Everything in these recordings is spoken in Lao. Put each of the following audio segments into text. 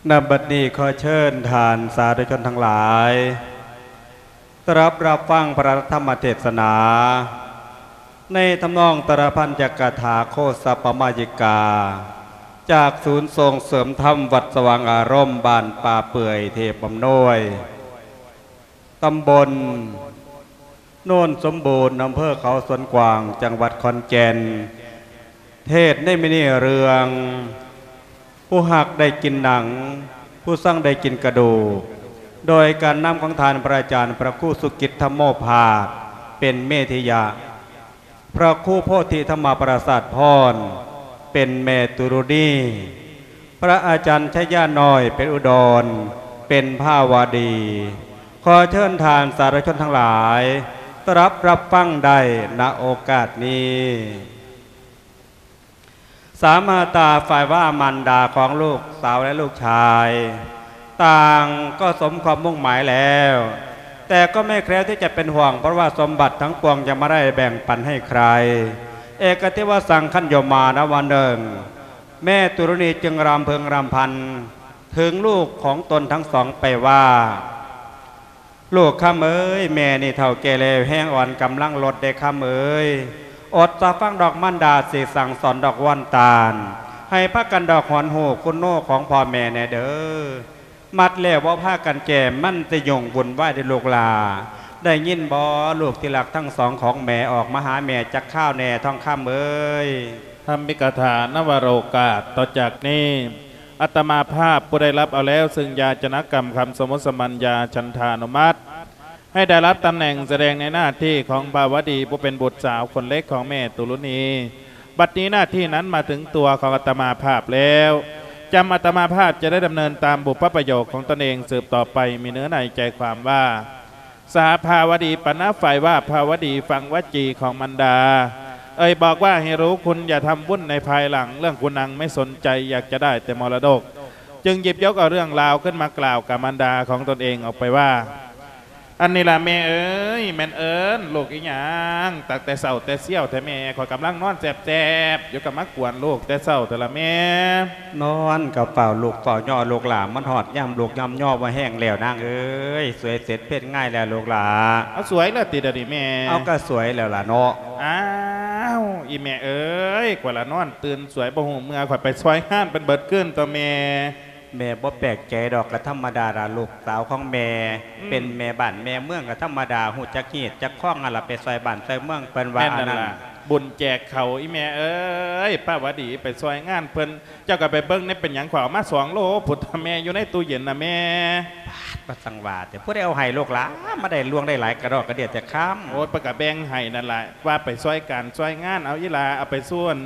ນະບັດນີ້ຂໍເຊີນທ່ານສາທຸຊົນທັງຫຼາຍ ຕະລັບຮັບຟັງພະທຳມະເທດສະໜາ ໃນທຳນອງຕະລະພັນຍັກກະຖາໂຄສັບປະມາຢິກາ ຈາກສູນສົ່ງເສີມທຳວັດສະຫວ່າງອາລົມ ບ້ານປ່າເປື່ອຍ ເທບອຳນວຍ ຕຳບົນໂນນສົມບູນ ອຳເພີເຂົາສວນກວ້າງ ຈັງຫວັດຂອນແກ່ນ. ເທດໃນມື້ນີ້ເລື່ອງ ຜູ້ຮັກໄດ້ກິນໜັງ ຜູ້ຊັງໄດ້ກິນກະດູກ ໂດຍການນຳຂອງທ່ານພະອາຈານພະຄູສຸກິດທຳໂມພາດ ເປັນເມທິຍະ. ພະຄູໂພທິທຳມະປະສາດພອນ ເປັນແມ່ຕຸລຸນີ, ພະອາຈານໄຊຍານ້ອຍ ເປັນອຸດອນ ເປັນພາວະດີ. ຂໍເຊີນທ່ານສາທຸຊົນທັງຫຼາຍ ຕະລັບຮັບຟັງໄດ້ນະໂອກາດນີ້. ສາມາຕາ ຝ່າຍວ່າມານດາຂອງລູກສາວ ແລະ ລູກຊາຍ ຕ່າງກໍສົມຄວາມມຸ່ງໝາຍແລ້ວ, ແຕ່ກໍໄມ່ແຄວທີ່ຈະເປັນຫ່ວງ ເພາະວ່າສົມບັດທັງປວງຍັງບໍ່ໄດ້ແບ່ງປັນໃຫ້ໃຄ. ເອກະເທວະສັງຄັນໂຍມາ ນະວັນໜຶ່ງ ແມ່ຕຸລຸນີຈຶ່ງລຳເພິງລຳພັນເຖິງລູກຂອງຕົນທັງສອງໄປວ່າ ລູກຄຳເອີຍ, ແມ່ນີ້ເຖົ້າແກ່ແລ້ວ ແຮງອ່ອນກຳລັງລົດເດ້ຄຳເອີຍ. ອົດສາຟັງດອກມານດາຊິສັ່ງສອນດອກ ວອນຕານ ໃຫ້ພາກັນດອກຫວນຮູ້ຄຸນໂນຂອງພໍ່ແມ່ແດ່ເດີ. ມັດແລ້ວບໍ່ພາກັນແກ້ ມັນຊິຫຍຸ້ງວຸ່ນວາຍເດ້ລູກຫຼ້າ. ໄດ້ຍິນບໍ່ ລູກທີ່ຮັກທັງສອງຂອງແມ່ ອອກມາຫາແມ່ຈັກຄາວແດ່ ທອງຄຳເອີຍ. ທຳມິກະຖານະວະໂລກາດ ຕໍ່ຈາກນີ້ ອາດຕະມາພາບຜູ້ໄດ້ຮັບເອົາແລ້ວ ຊຶ່ງຢາຈະນະກຳຄຳສະໝຸດສະໝັນຍາ ສັນທານຸມັດ ໃຫ້ໄດ້ຮັບຕຳແໜ່ງສະແດງໃນໜ້າທີ່ຂອງພາວະດີ ຜູ້ເປັນບຸດສາວຄົນເລັກຂອງແມ່ຕຸລຸນີ. ບັດນີ້ໜ້າທີ່ນັ້ນມາເຖິງຕົວຂອງອາດຕະມາພາບແລ້ວ, ຈຳອາດຕະມາພາບຈະໄດ້ດຳເນີນຕາມບຸບພະປະໂຫຍກຂອງຕົນເອງສືບຕໍ່ໄປ. ມີເນື້ອໃນໃຈຄວາມວ່າ ສະຫະພາວະດີປະນະ ຝ່າຍວ່າພາວະດີຟັງວະຈີຂອງມານດາ ເອີຍບອກວ່າໃຫ້ຮູ້ຄຸນ ຢ່າທຳວຸ່ນໃນພາຍຫຼັງ, ເລື່ອງຄຸນນາງໄມ່ສົນໃຈ ຢາກຈະໄດ້ແຕ່ມໍລະດົກ. ຈຶ່ງຫຍິບຍົກເອົາເລື່ອງລາວຂຶ້ນມາກ່າວກັບມານດາຂອງຕົນເອງອອກໄປວ່າ ອັນນີ້ລະແມ່ເອີຍ, ແມ່ນເອີ້ນລູກອີຫຍັງຕັ້ງແຕ່ເຊົ້າແຕ່ຊຽວແທ້ແມ່? ຂ້ອຍກຳລັງນອນແຊບໆຢູ່ ກໍມາກວນລູກແຕ່ເຊົ້າແທ້ລະແມ່. ນອນກໍເຝົ້າລູກເຝົ້າຍໍ້ລູກຫຼ້າ, ມັນຮອດຍາມລູກຍາມຍໍບໍ່ແຮງແລ້ວນາງເອີຍ. ສວຍເສັດເພັດງ່າຍແລ້ວລູກຫຼ້າ. ເອົາສວຍແລ້ວຕິດຽວນີ້ແມ່? ເອົາກໍສວຍແລ້ວລະເນາະ. ອ້າວ ອີແມ່ເອີຍ, ຂ້ອຍລະນອນຕື່ນສວຍ ບໍ່ຮູ້ເມື່ອ ຂ້ອຍໄປຊ່ອຍງານເພິ່ນເບິດຄືນຕົວະແມ່. ແມ່ບໍ່ແປກໃຈດອກ, ກໍທຳມະດາລະ ລູກສາວຂອງແມ່ ອືມ ເປັນແມ່ບ້ານແມ່ເມືອງ ກໍທຳມະດາ, ຮູ້ຈັກຮີດຈັກຄອງຫັ້ນລະ, ໄປຊ່ອຍບ້ານຊ່ອຍເມືອງເພິ່ນວ່າ. ແມ່ນນັ້ນລະ ອັນນັ້ນ ບຸນແຈກເຂົ້າ ອີແມ່ເອີຍ. ປ້າວະດີໄປຊ່ອຍງານເພິ່ນ, ເຈົ້າກໍໄປເບິ່ງແດ່ ເປັນຫຍັງຂ້ອຍເອົາມາສອງໂລພຸ້ນ ແມ່ ຢູ່ໃນຕູ້ເຢັນນະແມ່. ປາດ ບໍ່ສັງວ່າແຕ່ ຜູ້ໃດເອົາໃຫ້ລູກຫຼ້າ ມາໄດ້ຫຼວງໄດ້ຫຼາຍກະດອກກະເດຍແຕ່ຄຳ. ໂອ້ຍ ເພິ່ນກໍແບ່ງໃຫ້ນັ້ນລະ, ວ່າໄປຊ່ອຍການຊ່ອຍງານ. ເອົາ ອີຫຼ້າ ເອົາໄປສູ່ອັນ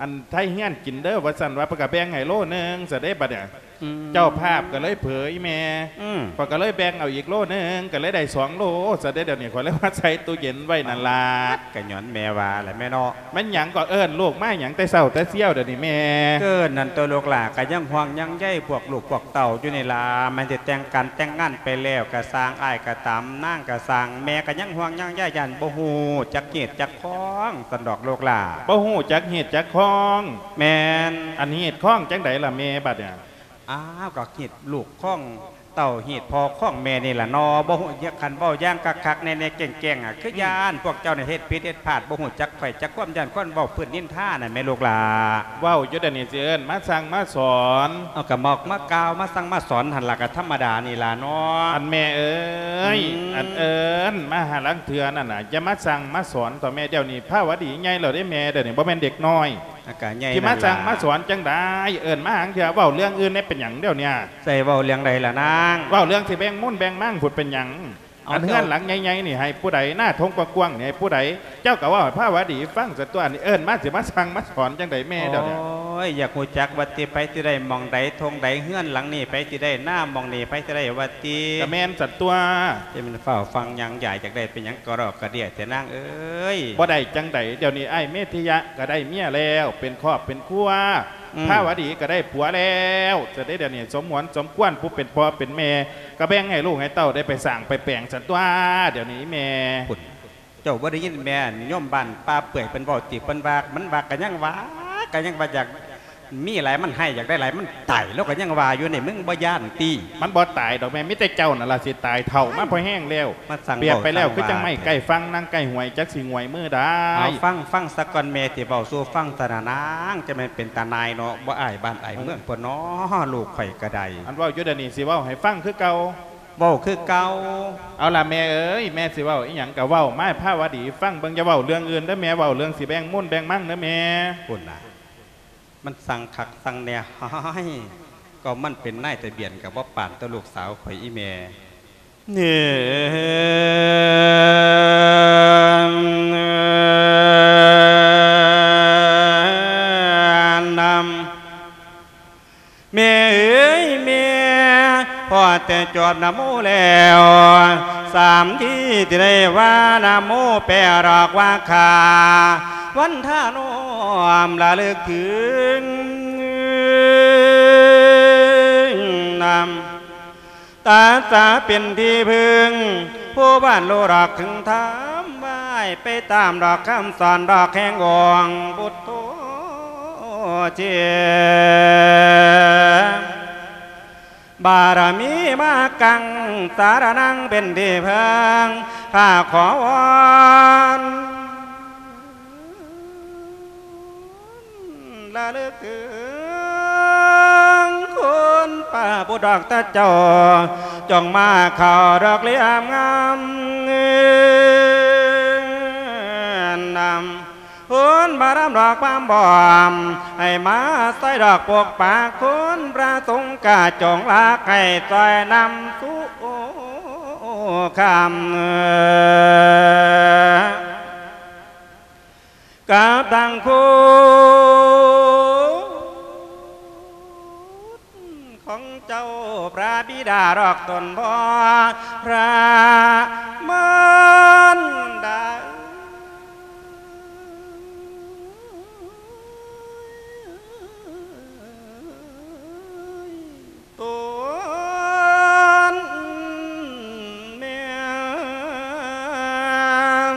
ອັນໄທເຮືອນກິນເດີ ວ່າຊັ້ນວ່າ ເພິ່ນກໍແບ່ງໃຫ້ໂລໜຶ່ງຊະເດ້ບັດນີ້. ອືມ ເຈົ້າພາບກໍເລີຍເຜີອີແມ່. ອືມ ຂ້ອຍກໍເລີຍແບ່ງເອົາອີກໂລໜຶ່ງ ກໍເລີຍໄດ້ສອງໂລຊະເດ້. ດຽວນີ້ຂ້ອຍເລີຍມາໃສ່ຕູ້ເຢັນໄວ້ນັ້ນລະ. ກໍຍ້ອນແມ່ວ່າແຫຼະແມ່ເນາະ. ແມ່ນຫຍັງກໍເອີ້ນລູກມາຫຍັງແຕ່ເຊົ້າແຕ່ຊຽວດຽວນີ້ແມ່? ເກີນນັ້ນຕົວະລູກຫຼ້າ, ກໍຍັງຫ່ວງຍັງໃຍພວກລູກພວກເຕົ້າຢູ່ນີ້ລະ. ແມ່ນຊິແຕ່ງການແຕ່ງງານໄປແລ້ວກໍຊ່າງ, ອ້າຍກໍຕາມ, ນາງກໍຊ່າງ, ແມ່ກໍຍັງຫ່ວງຍັງໃຍ, ຢ້ານບໍ່ຮູ້ຈັກຮີດຈັກຄອງຊັ້ນດອກລູກຫຼ້າ. ບໍ່ຮູ້ຈັກຮີດຈັກຄອງ? ແມ່ນ. ອັນຮີດຄອງຈັ່ງໃດລະແມ່ບັດນີ້? ອ້າວ ກໍຮີດລູກຄອງເຕົ້າ ຮີດພໍ່ຄອງແມ່ນີ້ລະເນາະ. ບໍ່ຮູ້ ຄັນເວົ້າຢ່າງຄັກໆ ແນ່ໆ ແກ້ງໆ ອະ ຄື ອືມ ຢ້ານພວກເຈົ້ານີ້ເຮັດຜິດເຮັດພາດ ບໍ່ຮູ້ຈັກໃຜຈັກຄວາມ ຢ້ານຄົນເວົ້າພື້ນນິນທານະແມ່ລູກຫຼ້າ. ເວົ້າຢູ່ດຽວນີ້ຊິເອີ້ນມາສັ່ງມາສອນ. ເອົາ ກໍມາ ມາກ່າວມາສັ່ງມາສອນຫັ້ນລະ ກໍທຳມະດານີ້ລະເນາະ. ອັນແມ່ເອີຍ ອືມ ອັນເອີ້ນມາຫາລາງເທື່ອນັ້ນນະ ຢ່າມາສັ່ງມາສອນຕໍ່ແມ່. ດຽວນີ້ພາວະດີໃຫຍ່ແລ້ວເດ້ແມ່, ດຽວນີ້ບໍ່ແມ່ນເດັກນ້ອຍ. ອາ ກະໃຫຍ່ ຊິມາສັ່ງມາສອນຈັ່ງໃດ? ເອີ້ນມາຫາເທື່ອ ເວົ້າເລື່ອງອື່ນແດ່ ເປັນຫຍັງດຽວນີ້? ໃສ່ເວົ້າເລື່ອງໃດລະນາງ? ເວົ້າເລື່ອງຊິແບ່ງມູນແບ່ງມັງພຸ້ນ ເປັນຫຍັງ? ເອົາ ອັນເຮືອນຫຼັງໃຫຍ່ໆນີ້ໃຫ້ຜູ້ໃດ? ນາທົ່ງກວ້າງໆນີ້ໃຫ້ຜູ້ໃດ? ເຈົ້າກໍເວົ້າໃຫ້ພາວະດີຟັງຊະຕົວະ. ອັນນີ້ເອີ້ນມາຊິມາສັ່ງມາສອນຈັ່ງໃດແມ່ດຽວນີ້? ໂອ້ຍ ຢາກຮູ້ຈັກວ່າຕິ ໃຜຊິໄດ້ໝ່ອງໃດທົ່ງໃດ ເຮືອນຫຼັງນີ້ ໃຜຊິໄດ້ນາໝ່ອງນີ້ ໃຜຊິໄດ້ວ່າຕິ? ກໍແມ່ນຊັ້ນຕົວະ. ຈະແມ່ນຟ້າວຟັງຫຍັງ ຢາກ ຢາກໄດ້ເປັນຫຍັງກະດອກກະເດຍແທ້ນາງເອີຍ? ບໍ່ໄດ້ຈັ່ງໃດ ດຽວນີ້ອ້າຍເມທິຍະກໍໄດ້ເມຍແລ້ວ ເປັນຄອບເປັນຄົວ. ອືມ ພາວະດີກໍໄດ້ຜົວແລ້ວ ຈະໄດ້ດຽວນີ້ສົມຫວນສົມຄວນ ຜູ້ເປັນພໍ່ເປັນແມ່ ກໍແບ່ງໃຫ້ລູກໃຫ້ເຕົ້າໄດ້ໄປສ້າງໄປແປງຊັ້ນຕົວະ ດຽວນີ້ແມ່. ພຸ້ນ ເຈົ້າບໍ່ໄດ້ຍິນແມ່ໂຍມບ້ານປ່າເປື່ອຍເພິ່ນເວົ້າຕິ? ເພິ່ນວ່າ ມັນວ່າ ກໍຍັງວ່າ ກໍຍັງວ່າຢາກ ມີຫຼາຍ ມັນໃຫ້ຢາກໄດ້ຫຼາຍ ມັນຕາຍ ລາວກໍຍັງວ່າຢູ່ນີ້ ມຶງບໍ່ຢ້ານຕິ? ມັນບໍ່ຕາຍດອກແມ່ ມີແຕ່ເຈົ້ານັ້ນລະຊິຕາຍ ເຖົ້າມາພໍແຮງແລ້ວ. ມັນຊ່າງ ປຽບໄປແລ້ວ ເວົ້າ ຄືຈັ່ງໄມ້ໃກ້ຝັ່ງ ນາງໃກ້ຫ້ວຍ ຈັກຊິຫງວຍມືໄດ້. ເອົາ ຟັງ ຟັງສາກ່ອນ ແມ່ຊິເວົ້າສູ່ຟັງຊະນະນາງ ຈະແມ່ນເປັນຕານາຍເນາະ ບໍ່ອາຍບ້ານອາຍເມືອງເພິ່ນເນາະ ລູກຂ້ອຍກໍໄດ້. ອັນເວົ້າຢູ່ດຽວນີ້ ຊິເວົ້າໃຫ້ຟັງຄືເກົ່າ. ເວົ້າຄືເກົ່າ. ເອົາລະແມ່ເອີຍ ແມ່ຊິເວົ້າອີ່ຫຍັງກໍເວົ້າມາໃຫ້ພາວະດີຟັງເບິ່ງ ຢ່າເວົ້າເລື່ອງອື່ນເດີແມ່ ເວົ້າເລື່ອງຊິແບ່ງມູນແບ່ງມັງເດີແມ່. ພຸ້ນນະ ມັນຊ່າງຄັກຊ່າງແນ່ ຮ້າຍ ກໍມັນເປັນນາຍທະບຽນກໍບໍ່ປານຕໍ່ລູກສາວຂ້ອຍອີ່ແມ່. ເອີ ນຳ ແມ່ເອີຍແມ່ ພໍແຕ່ຈວບນະໂມແລ້ວ ສາມທີທີ່ໄດ້ວ່ານະໂມ ແປອອກວ່າ ຂ້າວັນທະນ້ອມລະລຶກເຖິງ ນຳ ຕາສາເປັນທີ່ເພິ່ງ ຜູ້ບ້ານໂລດອກເຖິງທຳ ໄວ້ໄປຕາມດອກຄຳສອນດອກແຫ່ງອົງບຸດໂທ ເຈ ບາລະມີມາກັງ ສາລະນັງເປັນທີ່ເພິ່ງ ຂ້າຂໍວອນລະລຶກເຖິງ ຄຸນພະພຸດທະເຈົ້າ ຈົ່ງມາເຂົ້າດອກລຽມງາມ ນຳ ຄຸນພະລຳດອກຄວາມບອມ ໃຫ້ມາຊ່ອຍດອກປົກປັກ ຄຸນພະສົງກະຈົ່ງລັກ ໃຫ້ຊ່ອຍນຳສູ່ຄຳ ກັບທັງຄຸນ ຂອງເຈົ້າພະບິດາດອກຕົນພໍ່ ພະມານດາເອີຍ ຕົນແມ່ນ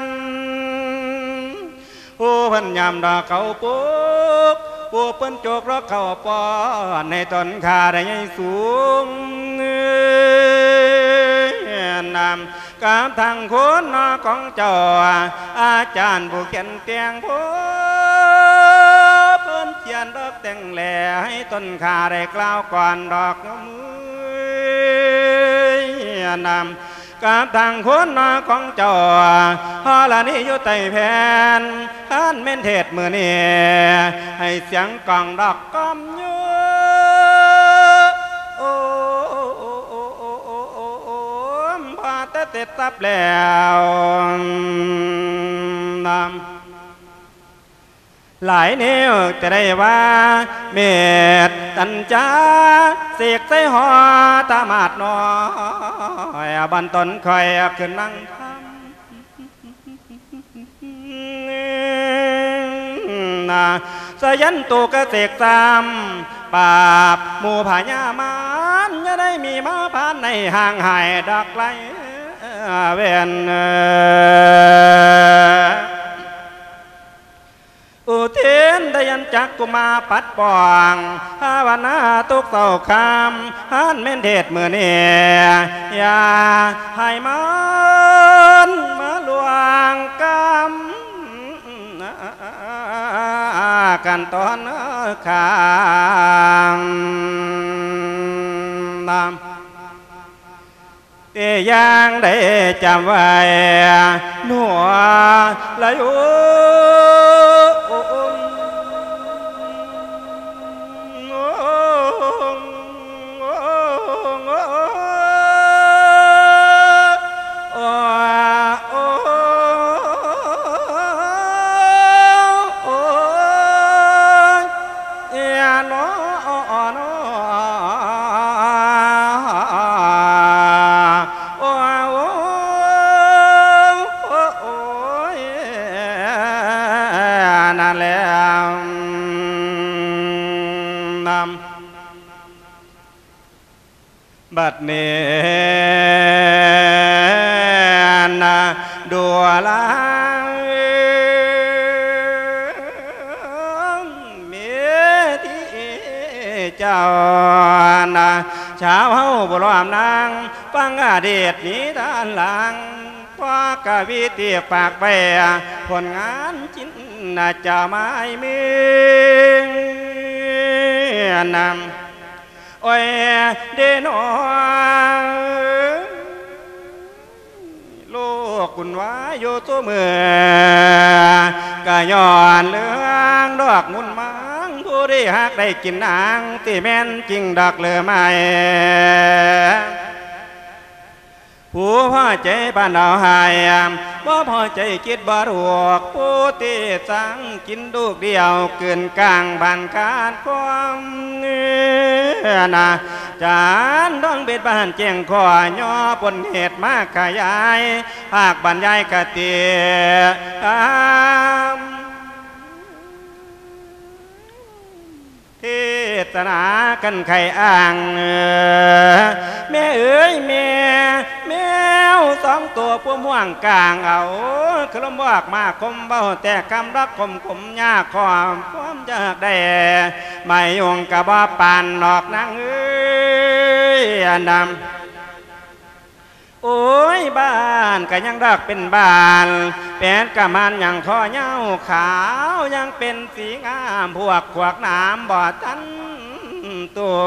ຜູ້ເພິ່ນຍາມດອກເຂົ້າປຸກ ຜູ້ເພິ່ນຈົກດອກເຂົ້າປ້ອນ ໃຫ້ຕົນຂ້າໄດ້ໃຫຍ່ສູງ ນຳກັບທັງຄຸນນອກຂອງເຈົ້າ ອາຈານຜູ້ຂຽນແຕ່ງ ຜູ້ເພິ່ນຂຽນດອກແຕ່ງແລ ໃຫ້ຕົນຂ້າໄດ້ກ່າວກ່ອນດອກ ນຳ ກັບທັງຄຸນນອກຂອງເຈົ້າ ຮອລະນີຢູ່ໃຕ້ແຜ່ນ ຄັນແມ່ນເທດມື້ນີ້ ໃຫ້ສຽງກ້ອງດອກກ້ອມໂຍ ໂອມ ພໍແຕ່ເສັດສັບແລ້ວ ນຳ ຫຼາຍແນວຈະໄດ້ວ່າ ເມດຕັນຈາ ເສກໃສ່ຫໍຕະໝາດນ້ອຍ ບັນຕົນຄ່ອຍຂຶ້ນນັ່ງທຳ ນາ ສະຢັນໂຕກະເສກຊ້ຳ ປາບໝູ່ພະຍາມານ ຢ່າໄດ້ມີມາຜ່ານໃນຫ່າງຫາຍດອກໄລເວັນ ອຸທິນໄດ້ອັນຈັກກຸມາປັດປ້ອງ ພາວະນາທຸກເຊົ້າຄ່ຳ ອັນແມ່ນເທດມື້ນີ້ ຢ່າໃຫ້ມັນມາລ່ວງກຳ ກັນຕອນຄ່ຳ ແຕ່ຢ່າງໃດຈຳໄວ້ ຫົວລະໂຍ ນັ້ນແຫຼະ ນຳ ບັດນີ້ນະ ດູລາເມທີ ເຈົ້ານະ ຊາວເຮົາບໍ່ລອມນາງ ຟັງອະດີດນິທານຫຼັງ ເພາະກະວີທີ່ຝາກໄວ້ ຜົນງານຈິນນະຈາໄມ້ເມືອນນຳ ໂອ້ຍເດນໍ ໂລກວຸ່ນວາຍຢູ່ສູ່ມື້ ກະຍ້ອນເລື່ອງດອກມຸນມາງ ຜູ້ໄດ້ຮັກໄດ້ກິນນາງ ທີ່ແມ່ນຈິງດອກຫຼືໄມ່ ຜູ້ພໍໃຈບ້ານເອົາໃຫ້ ບໍ່ພໍໃຈຄິດບໍ່ຖູກ ຜູ້ທີ່ສ້າງກິນລູກດຽວ ກືນກ້າງບ້ານຂາດຄວາມເນື້ອນາ ຈານດອງເບັດບ້ານແຈ້ງຂໍ້ ຍໍຜົນເຫດມາຂະຫຍາຍ ພາກບັນຍາຍຄະຕິ ເທດສະໜາກັນໄຂອ້າງ ແມ່ເອີຍແມ່ ແມວສອງໂຕພວມຮ່ວງກາງເອົາ ຄືລົມບອກມາຄົມເວົ້າ ແຕ່ຄຳລັກຂົມໆ ຍາກຄວາມ ຄວາມຢາກໄດ້ ໄມ້ຍຸງກະບໍ່ປານນອກນາງເອີຍ ອັນນຳ ໂອ້ຍ ບ້ານກະຍັງດອກເປັນບ້ານ ແປດກະມານຍັງຄໍຍາວຂາວ ຍັງເປັນສີງາມ ພວກຂວາກໜາມບໍ່ທັນຕົວ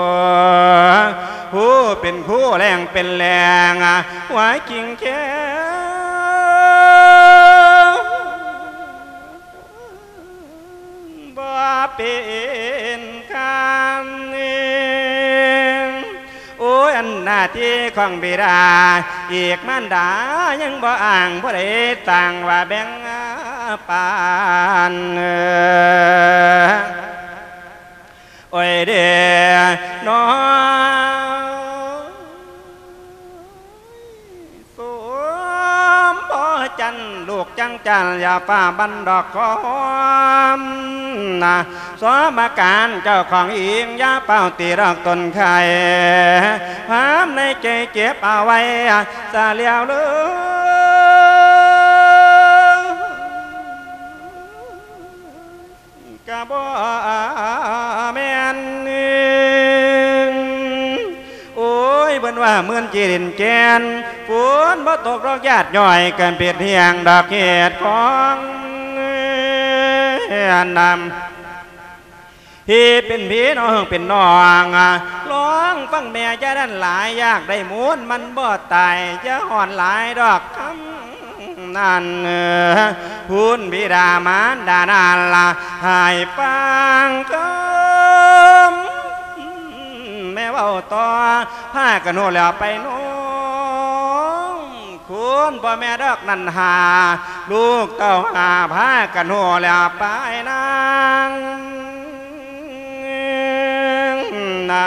ຜູ້ເປັນຄູແລ້ງເປັນແລ້ງ ຫົວກິງແຄວ ບໍ່ເປັນຄຳ ໂອ້ຍ ອັນໜ້າທີ່ຂອງບິດາ ອີກມານດາຍັງບໍ່ອ້າງ ຜູ້ໃດຕ່າງວ່າແບ່ງປານ ໂອ້ຍເດນໍ. ສົມພໍຈັນ ລູກຈັງຈັນ ຢ່າຟ້າບັນດອກຄອມນະ ສມະການເຈົ້າຂອງອີງ ຢ່າຟ້າວຕີດອກຕົນໄຂ່ ຄວາມໃນໃຈເກັບເອົາໄວ້ ສະແລ້ວເລີຍ ກະບໍ່ແມ່ນ ໂອ້ຍ ເພິ່ນວ່າໝື່ນຈີດິນແກ່ນ ຝົນບໍ່ຕົກດອກຢາດຍ້ອຍ ກະເປັນເຫດດອກເຫດຂອງອັນນຳ ທີ່ເປັນພີ່ນ້ອງເປັນນ້ອງ ລອງຟັງແມ່ຢ່າດັນຫຼາຍ ຢາກໄດ້ມູນມັນບໍ່ຕາຍ ຢ່າຮ້ອນຫຼາຍດອກຄຳ ນັ້ນ ພຸ້ນບິດາມານດານັ້ນລະ ໃຫ້ຟັງຄຳແມ່ເວົ້າຕໍ່ ພາກັນຮູ້ແລ້ວໄປນ້ອງ ຄຸນພໍ່ແມ່ດອກນັ້ນຫາ ລູກເຕົ້າຫາ ພາກັນຮູ້ແລ້ວໄປນາງນະ.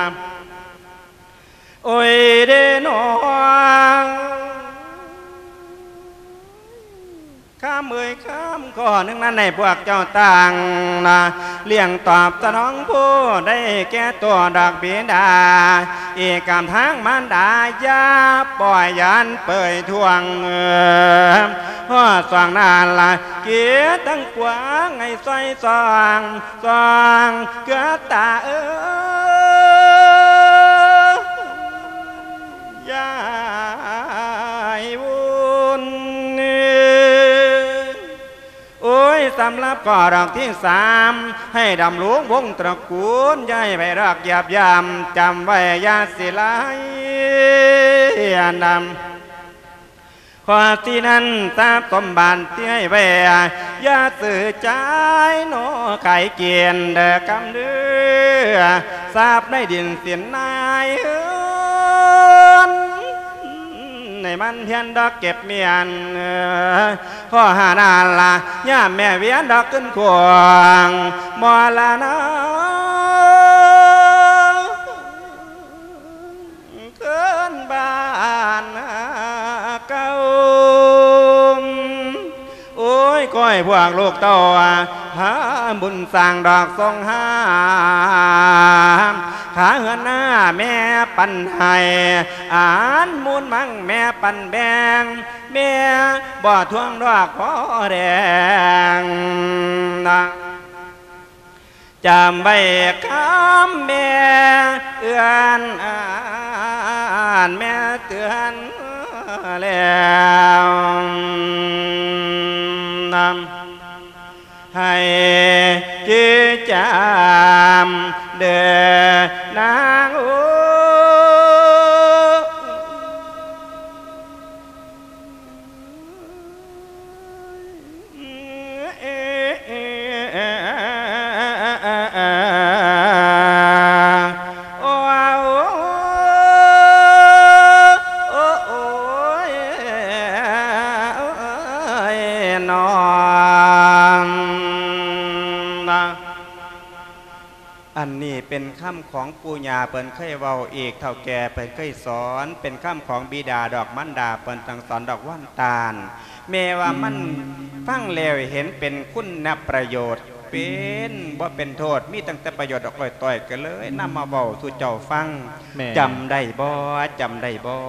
ໂອ້ຍເດນ້ອງ ຄຳເອີຍຄຳ ຂໍ້ໜຶ່ງນັ້ນໃຫ້ພວກເຈົ້າຕັ້ງນະ ລ້ຽງຕອບສະໜອງຜູ້ໃດແກ່ຕົວດອກບິດາ ອີກກຳທາງມານດາ ຢ່າປ່ອຍຢ້ານເປີຍທວງ ຮອດຊ່ວງນັ້ນລະ ເກດທັງກວາງໃຫ້ຊ່ອຍສ່ອງ ສ່ອງເກືອຕາເອີຍ ຢ່າໃຫ້ວຸ່ນ ໂອ້ຍ ສຳລັບຂໍ້ດອກທີສາມ ໃຫ້ດຳລົງວົງຕະກູນ ຢ່າໃຫ້ໃຜດອກຢາບຢາມ ຈຳໄວ້ຢ່າຊິໄຫຼອັນນຳ ຂໍ້ທີ່ນັ້ນ ຊັບສົມບັດທີ່ໃຫ້ໄວ້ ຢ່າຊື້ຈ່າຍໜໍ່ຂາຍກິນເດີຄຳເດີ ຊັບໃນດິນສິນນາຍເຮືອນ ໃຫ້ມັນພຽນດອກເກັບມ້ຽນ ຂໍຫານານລະ ຍາມແມ່ວຽນດອກຂຶ້ນຂວາງ ມໍລະນະ ຄືນບ້ານເກົ່າ ໂອ້ຍ ຂໍໃຫ້ພວກລູກເຕົ້າ ພາບຸນສ້າງດອກສົງຫາ ຄ່າເຮືອນນາແມ່ປັນໃຫ້ ອານມູນມັງແມ່ປັນແບ່ງ ແມ່ບໍ່ທວງດອກພໍແດງນະ. ຈຳໄວ້ຄຳແມ່ເຕືອນ ແມ່ເຕືອນແລ້ວນຳ ໃຫ້ຈື່ຈຳເດີນາງເອີຍ. ອັນນີ້ເປັນຄຳຂອງປູ່ຍ່າເພິ່ນເຄີຍເວົ້າອີກ, ເຖົ້າແກ່ເພິ່ນເຄີຍສອນ, ເປັນຄຳຂອງບິດາດອກ ມານດາເພິ່ນສັ່ງສອນດອກ ວັນຕານ. ແມ່ວ່າມັນ ອືມ ຟັງແລ້ວເຫັນເປັນຄຸນນະປະໂຫຍດ, ເປັນ ບໍ່ເປັນໂທດ, ມີຕັ້ງແຕ່ປະໂຫຍດດອກ ອ້ອຍຕ້ອຍ ກໍເລີຍນຳມາເວົ້າສູ່ເຈົ້າຟັງ. ແມ່ນ. ຈຳໄດ້ບໍ່? ຈຳໄດ້ບໍ່?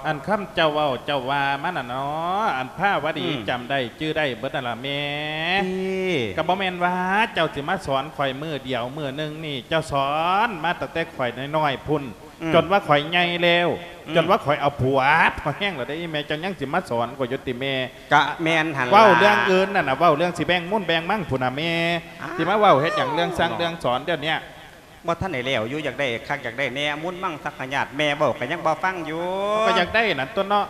ອັນຄຳເຈົ້າເວົ້າເຈົ້າວ່າມານັ້ນເນາະ, ອັນພາວະດີ ອືມ ຈຳໄດ້ຈື່ໄດ້ເບິດນັ້ນລະແມ່. ຕິ ກໍບໍ່ແມ່ນວ່າເຈົ້າຊິມາສອນຂ້ອຍມື້ດຽວມື້ໜຶ່ງນີ້, ເຈົ້າສອນມາຕັ້ງແຕ່ຂ້ອຍນ້ອຍໆພຸ້ນ ອືມ ຈົນວ່າຂ້ອຍໃຫຍ່ແລ້ວ ອືມ ຈົນວ່າຂ້ອຍເອົາຜົວພໍແຮງແລ້ວເດ້ ອີແມ່ ເຈົ້າຍັງຊິມາສອນຂ້ອຍຢູ່ຕິແມ່? ກະແມ່ນຫັ້ນລະ ເວົ້າເລື່ອງອື່ນນັ້ນນະ, ເວົ້າເລື່ອງຊິແບ່ງມູນແບ່ງມັງພຸ້ນນະແມ່. ອ້າວ ຊິມາເວົ້າເຮັດຫຍັງເລື່ອງສັ່ງເລື່ອງສອນດຽວເນີ້ຍ? ບໍ່ທັນໄດ້ແລ້ວຢູ່, ຢາກໄດ້ຄັກຢາກໄດ້ແນ່, ມູນມັງສັກຂະຍາດ ແມ່ເວົ້າກໍຍັງບໍ່ຟັງຢູ່. ເຮົາກໍຢາກໄດ້ນັ້ນຕົວະເນາະ.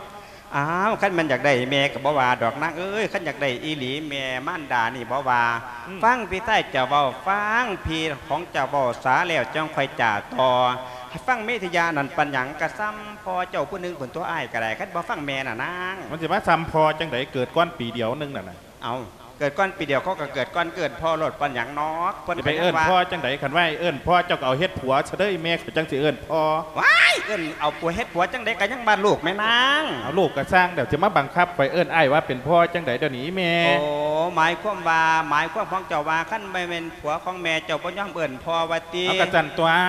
ອ້າວ ຄັນແມ່ນຢາກໄດ້ ແມ່ກໍບໍ່ວ່າດອກນາງເອີຍ, ຄັນຢາກໄດ້ອີ່ຫຼີ ແມ່ມານດານີ້ບໍ່ວ່າ. ອືມ ຟັງພີ່ຊາຍເຈົ້າເວົ້າ, ຟັງພີ່ຂອງເຈົ້າເວົ້າສາແລ້ວ ຈັ່ງຄ່ອຍຈາຕໍ່. ໃຫ້ຟັງເມທິຍານັ້ນປານຫຍັງ? ກະສ່ຳພໍ່ເຈົ້າຜູ້ໜຶ່ງພຸ້ນຕົວະ ອ້າຍກໍໄດ້, ຄັນບໍ່ຟັງແມ່ນະນາງ. ມັນຊິມາສ່ຳພໍ່ຈັ່ງໃດ? ເກີດກ່ອນປີດຽວໜຶ່ງນັ້ນນະ. ເອົ້າ ເກີດກ່ອນປີດຽວ ເຂົາກໍເກີດກ່ອນ ເອີ້ນພໍ່ໂລດ ປານຫຍັງນອກ? ເພິ່ນ ຊິໄປເອີ້ນພໍ່ຈັ່ງໃດ? ຄັນວ່າໃຫ້ເອີ້ນພໍ່ ເຈົ້າກໍເອົາເຮັດຜົວຊະເດີ ແມ່ຂ້ອຍຈັ່ງຊິເອີ້ນພໍ່. ວ້າຍ ເອີ້ນເອົາຜົວເຮັດຜົວຈັ່ງໃດ ກໍຍັງວ່າລູກແມ່ນາງ. ເອົາ ລູກກໍຊ່າງແລ້ວ ຊິມາບັງຄັບຂ້ອຍເອີ້ນອ້າຍວ່າເປັນພໍ່ຈັ່ງໃດດຽວນີ້ແມ່? ໂອ້ ໝາຍຄວາມວ່າ ໝາຍຄວາມຂອງເຈົ້າວ່າ ຄັນບໍ່ແມ່ນຜົວຂອງແມ່ ເຈົ້າບໍ່ຍອມເອີ້ນພໍ່ວ່າຕິ? ເອົາ ກໍຊັ້ນຕົວະ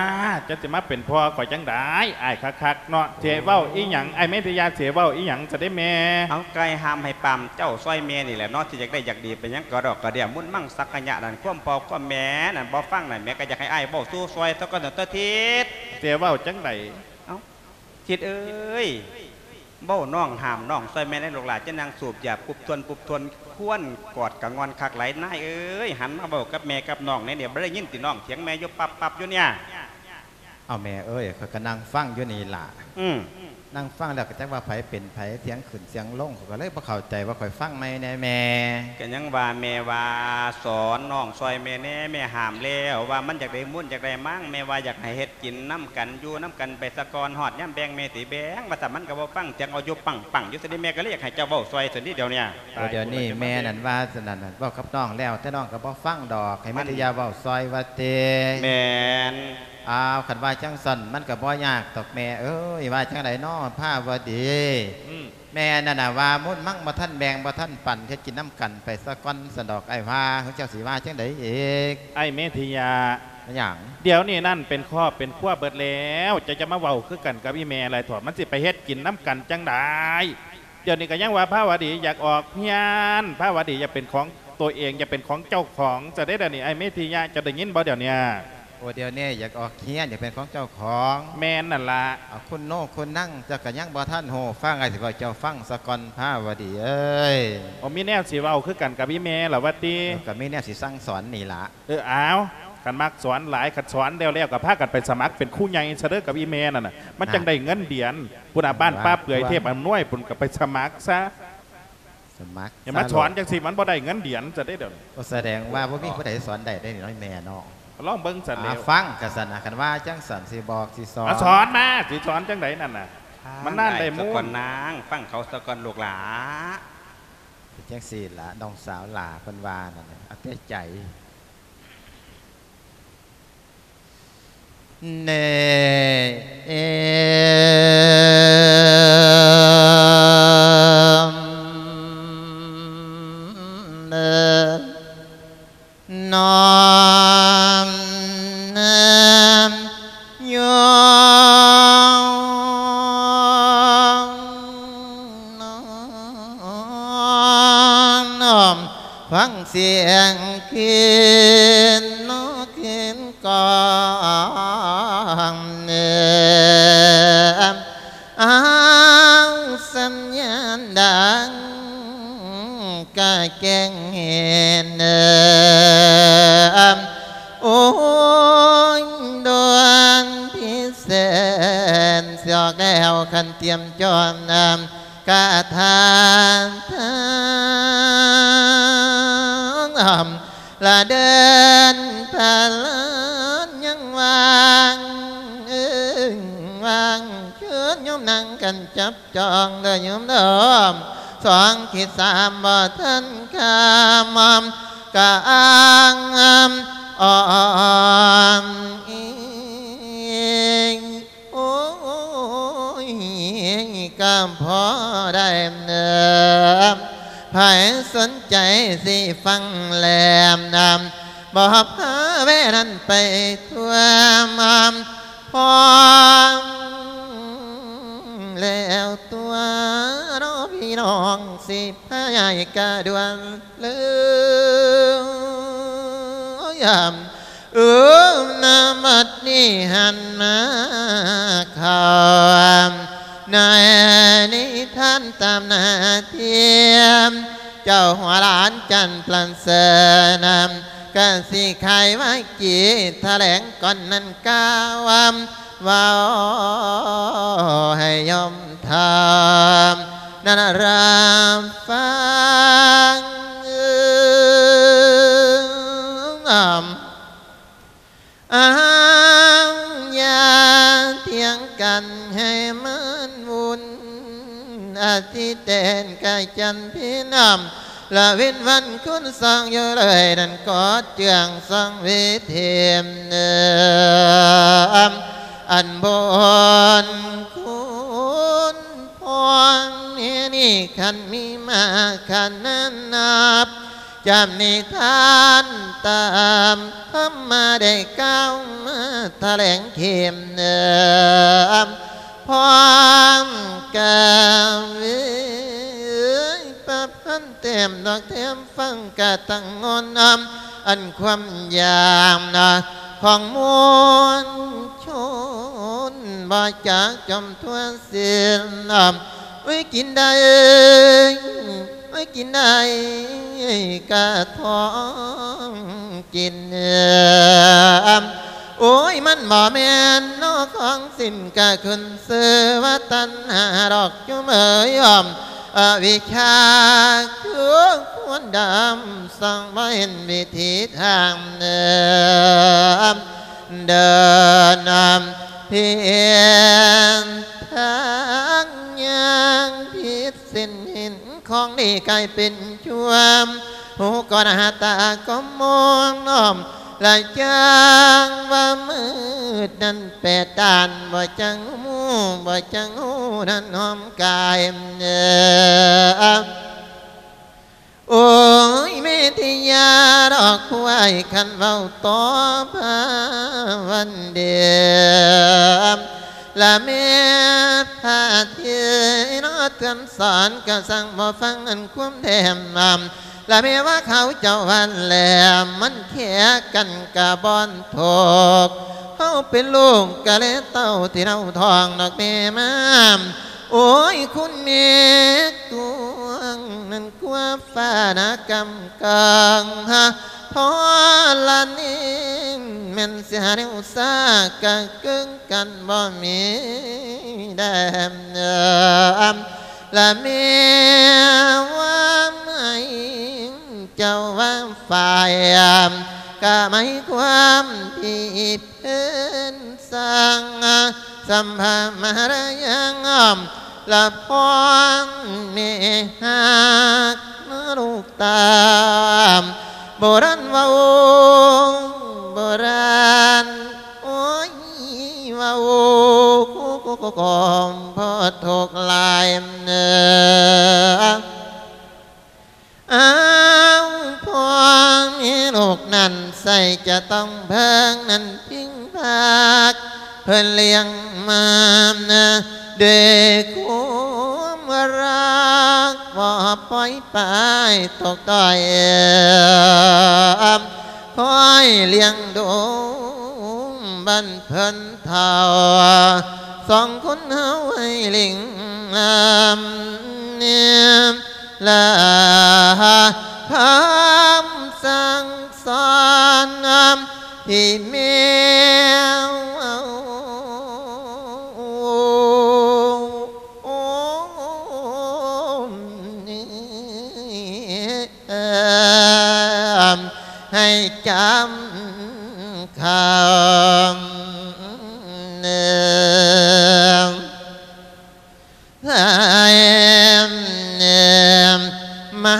ເຈົ້າຊິມາເປັນພໍ່ຂ້ອຍຈັ່ງໃດ? ອ້າຍຄັກໆເນາະ ຊິເວົ້າອີ່ຫຍັງ? ອ້າຍເມທິຍາ ຊິເວົ້າອີ່ຫຍັງຊະເດ້ແມ່? ເອົາ ໄກ່ຫ້າມໃຫ້ປາມເຈົ້າຊ່ອຍແມ່ນີ້ແຫຼະເນາະ ຊິຢາກໄດ້ຢາກດີ ເປັນຫຍັງກະດອກກະເດຍ ມຸນມັງສັກກະຍະນັ້ນ ຄວາມພໍ່ຄວາມແມ່ນັ້ນບໍ່ຟັງນັ້ນ ແມ່ກໍຢາກໃຫ້ອ້າຍເວົ້າສູ່ຊ່ອຍຊະກ່ອນເນາະ ເຕີທິດ. ຊິເວົ້າຈັ່ງໃດ? ເອົ້າ ທິດເອີຍ ເວົ້ານ້ອງ ຫ້າມນ້ອງຊ່ອຍແມ່ແດ່ ລູກຫຼ້າຈະນັ່ງສູບຢາປຸບທວນປຸບທວນ ຄວນກອດກະງ່ອນຄັກຫຼາຍ ນາຍເອີຍ ຫັນມາເວົ້າກັບແມ່ກັບນ້ອງແດ່ ບໍ່ໄດ້ຍິນຕິນ້ອງຖຽງແມ່ຢູ່ປັບໆຢູ່ເນຍ. ເອົາແມ່ເອີຍ ຂ້ອຍກໍນັ່ງຟັງຢູ່ນີ້ລະ. ອືມ ນັ່ງຟັງແລ້ວກໍຈັກວ່າໃຜເປັນໃຜ ສຽງຂຶ້ນສຽງລົງ ຂ້ອຍກໍເລີຍບໍ່ເຂົ້າໃຈວ່າຂ້ອຍຟັງໃໝ່ແດ່ແມ່. ກໍຍັງວ່າແມ່ວ່າສອນນ້ອງຊ່ອຍແມ່ແດ່ ແມ່ຫ້າມແລ້ວວ່າມັນຢາກໄດ້ມູນຢາກໄດ້ມັງ ແມ່ວ່າຢາກໃຫ້ເຮັດກິນນຳກັນ ຢູ່ນຳກັນໄປສາກ່ອນ ຮອດຍາມແບ່ງແມ່ຊິແບ່ງ ວ່າຊັ້ນ ມັນກໍບໍ່ຟັງ ຖຽງເອົາຢູ່ປັງໆຢູ່ຊັ້ນເດ ແມ່ກໍເລີຍຢາກໃຫ້ເຈົ້າເວົ້າຊ່ອຍຊັ້ນເດ ດຽວເນຍ. ໂອ້ ດຽວນີ້ແມ່ນັ້ນວ່າຊັ້ນນັ້ນ ເວົ້າກັບນ້ອງແລ້ວ ແຕ່ນ້ອງກໍບໍ່ຟັງດອກ ໃຫ້ແມ່ທິຍາເວົ້າຊ່ອຍວ່າຕິ. ແມ່ນ. ອ້າວ ຄັນວ່າຈັ່ງຊັ້ນ ມັນກໍບໍ່ຍາກດອກແມ່ເອີຍ ວ່າຈັ່ງໃດນໍພາວະດີ? ອືມ ແມ່ນັ້ນນະວ່າ ມູນມັງບໍ່ທັນແບ່ງ ບໍ່ທັນປັນ ເຮັດກິນນຳກັນໄປສາກ່ອນຊັ້ນດອກ ອ້າຍວ່າ ເຈົ້າຊິວ່າຈັ່ງໃດອີກ? ອ້າຍເມທິຍາ ຫຍັງ? ດຽວນີ້ນັ້ນເປັນຄອບເປັນຄົວເບິດແລ້ວ ເຈົ້າຈະມາເວົ້າຄືກັນກັບອີ່ແມ່ຫຼາຍເຖາະ ມັນຊິໄປເຮັດກິນນຳກັນຈັ່ງໃດ? ດຽວນີ້ກໍຍັງວ່າພາວະດີຢາກອອກເຮືອນ ພາວະດີຢາກເປັນຂອງໂຕເອງ ຢາກເປັນຂອງເຈົ້າຂອງຊະເດ ດຽວນີ້ ອ້າຍເມທິຍາ ເຈົ້າໄດ້ຍິນບໍ່ດຽວນີ້? ໂອ້ ດຽວນີ້ຢາກອອກເຮືອນ ຢາກເປັນຂອງເຈົ້າຂອງ. ແມ່ນນັ້ນລະ. ເອົາ ຄຸນໂນຄຸນນັງ ເຈົ້າກໍຍັງບໍ່ທັນຮູ້ ຟັງອ້າຍຊິເວົ້າເຈົ້າຟັງສາກ່ອນ ພາວະດີເອີຍ. ໂອ້ ມີແນວຊິເວົ້າຄືກັນກັບອີ່ແມ່ລະວ່າຕິ? ເອີ ກໍມີແນວຊິສັ່ງສອນນີ້ລະ. ເອີ ເອົາ ຄັນມັກສອນຫຼາຍ ຄັນສອນແລ້ວໆ ກໍພາກັນໄປສະໝັກເປັນຄູໃຫຍ່ຊະເດີ ກັບອີ່ແມ່ນັ້ນນະ ມັນຈັ່ງໄດ້ເງິນເດືອນ. ພຸ້ນນະ ບ້ານປ່າເປືອຍ ເທບອຳນວຍພຸ້ນ ກໍໄປສະໝັກຊະ. ສະໝັກ ຢ່າມາສອນຈັ່ງຊີ້ ມັນບໍ່ໄດ້ເງິນເດືອນຊະເດ້ດຽວນີ້. ໂອ້ ສະແດງວ່າບໍ່ມີຜູ້ໃດສອນໄດ້ເດ້ນີ້ເນາະ ແມ່ເນາະ. ລອງເບິ່ງຊັ້ນແຫຼ້ວ. ຟັງກະຊັ້ນນະ ຄັນວ່າຈັ່ງຊັ້ນຊິບອກຊິສອນ. ອາ ສອນມາ ຊິສອນຈັ່ງໃດນັ້ນນະ? ມັນນານໄດ້ມູນ. ຟັງສາກ່ອນນາງ ຟັງເຂົາສາກ່ອນລູກຫຼ້າ. ເປັນຈັ່ງຊີ້ລະ ນ້ອງສາວຫຼ້າເພິ່ນວ່ານັ້ນ ເອົາແຕ່ໃຈ. ເນ ເອ ເນ ນອມ ເນ ຍອ ນອມ ຟັງສຽງກິນ ນອ ອ້າວ ສັນຍານດັງກະແຈ້ງເຫັນ ໂອ້ຍ ດວງພິເສນ ຊິອອກແລ້ວຄັນຕຽມຈອມນຳ ກະທາທາງ ລະເດີນພະລານຍັງວ່າງ ເອີ ວ່າງເຊີນໂຍມນັ່ງກັນຈັບຈອງເດີໂຍມເດີ ສອງຂີດສາມບໍ່ທັນຄຳ ກະອ້າງອ້ອມອີງ ໂອ້ຍ ກະພໍໄດ້ເນີ ໃຜສົນໃຈຊິຟັງແລມນຳ ບໍ່ພາແວະນັ້ນໄປທົ່ວ ພ້ອມແລ້ວຕົວະເນາະ ພີ່ນ້ອງ ຊິພາຍ້າຍກະດ່ວນເລີຍ ເອີ ນະບັດນີ້ຫັນມາເຂົ້າ ໃນນິທານຕາມໜ້າທີ່ ເຈົ້າຫົວຫຼານຈັນປະເສີນ ກະຊິໄຂວາຈີຖະແຫຼງກ່ອນນັ້ນກ່າວ ເວົ້າໃຫ້ໂຍມເຖົ້ານັ້ນຮັບຟັງ ອ້າວ ຢ່າຖຽງກັນໃຫ້ມັນວຸ່ນ ອາທິເຕນກະຈັນພີນ ລະເວັນວັນຄຸນສອງຢູ່ເລີຍນັ້ນ ກໍເຈື່ອງສອງເວທີ ອັນບຸນຄຸນພອງແມ່ນີ້ ຄັນມີມາຂະໜານນັບ ຈຳນິທານຕາມທຳມາໄດ້ກ່າວມາຖະແຫຼງເຂັ້ມ ພ້ອມກະເວຍປະພັນແຕ້ມດອກແຖມ ຟັງກະຕັ້ງງົນ ອັນຄວາມຢາກຂອງມວນຊົນ ບໍ່ຈັກຈົມທົ່ວສິ້ນ ໂອ້ຍ ກິນໄດ້ ໂອ້ຍ ກິນໄດ້ກະທ້ອງກິນ ໂອ້ຍ ມັນບໍ່ແມ່ນເນາະຂອງສິ້ນ ກະຂຶ້ນຊື່ວ່າຕັນຫາດອກຈຸເມີຍ ອະວິຊາຄືຄວນດຳ ສ່ອງບໍ່ເຫັນວິທີທາງເດີນ ເດີນນຳເພັນທາງຍ່າງຜິດເສັ້ນເຫັນ ຂອງດີກາຍເປັນຊົ່ວ ຫູກໍໜ້າ ຕາກໍມອງນອມ ລະຈ້າງວ່າມືດນັ້ນແປດດ້ານ ບໍ່ຈັກຮູ້ ບໍ່ຈັກຮູ້ນັ້ນຫອມກາຍ ໂອ້ຍ ເມທິຍາດອກຄວາຍ ຄັນເວົ້າຕໍ່ພາວັນເດ ລະແມ່ພາເທນະເຕືອນສອນ ກະສັ່ງບໍ່ຟັງອັນຄວາມແຖມ ລະແມ່ວ່າເຂົາເຈົ້າວັນແຫຼມ ມັນແຄກັນກະບ່ອນໂທກ ເຮົາເປັນລູກກະແລເຕົ້າທີ່ເຮົາທ້ອງດອກແມ່ມາ ໂອ້ຍ ຄຸນແມ່ກວງນັ້ນ ກວ່າຟ້ານະກຳກັງ ທໍລະນີ ແມ່ນເສຍແນວຊາກະເກິ່ງກັນບໍ່ມີແດມ ລະແມ່ວ່າໃຫ້ເຈົ້າວ່າຝ່າຍ ກະໝາຍຄວາມທີ່ ເພິ່ນສ້າງສຳພາມາລະຍັງ ລະພອນແມ່ຮັກນະລູກຕາ ໂບລານເວົ້າ ໂບລານ ໂອ້ຍ ເວົ້າ ພໍທຸກຫຼາຍເນີ ອ້າວ ພໍ່ແມ່ລູກນັ້ນໃສ່ຈະຕ້ອງເພິ່ງນັ້ນພິງພັກ ເພິ່ນລ້ຽງມາດ້ວຍຄວາມຮັກ ບໍ່ປ່ອຍປາຍຕົກຕ້ອຍ ຄອຍລ້ຽງດູບັນເພິ່ນເຖົ້າ ຕ້ອງຄຸນເຮົາໃຫ້ເລັ່ງນຳ ແລະຄຳສັ່ງສອນທີ່ແມ່ ໃຫ້ຈຳຄຳ ໃຫ້ມາ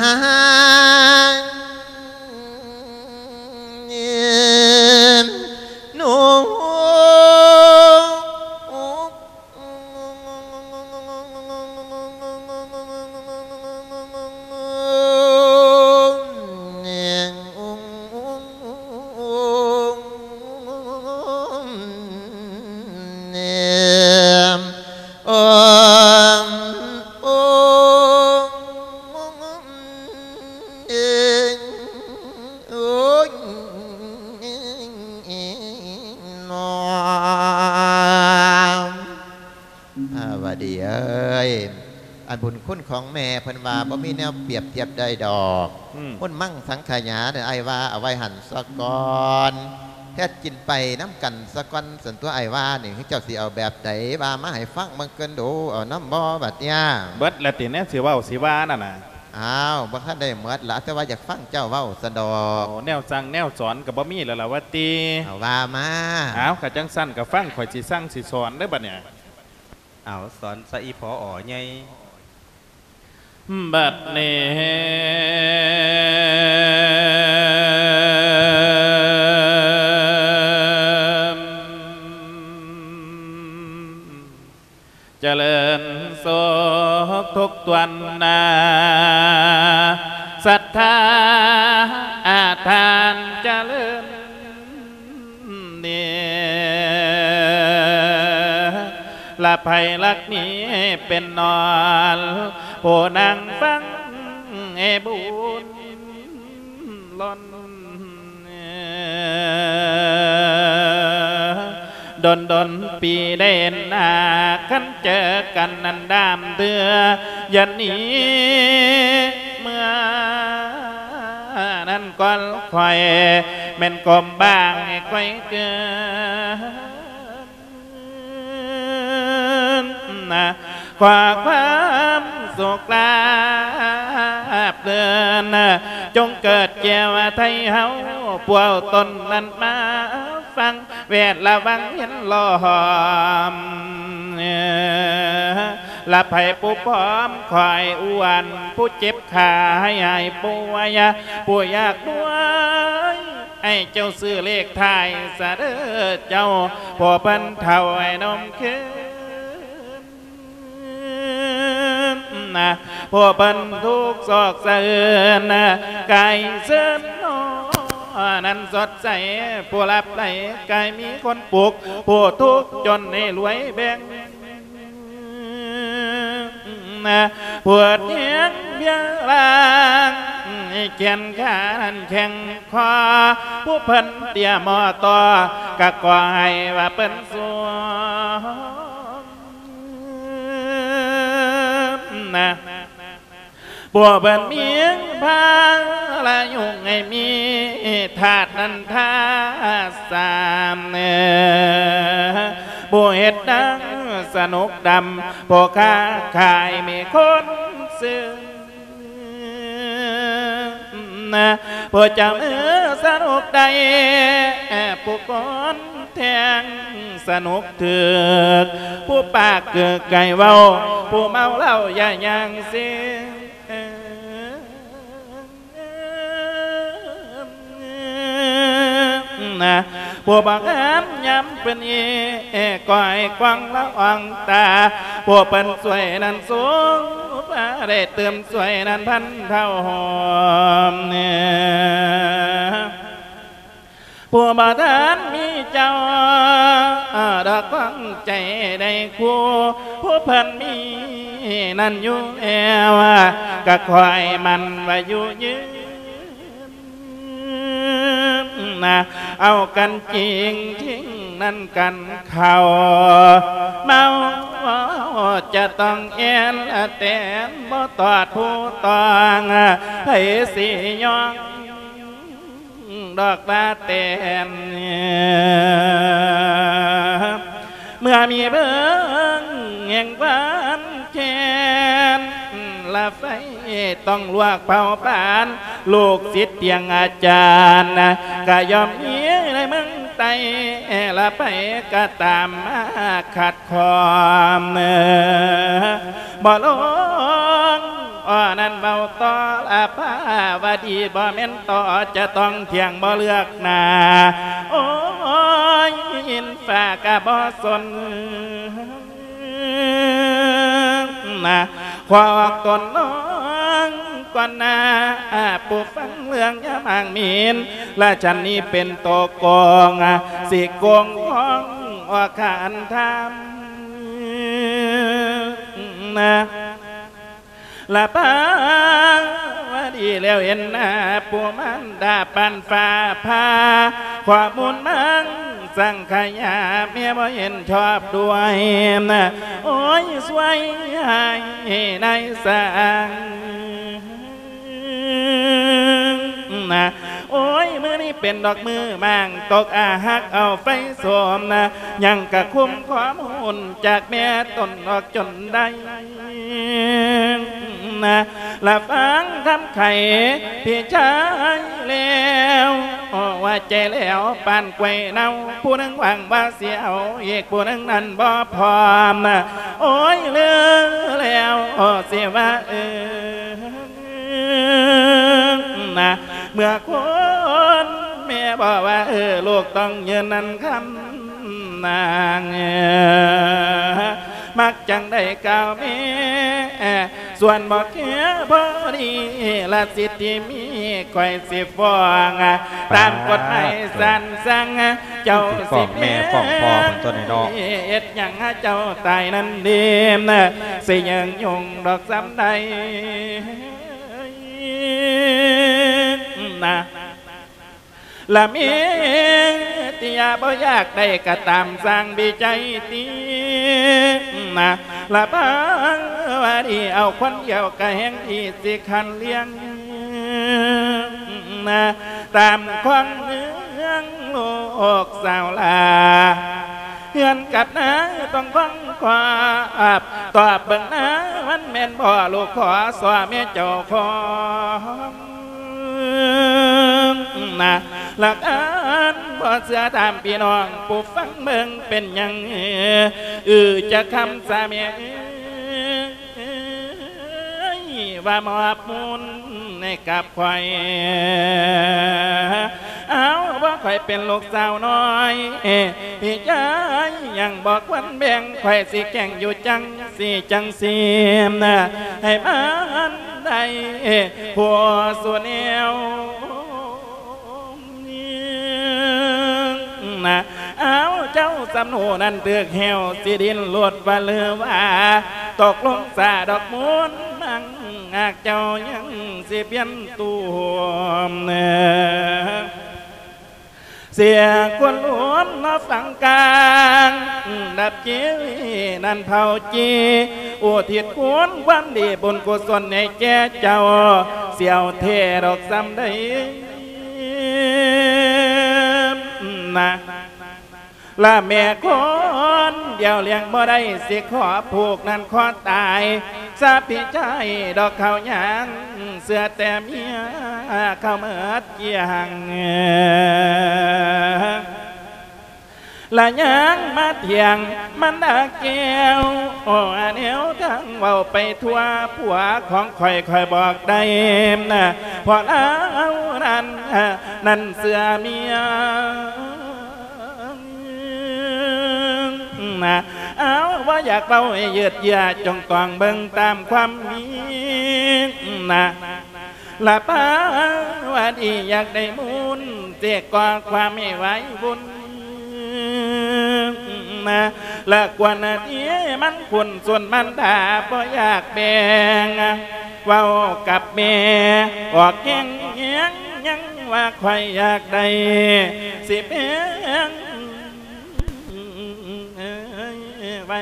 ພາວະດີເອີຍ ອັນບຸນຄຸນຂອງແມ່ເພິ່ນວ່າບໍ່ມີແນວປຽບທຽບໄດ້ດອກ ອືມ ມຸນມັງສັງຂະຍາ ອ້າຍວ່າເອົາໄວ້ຫັ້ນສາກ່ອນ ເຮັດກິນໄປນຳກັນສາກ່ອນ ສັນຕົວອ້າຍວ່ານີ້ ເຈົ້າຊິເອົາແບບໃດ ວ່າມາໃຫ້ຟັງເບິ່ງກ່ອນດູ ເອົານຳບໍ່ບັດເນີ້ຍ? ເບິດແລ້ວຕິ ແນວຊິເວົ້າຊິວ່ານັ້ນນະ? ອ້າວ ບໍ່ທັນໄດ້ໝົດລະ ແຕ່ວ່າຢາກຟັງເຈົ້າເວົ້າຊັ້ນດອກ. ໂອ້ ແນວສັ່ງແນວສອນກໍບໍ່ມີແລ້ວລະວ່າຕິ? ເອົາ ວ່າມາ. ອ້າວ ກະຈັ່ງຊັ້ນກະຟັງຂ້ອຍຊິສັ່ງຊິສອນເດີ້ບັດເນີ້ຍ. ເອົາ ສອນຊະອີ່ພໍ່ອໍໃຫຍ່. ບັດນີ້ ຈະເລີນສຸກທຸກຕວນນາ ສັດທາອາທານຈະເລີນ ນີ້ລະໃຜລັກນີ້ເປັນນອນ ຜູ້ນັ່ງຟັງໃຫ້ບຸນລ້ນ ດົນໆ ປີໄດ້ເຫັນໜ້າ ຄັນເຈີກັນນັ້ນດາມເທື່ອ ຢ່າໜີເມືອ ນັ້ນກ່ອນຂ້ອຍແມ່ນກົ້ມບາງໃຫ້ຂ້ອຍເກີນ ຂໍຄວາມສຸກລາບເລີນ ຈົ່ງເກີດແກ່ໄທເຮົາ ພວກຕົນນັ້ນມາຟັງ ແວດລະວັງເຫັນລ້ອມ ລະໃຜຜູ້ພ້ອມ ຂ້ອຍອວນ ຜູ້ເຈັບ ຂ້າໃຫ້ຫາຍປ່ວຍ ຜູ້ຢາກລວຍ ໃຫ້ເຈົ້າຊື້ເລກທ້າຍສະເດີເຈົ້າ ຜູ້ເພິ່ນເຖົ້າໃຫ້ນົມຄືນ ຜູ້ເພິ່ນທຸກຊອກສະເອີນ ກາຍເຊີນນອ ນັ້ນສົດໃສ ຜູ້ລັບໄຫຼກາຍມີຄົນປຸກ ຜູ້ທຸກຈົນໃຫ້ລວຍແບ່ງ ນະ ປວດແຮງເບຍລາງ ແຂນຂານັ້ນແຂງຄໍ ຜູ້ເພິ່ນເຕ້ຍໝໍ່ຕໍ່ ກະຂໍໃຫ້ວ່າເພິ່ນສວມ ນະ ພວກເພິ່ນມີພາລະຍຸງໃຫ້ມີທາດນັນທາສາມ ຜູ້ເຮັດໜັງສະໜຸກດຳ ຜູ້ຄ້າຂາຍມີຄົນຊື້ ຜູ້ຈຳເອີສະໜຸກໄດ້ ຜູ້ຄົນແທງສະໜຸກຖືກ ຜູ້ປາກເກີກໄກ່ເວົ້າ ຜູ້ເມົາເຫຼົ້າຢ່າຍ່າງເຊ ນະ ຜູ້ບໍ່ງາມຍາມເພິ່ນເອ ກໍໃຫ້ກວາງລະອອງຕາ ຜູ້ເພິ່ນຊ່ວຍນັ້ນສູງ ໄດ້ຕື່ມຊ່ວຍນັ້ນພັນເທົ່າ ຜູ້ບໍ່ທັນມີເຈົ້າ ດອກຂອງໃຈໄດ້ຄູ່ ຜູ້ເພິ່ນມີນັ້ນຢູ່ແລ້ວ ກະຂໍໃຫ້ໝັ້ນວ່າຢູ່ຍືນ ເອົາກັນຈິງທິງນັ້ນກັນເຂົ້າ ເມົາ ຈະຕ້ອງແອ່ນແຕ່ນ ບໍ່ຕອດຜູ້ຕ້ອງ ໃຜຊິຍອມດອກວ່າແຕ່ນ. ເມື່ອມີເບິ່ງແຫ່ງຄວາມແຄ້ນ ລະໄຟຕ້ອງລວກເຜົາຜານ ລູກສິດຕຽງອາຈານ ກະຍ່ອມມີໃນເມືອງໃຕ້ ລະໃຜກະຕາມມາຂັດຂ້ອງ ບໍ່ລົງ ອໍ ນັ້ນເວົ້າຕໍ່ລະພາວະດີ ບໍ່ແມ່ນຕໍ່ຈະຕ້ອງຖຽງບໍ່ເລືອກໜ້າ ໂອ້ຍ ອິນຟ້າກະບໍ່ສົນນະ ຂໍອອກຕົນນ້ອງກ່ອນໜ້າ ຜູ້ຟັງເລື່ອງຍາມອ້າງໝິ່ນ ລະຊັ້ນນີ້ເປັນໂຕໂກງ ຊິໂກງຂອງອອກຂັນທຳ ລະພາວະດີແລ້ວເຫັນໜ້າ ຜູ້ມານດາປານຟ້າຜ່າ ຂໍ້ມູນມັງສັງຂະຍາ ແມ່ບໍ່ເຫັນຊອບດ້ວຍ ໂອ້ຍ ຊ່ວຍໃຫ້ນາຍສ້າງ ນະ ໂອ້ຍ ມື້ນີ້ເປັນດອກມື້ໝາງຕົກ ອາຮັກເອົາໄຟໂສມນະ ຍັງກະຄຸມຂໍ້ມູນຈາກແມ່ຕົນອອກຈົນໄດ້ນະ ລະຟັງຄຳໄຂພີ່ຊາຍແລ້ວ ຫົວໃຈແຫຼວປານກ້ວຍເນົ່າ ຜູ້ໜຶ່ງຫວັງວ່າຊິເອົາອີກ ຜູ້ໜຶ່ງນັ້ນບໍ່ພ້ອມນະ ໂອ້ຍ ລືແລ້ວຊິວ່າເອີ ນະ ເມື່ອຄົນແມ່ບອກວ່າ ເອີ ລູກຕ້ອງຢືນນັ້ນຄຳນາງ ມັກຈັ່ງໄດ້ກ່າວແມ່ ສ່ວນບໍ່ແຄພໍດີ ລະສິດທີ່ມີຂ້ອຍຊິຟ້ອງ ຕາມກົດໝາຍສານສັ່ງ ເຈົ້າ ຊິຟ້ອງແມ່ຟ້ອງພໍ່ເພິ່ນຕົວນີ້ເນາະ ເຮັດຫຍັງເຈົ້າຕາຍນັ້ນດີ ຊິຍືນຍົງດອກສ່ຳໃດ ນະ ລະເມຕິຍາບໍ່ຢາກໄດ້ກະຕາມສ້າງວິໄຈຕິ ນະ ລະພາວະດີເອົາຄົນດຽວກະແຮ່ງທີ່ຊິຄັນລ້ຽງ ນະ ຕາມຂອງເມືອງໂລກສາວລາ ເຮືອນກັບນາຕ້ອງຟັງຄວາມ ຕອບເບິ່ງນາ ມັນແມ່ນບໍ່ລູກຂໍ ສໍແມ່ເຈົ້າຂອງນາ ຫຼັກອັນບໍ່ເຊື່ອຖາມພີ່ນ້ອງຜູ້ຟັງເບິ່ງ ເປັນຫຍັງ ອື ຈະຄຳສາແມ່ເອີຍ ວ່າມອບມູນໃຫ້ກັບຂ້ອຍ ເອົາ ວ່າຂ້ອຍເປັນລູກສາວນ້ອຍ ພີ່ຊາຍຍັງບໍ່ຄວນແບ່ງ ຂ້ອຍຊິແກ່ງຢູ່ຈັ່ງຊີ້ຈັ່ງຊີ້ ໃຫ້ມັນໄດ້ຜູ້ສູ່ແນວ ນະ ເອົາ ເຈົ້າສຳໂນນັ້ນຖືກແຫ້ວ ຊິດີ້ນລົດວ່າຫຼືວ່າ ຕົກລົງສາດອກມູນມັງ ຫາກເຈົ້າຍັງຊິປ່ຽນຕົວ ເສຍຄົນລວມເນາະຝັ່ງກາງ ດັບຈີນັ້ນເຜົາຈີ ອຸທິດຄຸນຄວາມດີບຸນກຸສົນໃຫ້ແກ່ເຈົ້າ ສຽວແທ້ດອກສ່ຳໃດ ນະ ລະແມ່ຄົນດຽວລ້ຽງບໍ່ໄດ້ ຊິຂໍຜູກນັ້ນຂໍຕາຍຊະພີ່ຊາຍດອກ ເຂົາຍັງເຊື່ອແຕ່ເມຍ ເຂົາເໝິດກ້ຽງ ລະຍັງມາຖຽງມັນດາແກ້ວ ໂອ ແນວທາງເວົ້າໄປທົ່ວ ຜົວຂອງຂ້ອຍ ຂ້ອຍບອກໄດ້ນະ ເພາະລາວນັ້ນ ນັ້ນເຊື່ອເມຍນະ ເອົາ ບໍ່ຢາກເວົ້າໃຫ້ຢືດເຍືອ ຈົ່ງຕ້ອງເບິ່ງຕາມຄວາມມີນະ ລະພາວະດີຢາກໄດ້ມູນ ເສກຂໍ້ຄວາມໃຫ້ໄວວຸ່ນນະ ລະກວນທີ່ມັນຂຸ້ນ ສ່ວນມັນດາບໍ່ຢາກແບ່ງ ເວົ້າກັບແມ່ອອກແຮງແຮງ ຍັງວ່າຂ້ອຍຢາກໄດ້ ຊິແບ່ງໄວ້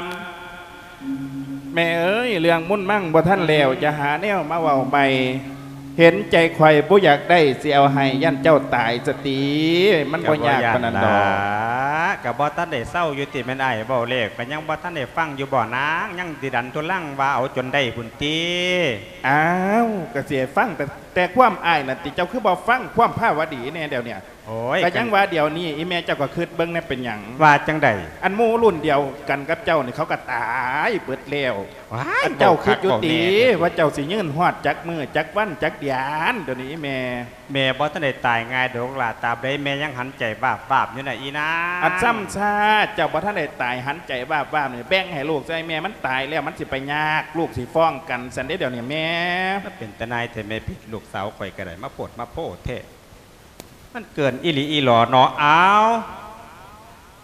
ມ ແມ່ເອີຍ ເລື່ອງມຸນມັງບໍ່ທັນແລ້ວ ຈະຫາແນວມາເວົ້າໃໝ່. ເຫັນໃຈຂ້ອຍບໍ່ຢາກໄດ້ ຊິເອົາໃຫ້ ຢ້ານເຈົ້າຕາຍສະຕິ. ມັນບໍ່ຍາກປານນັ້ນດອກ. ກໍບໍ່ທັນໄດ້ເຊົາຢູ່ຕິ ແມ່ນອ້າຍເວົ້າແລ້ວ ກໍຍັງບໍ່ທັນໄດ້ຟັງຢູ່ບໍ່ນາງ? ຍັງຊິດັນທຸລັງວ່າເອົາຈົນໄດ້ພຸ້ນຕິ. ອ້າວ ກໍຊິໃຫ້ຟັງແຕ່ ແຕ່ຄວາມອ້າຍນັ້ນຕິ ເຈົ້າຄືບໍ່ຟັງຄວາມພາວະດີແດ່ດຽວນີ້? ໂອ້ຍ ກໍຍັງວ່າດຽວນີ້ ອີ່ແມ່ເຈົ້າກໍຄິດເບິ່ງແດ່ ເປັນຫຍັງ? ວ່າຈັ່ງໃດ? ອັນໝູ່ລຸ້ນດຽວກັນກັບເຈົ້ານີ້ ເຂົາກໍຕາຍເບິດແລ້ວ. ວ້າຍ ອັນເຈົ້າຄິດຢູ່ຕິ ເວົ້າຄັກເວົ້າແນ່ແທ້ ວ່າເຈົ້າຊິຍືນຮອດຈັກມື້ຈັກວັນຈັກເດືອນ? ດຽວນີ້ອີ່ແມ່ ແມ່ບໍ່ທັນໄດ້ຕາຍງ່າຍດອກຫຼ້າ. ຕາບໃດແມ່ຍັງຫັນໃຈວາບໆຢູ່ນະອີ່ນາງ. ອັນຊ້ຳຊາ ເຈົ້າບໍ່ທັນໄດ້ຕາຍ ຫັນໃຈວາບໆນີ້ ແບ່ງໃຫ້ລູກຊະ ແມ່ມັນຕາຍແລ້ວ ມັນຊິໄປຍາກ ລູກຊິຟ້ອງກັນຊັ້ນເດ້ ດຽວນີ້ແມ່. ມັນເປັນຕາໜ່າຍແທ້ແມ່ພິດ ລູກສາວຂ້ອຍກໍໄດ້ ມາໂພດມາໂພແທ້. ມັນເກີນອີ່ຫຼີອີ່ຫຼໍເນາະ. ອ້າວ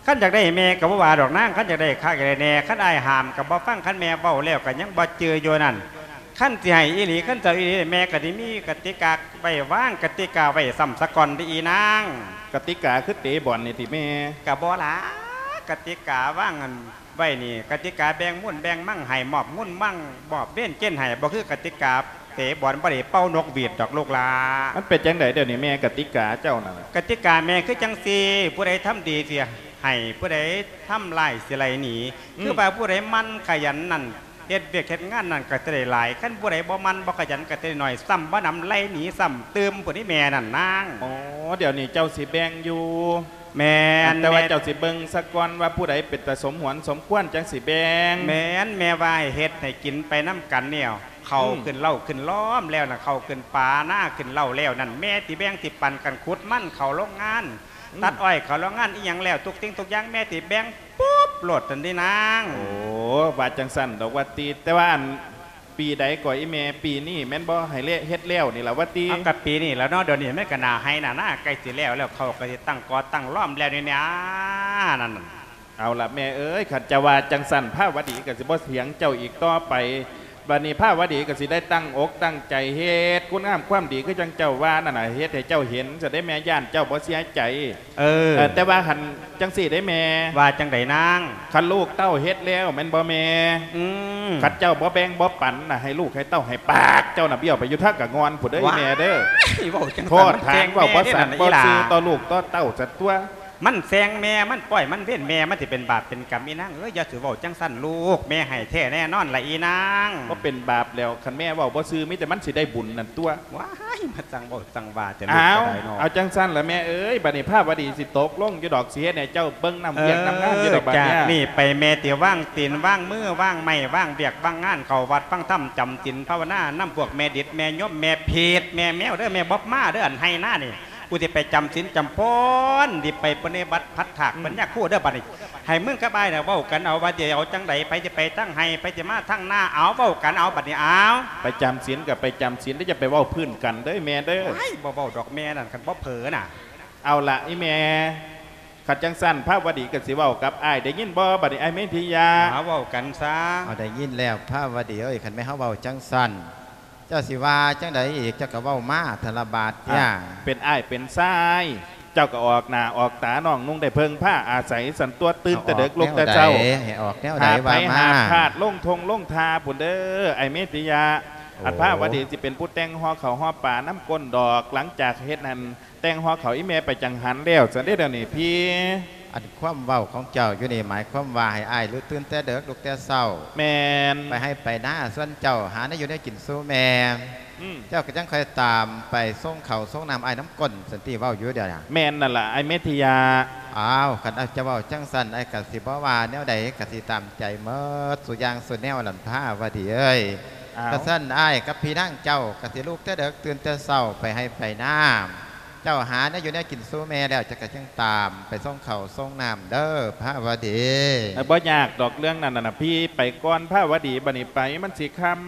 ຄັນຢາກໄດ້ແມ່ກໍບໍ່ວ່າດອກນາງ ຄັນຢາກໄດ້ຄັກຢາກໄດ້ແນ່ ຄັນອ້າຍຫ້າມກໍບໍ່ຟັງ ຄັນແມ່ເວົ້າແລ້ວກໍຍັງບໍ່ຈື່ຢູ່ນັ້ນ. ຄັນຊິໃຫ້ອີ່ຫຼີ ຄັນຊິເອົາອີ່ຫຼີ ແມ່ກໍໄດ້ມີກະຕິກາໄວ້ວາງ ກະຕິກາໄວ້ຊ້ຳສາກ່ອນເດ້ອີ່ນາງ. ກະຕິກາຄືເຕະບອນນີ້ຕິແມ່? ກໍບໍ່ລະ ກະຕິກາວາງອັນ ໄວ້ນີ້ ກະຕິກາແບ່ງມູນແບ່ງມັງໃຫ້ ມອບງຸນມັງ ມອບເວັນເຈັນໃຫ້ ບໍ່ຄືກະຕິກາເຕະບອນ ບໍ່ໄດ້ເປົ່ານົກຫວີດດອກລູກຫຼ້າ. ມັນເປັນຈັ່ງໃດດຽວນີ້ແມ່ ກະຕິກາເຈົ້ານັ້ນ? ກະຕິກາແມ່ຄືຈັ່ງຊີ້ ຜູ້ໃດທຳດີຊິໃຫ້ ຜູ້ໃດທຳຮ້າຍຊິໄລ່ໜີ. ອືມ ຄືວ່າຜູ້ໃດໝັ່ນຂະຫຍັນນັ້ນ ເຮັດວຽກເຮັດງານນັ້ນກໍຈະໄດ້ຫຼາຍ ຄັນຜູ້ໃດບໍ່ໝັ່ນບໍ່ຂະຫຍັນກໍຈະໄດ້ໜ້ອຍ ຊ້ຳບໍ່ນຳໄລ່ໜີຊ້ຳຕື່ມພຸ້ນນີ້ແມ່ນັ້ນນາງ. ອໍ ດຽວນີ້ເຈົ້າຊິແບ່ງຢູ່. ແມ່ນ ແຕ່ວ່າ ແມ່ນ ເຈົ້າຊິເບິ່ງສາກ່ອນວ່າຜູ້ໃດເປັນຕາສົມຫວນສົມຄວນ ຈັ່ງຊິແບ່ງ. ແມ່ນ ແມ່ວ່າໃຫ້ເຮັດໃຫ້ກິນໄປນຳກັນແນວ ເຂົ້າ ອືມ ຂຶ້ນເລົ້າຂຶ້ນລ້ອມແລ້ວນະ ເຂົ້າຂຶ້ນປານາຂຶ້ນເລົ້າແລ້ວນັ້ນ ແມ່ຊິແບ່ງ ຊິປັນກັນ ຂຸດມັນເຂົ້າໂລງງານ ອືມ ຕັດອ້ອຍເຂົ້າໂລງງານ ອີ່ຫຍັງແລ້ວ ທຸກສິ່ງທຸກຢ່າງແມ່ຊິແບ່ງປຸບໂລດນັ້ນເດ້ນາງ. ໂອ້ ວ່າຈັ່ງຊັ້ນດອກວ່າຕິ ແຕ່ວ່າອັນ ປີໃດກໍອີ່ແມ່? ປີນີ້ແມ່ນບໍ່? ໃຫ້ເລະ ເຮັດແລ້ວນີ້ລະວ່າຕິ? ເອົາ ກະປີນີ້ລະເນາະ ດຽວນີ້ມັນກະໜ້າໄຮ່ໜ້ານາ ໃກ້ຊິແລ້ວແລ້ວ ເຂົາກໍຊິຕັ້ງກໍຕັ້ງລ້ອມແລ້ວນີ້ນາ ນັ້ນ. ເອົາລະແມ່ເອີຍ ຄັນຈະວ່າຈັ່ງຊັ້ນ ພາວະດີກໍຊິບໍ່ຖຽງເຈົ້າອີກຕໍ່ໄປ. ບັດນີ້ພາວະດີກໍຊິໄດ້ຕັ້ງອົກຕັ້ງໃຈເຮັດຄຸນງາມຄວາມດີ ຄືຈັ່ງເຈົ້າວ່ານັ້ນນະ ເຮັດໃຫ້ເຈົ້າເຫັນຊະເດ້ແມ່ ຢ້ານເຈົ້າບໍ່ເສຍໃຈ. ເອີ ເອີ ແຕ່ວ່າຄັນຈັ່ງຊີ້ເດ້ແມ່. ວ່າຈັ່ງໃດນາງ? ຄັນລູກເຕົ້າເຮັດແລ້ວແມ່ນບໍ່ແມ່? ອືມ ຄັນເຈົ້າບໍ່ແບ່ງບໍ່ປັນນະ ໃຫ້ລູກໃຫ້ເຕົ້າໃຫ້ປາກເຈົ້ານະ ບ້ຽວໄປຢູ່ທາງກະງ່ອນພຸ້ນເດີ ວ້າຍ ແມ່ເດີ. ເວົ້າຈັ່ງ ໂທດຖານ ເວົ້າບໍ່ສັດບໍ່ຊື່ຕໍ່ລູກຕໍ່ເຕົ້າຊັ້ນຕົວະ. ມັນແຊ່ງແມ່ ມັນປ່ອຍມັນເວັ້ນແມ່ ມັນຊິເປັນບາບເປັນກຳ ອີນາງເອີຍ ຢ່າຊິເວົ້າຈັ່ງຊັ້ນລູກ ແມ່ໃຫ້ແທ້ແນ່ນອນລະອີນາງ. ບໍ່ເປັນບາບແລ້ວ ຄັນແມ່ເວົ້າບໍ່ຊື່ ມີແຕ່ມັນຊິໄດ້ບຸນນັ້ນຕົວະ. ວ້າຍ ມາຈັ່ງເວົ້າຈັ່ງວ່າແຕ່ລູກກໍໄດ້ເນາະ. ເອົາ ເອົາຈັ່ງຊັ້ນລະແມ່ເອີຍ ບັດນີ້ພາວະດີຊິຕົກລົງຢູ່ດອກ ຊິເຮັດໃຫ້ເຈົ້າເບິ່ງນຳວຽກນຳງານຢູ່ດອກບັດນີ້. ເອີ ຈາກນີ້ໄປແມ່ຊິວາງຕີນວາງມື ວາງໄມ້ວາງວຽກວາງງານ ເຂົ້າວັດຟັງທຳ ຈຳສິນພາວະນານຳພວກແມ່ດິດ ແມ່ຍົມ ແມ່ເພດ ແມ່ແມວເດີ ແມ່ບອບມາເດີ ອັນໄຮ່ນານີ້ ກູຊິໄປຈຳສິນຈຳພອນ ຊິໄປປະນິບັດພັດຖາກ ອືມ ປັນຍາຄູເດີ ບັດນີ້ ໃຫ້ມຶງກັບອ້າຍນະເວົ້າກັນເອົາ ວ່າຊິເອົາຈັ່ງໃດ ໃຜຊິໄປທາງໄຮ່ ໃຜຊິມາທາງນາ ເອົາ ເວົ້າກັນເອົາ ບັດນີ້ ເອົາ. ໄປຈຳສິນກໍໄປຈຳສິນເດີ ຢ່າໄປເວົ້າພື້ນກັນເດີແມ່ເດີ. ໂອ້ຍ ບໍ່ເວົ້າດອກແມ່ນັ້ນ ຄັນບໍ່ເຜີນະ. ເອົາລະອີ່ແມ່ ຄັນຈັ່ງຊັ້ນພາວະດີກໍຊິເວົ້າກັບອ້າຍ ໄດ້ຍິນບໍ່ບັດນີ້ ອ້າຍເມທິຍາ? ເອົາ ເວົ້າກັນຊະ. ເອົາ ໄດ້ຍິນແລ້ວພາວະດີເອີຍ ຄັນແມ່ນເຮົາເວົ້າຈັ່ງຊັ້ນ ເຈົ້າຊິວ່າຈັ່ງໃດອີກ ເຈົ້າກໍເວົ້າມາທະລະບາດ. ອ່ະ ເປັນອ້າຍເປັນຊາຍ ເຈົ້າກໍອອກໜ້າອອກຕານ້ອງນຸ່ງ ໄດ້ເພິ່ງພາອາໄສຊັ້ນຕົວະ ຕື່ນແຕ່ເດິກ ອອກ ລຸກແຕ່ເຊົ້າ ແນວໃດ ໃຫ້ອອກແນວໃດ ຫາບໄຮ່ ວ່າມາ ຫາບທາດ ລົງທົ່ງລົງທ່າພຸ້ນເດີ ອ້າຍເມທິຍາ. ໂອ້ ອັນພາວະດີຊິເປັນຜູ້ແຕ່ງຫໍ່ເຂົ້າຫໍ່ປານຳກົ້ນດອກ ຫຼັງຈາກເຮັດຫັ້ນ ແຕ່ງຫໍ່ເຂົ້າອີ່ແມ່ໄປຈັງຫັນແລ້ວຊັ້ນເດ້ ດຽວນີ້ພີ່. ອັນຄວາມເວົ້າຂອງເຈົ້າຢູ່ນີ້ ໝາຍຄວາມວ່າໃຫ້ອ້າຍລຸກຕື່ນແຕ່ເດິກ ລຸກແຕ່ເຊົ້າ. ແມ່ນ. ໄປໄຮ່ໄປນາ ສ່ວນເຈົ້າຫາແນວຢູ່ແນວກິນສູ່ແມ່. ອືມ. ເຈົ້າກໍຈັ່ງຄ່ອຍຕາມໄປສົ່ງເຂົ້າສົ່ງນ້ຳອ້າຍນຳກົ້ນ ສັນຕິເວົ້າຢູ່ດຽວນະ. ແມ່ນນັ້ນລະ ອ້າຍເມທິຍາ. ອ້າວ ຄັນເຈົ້າເວົ້າຈັ່ງຊັ້ນ ອ້າຍກໍຊິບໍ່ວ່າແນວໃດ ກໍຊິຕາມໃຈໝົດສູ່ຢ່າງສູ່ແນວນັ້ນ ພາວະດີເອີຍ. ອ້າວ ຄັນຊັ້ນ ອ້າຍກັບພີ່ນາງເຈົ້າກໍຊິລຸກແຕ່ເດິກ ຕື່ນແຕ່ເຊົ້າ ໄປໄຮ່ໄປນາ. ເຈົ້າຫາແນວຢູ່ແນວກິນສູ່ແມ່ແລ້ວ ເຈົ້າກໍຈຶ່ງຕາມໄປສົ່ງເຂົ້າສົ່ງນ້ຳເດີ ພາວະດີ. ເອີ ບໍ່ຍາກດອກເລື່ອງນັ້ນນະ ພີ່ໄປກ່ອນພາວະດີ ບັດນີ້ໄປມັນຊິຄ່ຳ.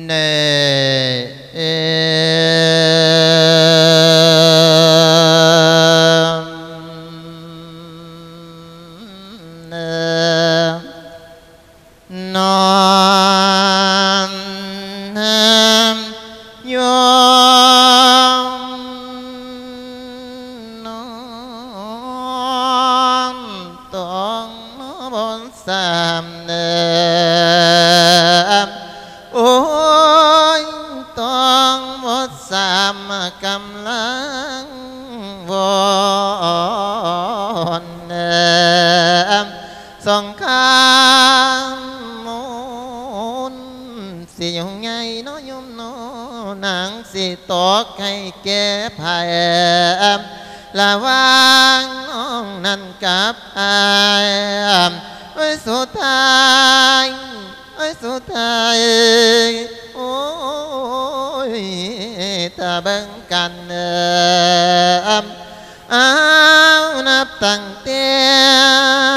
ເນ ເອ ນອນ ນອນ ນອນ ນອນ ນອນ ຕ້ອງບໍ່ຊ້ຳເດີ ໂອ້ຍ ຕ້ອງບໍ່ຊ້ຳ ກຳລັງວອນ ສົງຄາມມົນ ຊິຫຍຸ້ງໃຫຍ່ເນາະໂຍມເນາະ ນາງຊິຕອກໃຫ້ແກ່ໃຜ ລະຫວ່າງນ້ອງນັ້ນກັບອ້າຍ ໂອ້ຍ ສຸດທ້າຍ ໂອ້ຍ ສຸດທ້າຍ ໂອ້ຍ ຖ້າເບິ່ງກັນ ເອີ ອ້າວ ນັບຕັ້ງແຕ່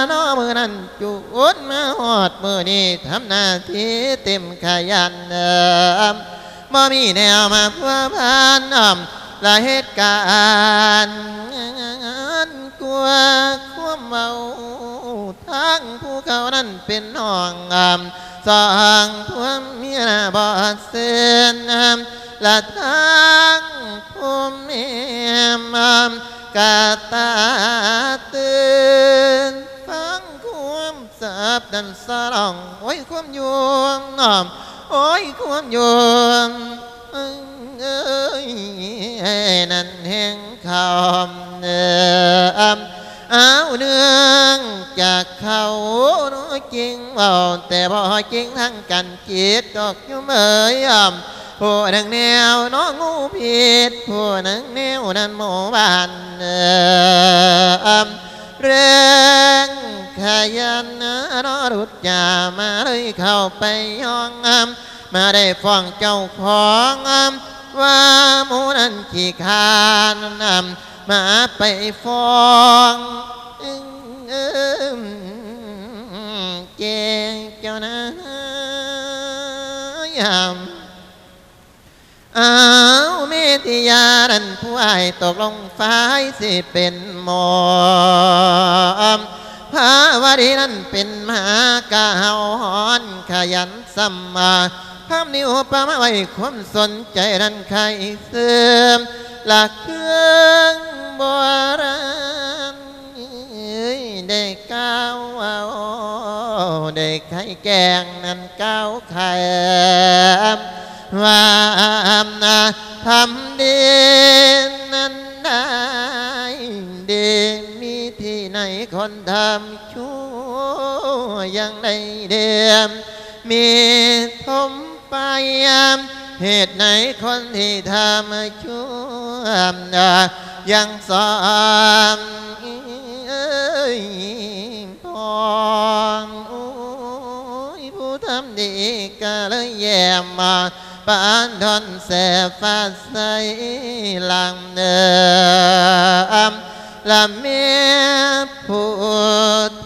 ເນາະມື້ນັ້ນຈົນມາຮອດມື້ນີ້ ທຳໜ້າທີ່ເຕັມຂະຫຍັນ ບໍ່ມີແນວມາພົວພັນ ລະເຫດການ ກວ່າຄວາມເວົ້າ ທາງຜູ້ເຂົານັ້ນເປັນນ້ອງ ສອງຜົວເມຍບໍ່ເຊື່ອ ລະທາງຜົວເມຍກະຕາຕື່ນ ຟັງຄວາມສັບນັ້ນສະຫຼອງ ໂອ້ຍ ຄວາມຢູ່ ໂອ້ຍ ຄວາມຢູ່ ເອີຍ ນັ້ນແຮງຄຳ ເອີ ອ້າວ ເນື່ອງຈາກເຂົາເນາະຈິງເວົ້າ ແຕ່ບໍ່ຈິງທາງການຈິດດອກໂຍມເອີຍ ຜູ້ໜຶ່ງແນວເນາະງູພິດ ຜູ້ໜຶ່ງແນວນັ້ນໝູ່ບ້ານ ເອີ ແຮງຂະຫຍັນເນາະຫຼຸດຢາມາເລີຍເຂົ້າໄປຍ້ອງ ມາໄດ້ຟ້ອງເຈົ້າຂອງ ວ່າໝູ່ນັ້ນຂີ້ຄ້ານ ມາໄປຟ້ອງແຈ້ງເຈົ້ານາຍ ອ້າວ ເມທິຍານັ້ນຜູ້ອ້າຍຕົກລົງຝ່າຍຊິເປັນໝໍ ພາວະດີນັ້ນເປັນມາກະເຫົາຮ້ອນຂະຫຍັນ ສຳມາພາມນິວປະມາໄວ້ ຄວາມສົນໃຈນັ້ນໄຄເສີມ ລະເຄື່ອງໂບລານ ໄດ້ກ່າວເວົ້າ ໄດ້ໄຂແກ້ງນັ້ນກ່າວໄຂ ວ່າທຳດີນັ້ນໄດ້ດີ ມີທີ່ໃນຄົນທຳຊົ່ວ ຍັງໄດ້ເດ ມີຖົມໄປ ເຫດໃນຄົນທີ່ທຳຊົ່ວ ຍັງສອນ ເອີຍ ພອນ ໂອ້ຍ ຜູ້ທຳດີກະເລີຍແຍ້ມ ປານດອນແສຟ້າໃສຫຼັງເດີ ລະແມ່ຜູ້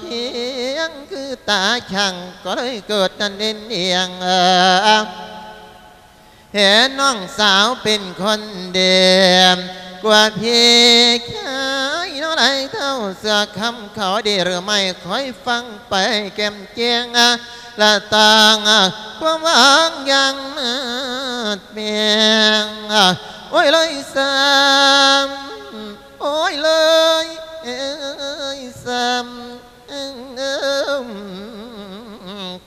ທຽງຄືຕາຊ່າງ ກໍເລີຍເກີດນັ້ນເດັ່ນດ່ຽງ ເຫັນນ້ອງສາວເປັນຄົນເດ ກວ່າພີ່ຊາຍເນາະຫຼາຍເທົ່າ ເຊື່ອຄຳເຂົາດີຫຼືໄມ່ ຄອຍຟັງໄປແຈ່ມແຈ້ງ ລະຕັ້ງຄວາມຫວັງຢ່າງມາດແມງ ໂອ້ຍເລີຍຊ້ຳ ໂອ້ຍເລີຍຊ້ຳ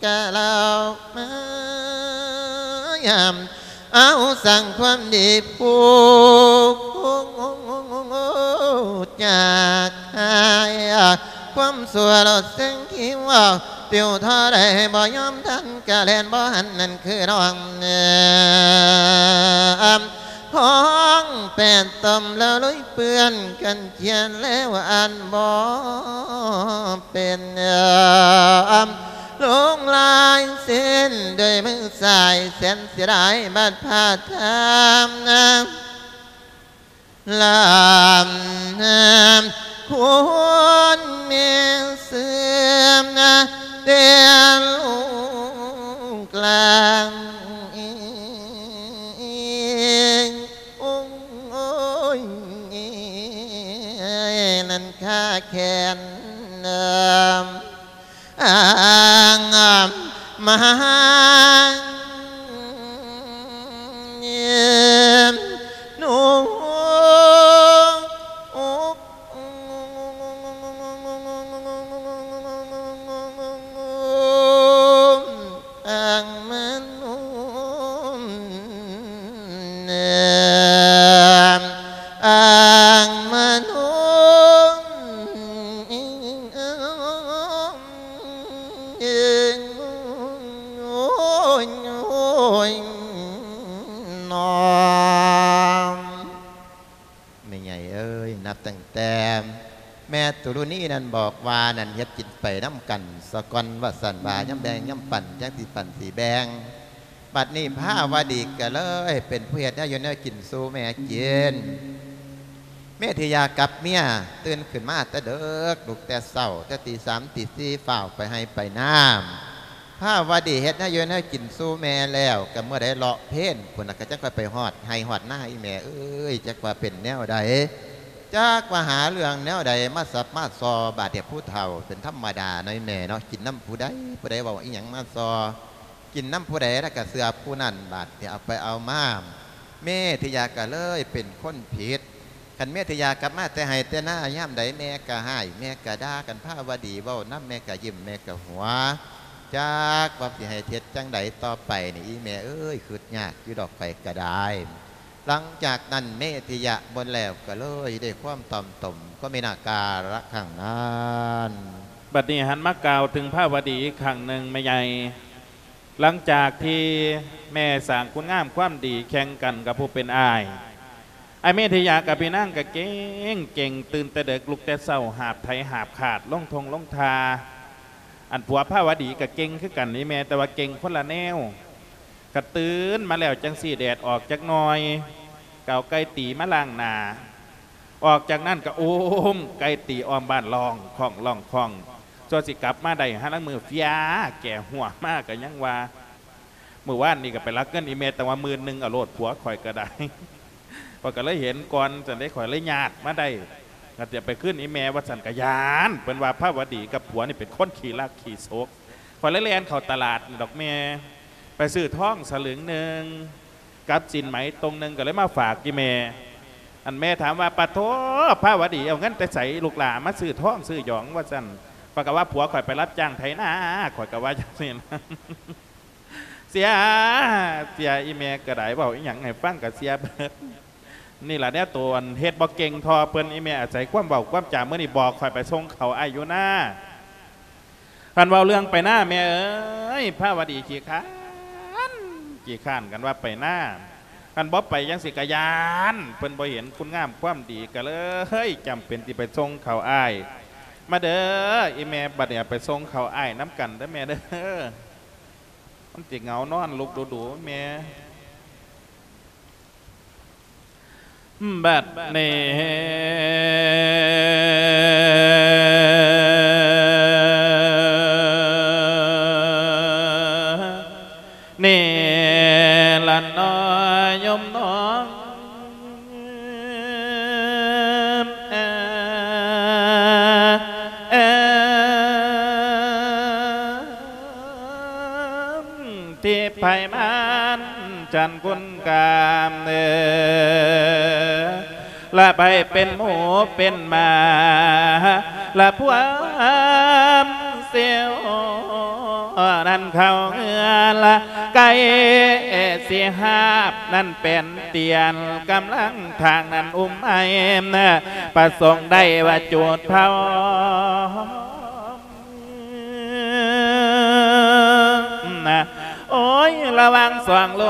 ກະລາວມາ ເອົາສ້າງຄວາມດີຜູກຈາກຫາຍ ຄວາມຊົ່ວໂລດເສັງຄິວ ປິວທໍ່ໃດບໍ່ຍອມທັນ ກະແລ່ນບໍ່ທັນນັ້ນຄືນ້ອງ ຫ້ອງແປດຕົມແລ້ວລຸຍເປື້ອນກັນ ຂຽນແລ້ວອ່ານບໍ່ເປັນ ລົງລາຍເຊັນດ້ວຍມືຊ້າຍ ແສນເສຍດາຍບາດພາດທາມ ລຳ ຄຸນແມ່ເຊື່ອມ ແຕ່ລູກຫຼານ ໂອ້ຍ ນັ້ນຄາແຂນ ອັງມະ ໂນ ອັງມະໂນ ອັງມະໂນ ໂອ້ຍ ໂອ້ຍ ໂອ້ຍ ນອມ. ແມ່ໃຫຍ່ເອີຍ ນັບຕັ້ງແຕ່ແມ່ຕຸລຸນີນັ້ນບອກວ່ານັ້ນ ເຮັດກິນໄປນຳກັນສາກ່ອນ ວ່າຊັ້ນວ່າ ຍາມແບ່ງຍາມປັ້ນ ຈັ່ງຊິປັ້ນຊິແບ່ງ. ບັດນີ້ພາວະດີກໍເລີຍເປັນຜູ້ເຮັດແນວຢູ່ແນວກິນສູ່ແມ່ກິນ. ເມທິຍາກັບເມຍ ຕື່ນຂຶ້ນມາແຕ່ເດິກ ລຸກແຕ່ເຊົ້າ ແຕ່ຕີສາມຕີສີ່ ຟ້າວໄປໄຮ່ໄປນາ. ພາວະດີເຮັດແນວຢູ່ແນວກິນສູ່ແມ່ແລ້ວ ກໍເມື່ອໃດເລາະເພນພຸ້ນລະ ກໍຈັກຄ່ອຍໄປຮອດໄຮ່ຮອດນາ. ອີແມ່ເອີຍ ຈັກວ່າເປັນແນວໃດ ຈັກວ່າຫາເລື່ອງແນວໃດມາສັບມາສໍ່. ບາດນີ້ຜູ້ເຖົ້າເປັນທຳມະດາເນາະ ອີແມ່ເນາະ ກິນນຳຜູ້ໃດ ຜູ້ໃດເວົ້າອີ່ຫຍັງມາສໍ່ ກິນນຳຜູ້ໃດແລ້ວກໍເຊື່ອຜູ້ນັ້ນ. ບາດນີ້ເອົາໄປເອົາມາ ເມທິຍາກໍເລີຍເປັນຄົນຜິດ. ຄັນເມທິຍາກັບມາແຕ່ໄຮ່ແຕ່ນາ ຍາມໃດແມ່ກໍຮ້າຍ ແມ່ກໍດ່າ. ຄັນພາວະດີເວົ້ານຳ ແມ່ກໍຍິ້ມ ແມ່ກໍຫົວ. ຈັກວ່າຊິໃຫ້ເຮັດຈັ່ງໃດຕໍ່ໄປນີ້ ອີແມ່ເອີຍ ຄຶດຍາກຢູ່ດອກ ຂ້ອຍກໍໄດ້. ຫຼັງຈາກນັ້ນເມທິຍະໝົດແລ້ວ ກໍເລີຍໄດ້ຄວາມຕ່ອມຕົມ ກໍມີໜ້າກາລະຄັ້ງນັ້ນ. ບັດນີ້ຫັນມາກ່າວເຖິງພາວະດີອີກຄັ້ງໜຶ່ງ ແມ່ໃຫຍ່. ຫຼັງຈາກທີ່ແມ່ສ້າງຄຸນງາມຄວາມດີແຂ່ງກັນກັບຜູ້ເປັນອ້າຍ, ອ້າຍເມທິຍາກັບພີ່ນາງກໍເກັ່ງເກັ່ງ ຕື່ນແຕ່ເດິກ ລຸກແຕ່ເຊົ້າ ຫາບໄຖຫາບຂາດ ລົງທົ່ງລົງທ່າ. ອັນຜົວພາວະດີກໍເກັ່ງຄືກັນນີ້ແມ່ ແຕ່ວ່າເກັ່ງຄົນລະແນວ. ຄັນຕື່ນມາແລ້ວຈັ່ງຊີ້ ແດດອອກຈັກໜ່ອຍ ກໍເອົາໄກ່ຕີມາລ້າງໜ້າ. ອອກຈາກນັ້ນກໍໂອ້ມ ໄກ່ຕີອ້ອມບ້ານ ຮ້ອງຂ້ອງ ຮ້ອງຂ້ອງ. ຊົ່ວຊິກັບມາໄດ້ ຫາລາງມື້ເຟຍແກ່ຫົວມາ ກໍຍັງວ່າ ມື້ວານນີ້ກໍໄປລັກເງິນອີ່ແມ່ຕັ້ງວ່າໝື່ນໜຶ່ງ ເອົາໂລດ ຜົວຂ້ອຍກໍໄດ້. ຂ້ອຍກໍເລີຍເຫັນກ່ອນ ຈັ່ງໃດຂ້ອຍເລີຍຍາດມາໄດ້ ກໍຈະໄປຄືນອີ່ແມ່ວ່າຊັ້ນ ກໍຢ້ານ. ເພິ່ນວ່າພາວະດີກັບຜົວນີ້ເປັນຄົນຂີ້ລັກຂີ້ສົກ. ຂ້ອຍເລີຍແລ່ນເຂົ້າຕະຫຼາດນີ້ດອກແມ່ ໄປຊື້ທອງສະຫຼຶງໜຶ່ງ ກັບສິນໄໝຕົງໜຶ່ງ ກໍເລີຍມາຝາກອີ່ແມ່. ອັນແມ່ຖາມວ່າ ປະໂທ ພາວະດີເອົາເງິນແຕ່ໃສລູກຫຼ້າມາຊື້ທອງຊື້ຫຍອງ ວ່າຊັ້ນ. ຂ້ອຍກໍວ່າ ຜົວຂ້ອຍໄປຮັບຈ້າງໄຖນາ ຂ້ອຍກໍວ່າຈັ່ງຊີ້ນະ. ເສຍ ເສຍ ອີ່ແມ່ກໍໄດ້ ເວົ້າອີ່ຫຍັງໃຫ້ຟັງກໍເສຍເບິດ. ນີ້ລະແນວໂຕ ອັນເຮັດບໍ່ເກັ່ງທໍ່ເພິ່ນ. ອີ່ແມ່ອາໄສຄວາມເວົ້າຄວາມຈາ ມື້ນີ້ບອກຂ້ອຍໄປສົ່ງເຂົ້າອ້າຍຢູ່ນາ. ຄັນເວົ້າເລື່ອງໄປນາ ແມ່ເອີຍ ພາວະດີຂີ້ຄ້ານ ຂີ້ຄ້ານ ຄັນວ່າໄປນາ. ຄັນບໍ່ໄປຈັ່ງຊີ້ກໍຢ້ານ ເພິ່ນບໍ່ເຫັນຄຸນງາມຄວາມດີ ກໍເລີຍຈຳເປັນຊິໄປສົ່ງເຂົ້າອ້າຍ. ມາເດີ ອີ່ແມ່ ບັດນີ້ໄປສົ່ງເຂົ້າອ້າຍນຳກັນເດີແມ່ເດີ. ມັນຊິເຫງົານອນລຸກດູໆ ແມ່. ບັດນີ້ ນີ້ລະເນາະໂຍມນ້ອງ ທີ່ໃຜມານຈັນຄຸນກາມເອີ ລະໃຜເປັນໝູເປັນໝາ ລະພວມເຊວ ນັ້ນເຂົ້າເຮືອນລະ ໄກ່ຊິຫາບນັ້ນແປນຕຽນ ກຳລັງທາງນັ້ນອຸ້ມໄອ ປະສົງໄດ້ວ່າຈູດເຜົາ. ໂອ້ຍ ລະຫວ່າງສອງລູ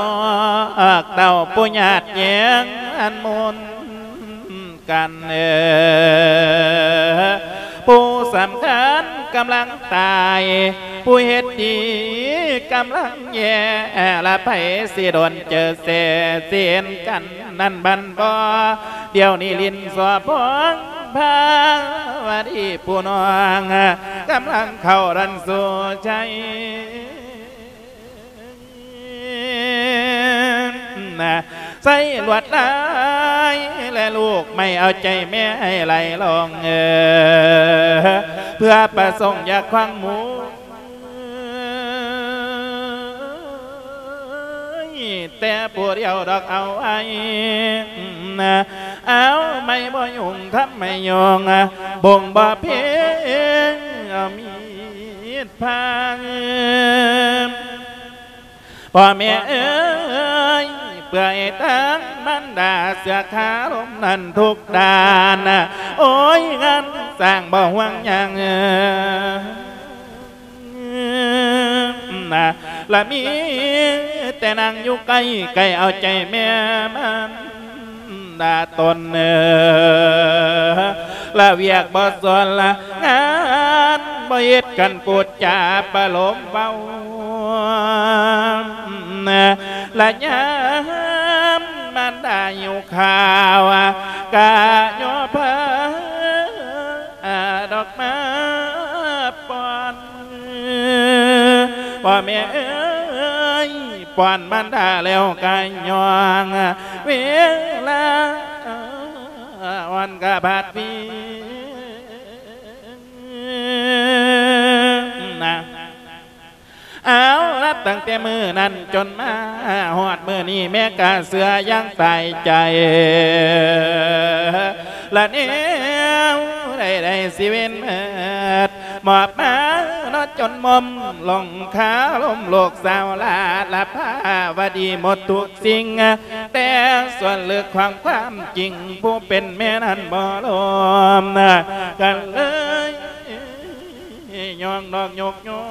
ກເຕົ້າ ຜູ້ຍາດແຍ່ງອັນໝູນກັນເອີ ຜູ້ສຳຄັນກຳລັງຕາຍ ຜູ້ເຮັດດີກຳລັງແຍ່ ລະໃຜຊິດົນເຈີແສຊິເຫັນກັນ ນັ້ນບັນບໍ່ ດຽວນີ້ຫຼິ້ນສໍ້ພອງພາວະດີຜູ້ນ້ອງ ກຳລັງເຂົ້າດັນສູ່ໄຊ ໃຊ້ລວດລາຍ ແລະລູກໄມ້ເອົາໃຈແມ່ໃຫ້ໄຫຼລອງເອີ ເພື່ອປະສົງຢາກຂວາງໝູ ແຕ່ຜູ້ດຽວດອກເອົາໄວ້ ເອົາໄມ້ບໍ່ຍຸງທຳໄມຍອງ ບົງບໍ່ເພງ ເອົາມີດພາງ ພໍ່ແມ່ເອີຍ ເປືອຍທາງມານດາ ເສືອຄາລົມນັ້ນທຸກດ້ານ ໂອ້ຍ ງານສ້າງບໍ່ຫວງຫຍັງ ລະມີແຕ່ນາງຢູ່ໃກ້ ໃກ້ເອົາໃຈແມ່ມານ ດາຕົນເອີ ລະວຽກບໍ່ສອນລະງານ ບໍ່ເຮັດກັນປູດຈາປະໂລມເວົ້າ ລະຍາມມານດາຫິວຂ້າວ ກະຍໍພາ ອາ ດອກມາປ້ອນ ພໍ່ແມ່ເອີຍ ປ້ອນມານດາແລ້ວກະຍ່ອງ ເວລາອ່ອນກະບາດວິງນະ. ເອົາລະ ຕັ້ງແຕ່ມື້ນັ້ນຈົນມາຮອດມື້ນີ້ ແມ່ກະເຊື່ອຢ່າງຕາຍໃຈ ລະແນວໃດໆຊິເວັນເໝິດ ມອບມາເນາະຈົນໝົມ ລົງຄາລົມລູກສາວລາດລະພາວະດີໝົດທຸກສິ່ງ ແຕ່ສ່ວນເລິກຂອງຄວາມຈິງ ຜູ້ເປັນແມ່ນັ້ນບໍ່ລົມ ກະເລີຍ ຍ້ອງນອກຍົກຍ້ອ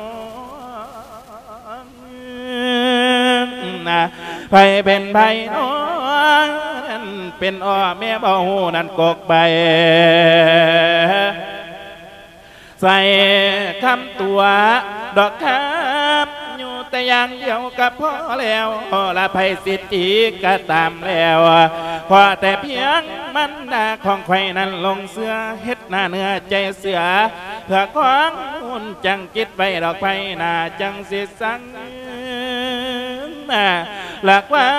ງນະ ໃຜເປັນໃຜນ້ອງ ເປັນອ້ອແມ່ບໍ່ຮູ້ນັ້ນກົກໃບ ໃສ່ຄຳຕົວະດອກຄຳ ຢູ່ແຕ່ຢ່າງດຽວກະພໍແລ້ວ ລະໃຜສິດທີ່ກະຕາມແລ້ວ ຂໍແຕ່ພຽງມັນດາຂອງຂ້ອຍນັ້ນຫຼົງເຊື່ອ ເຮັດໜ້າເນື້ອໃຈເຊື່ອ ເພື່ອຄວາມອຸ່ນຈັງ ຄິດໄວ້ດອກໄພໜ້າ ຈັ່ງຊິສັງ ລະຄວາ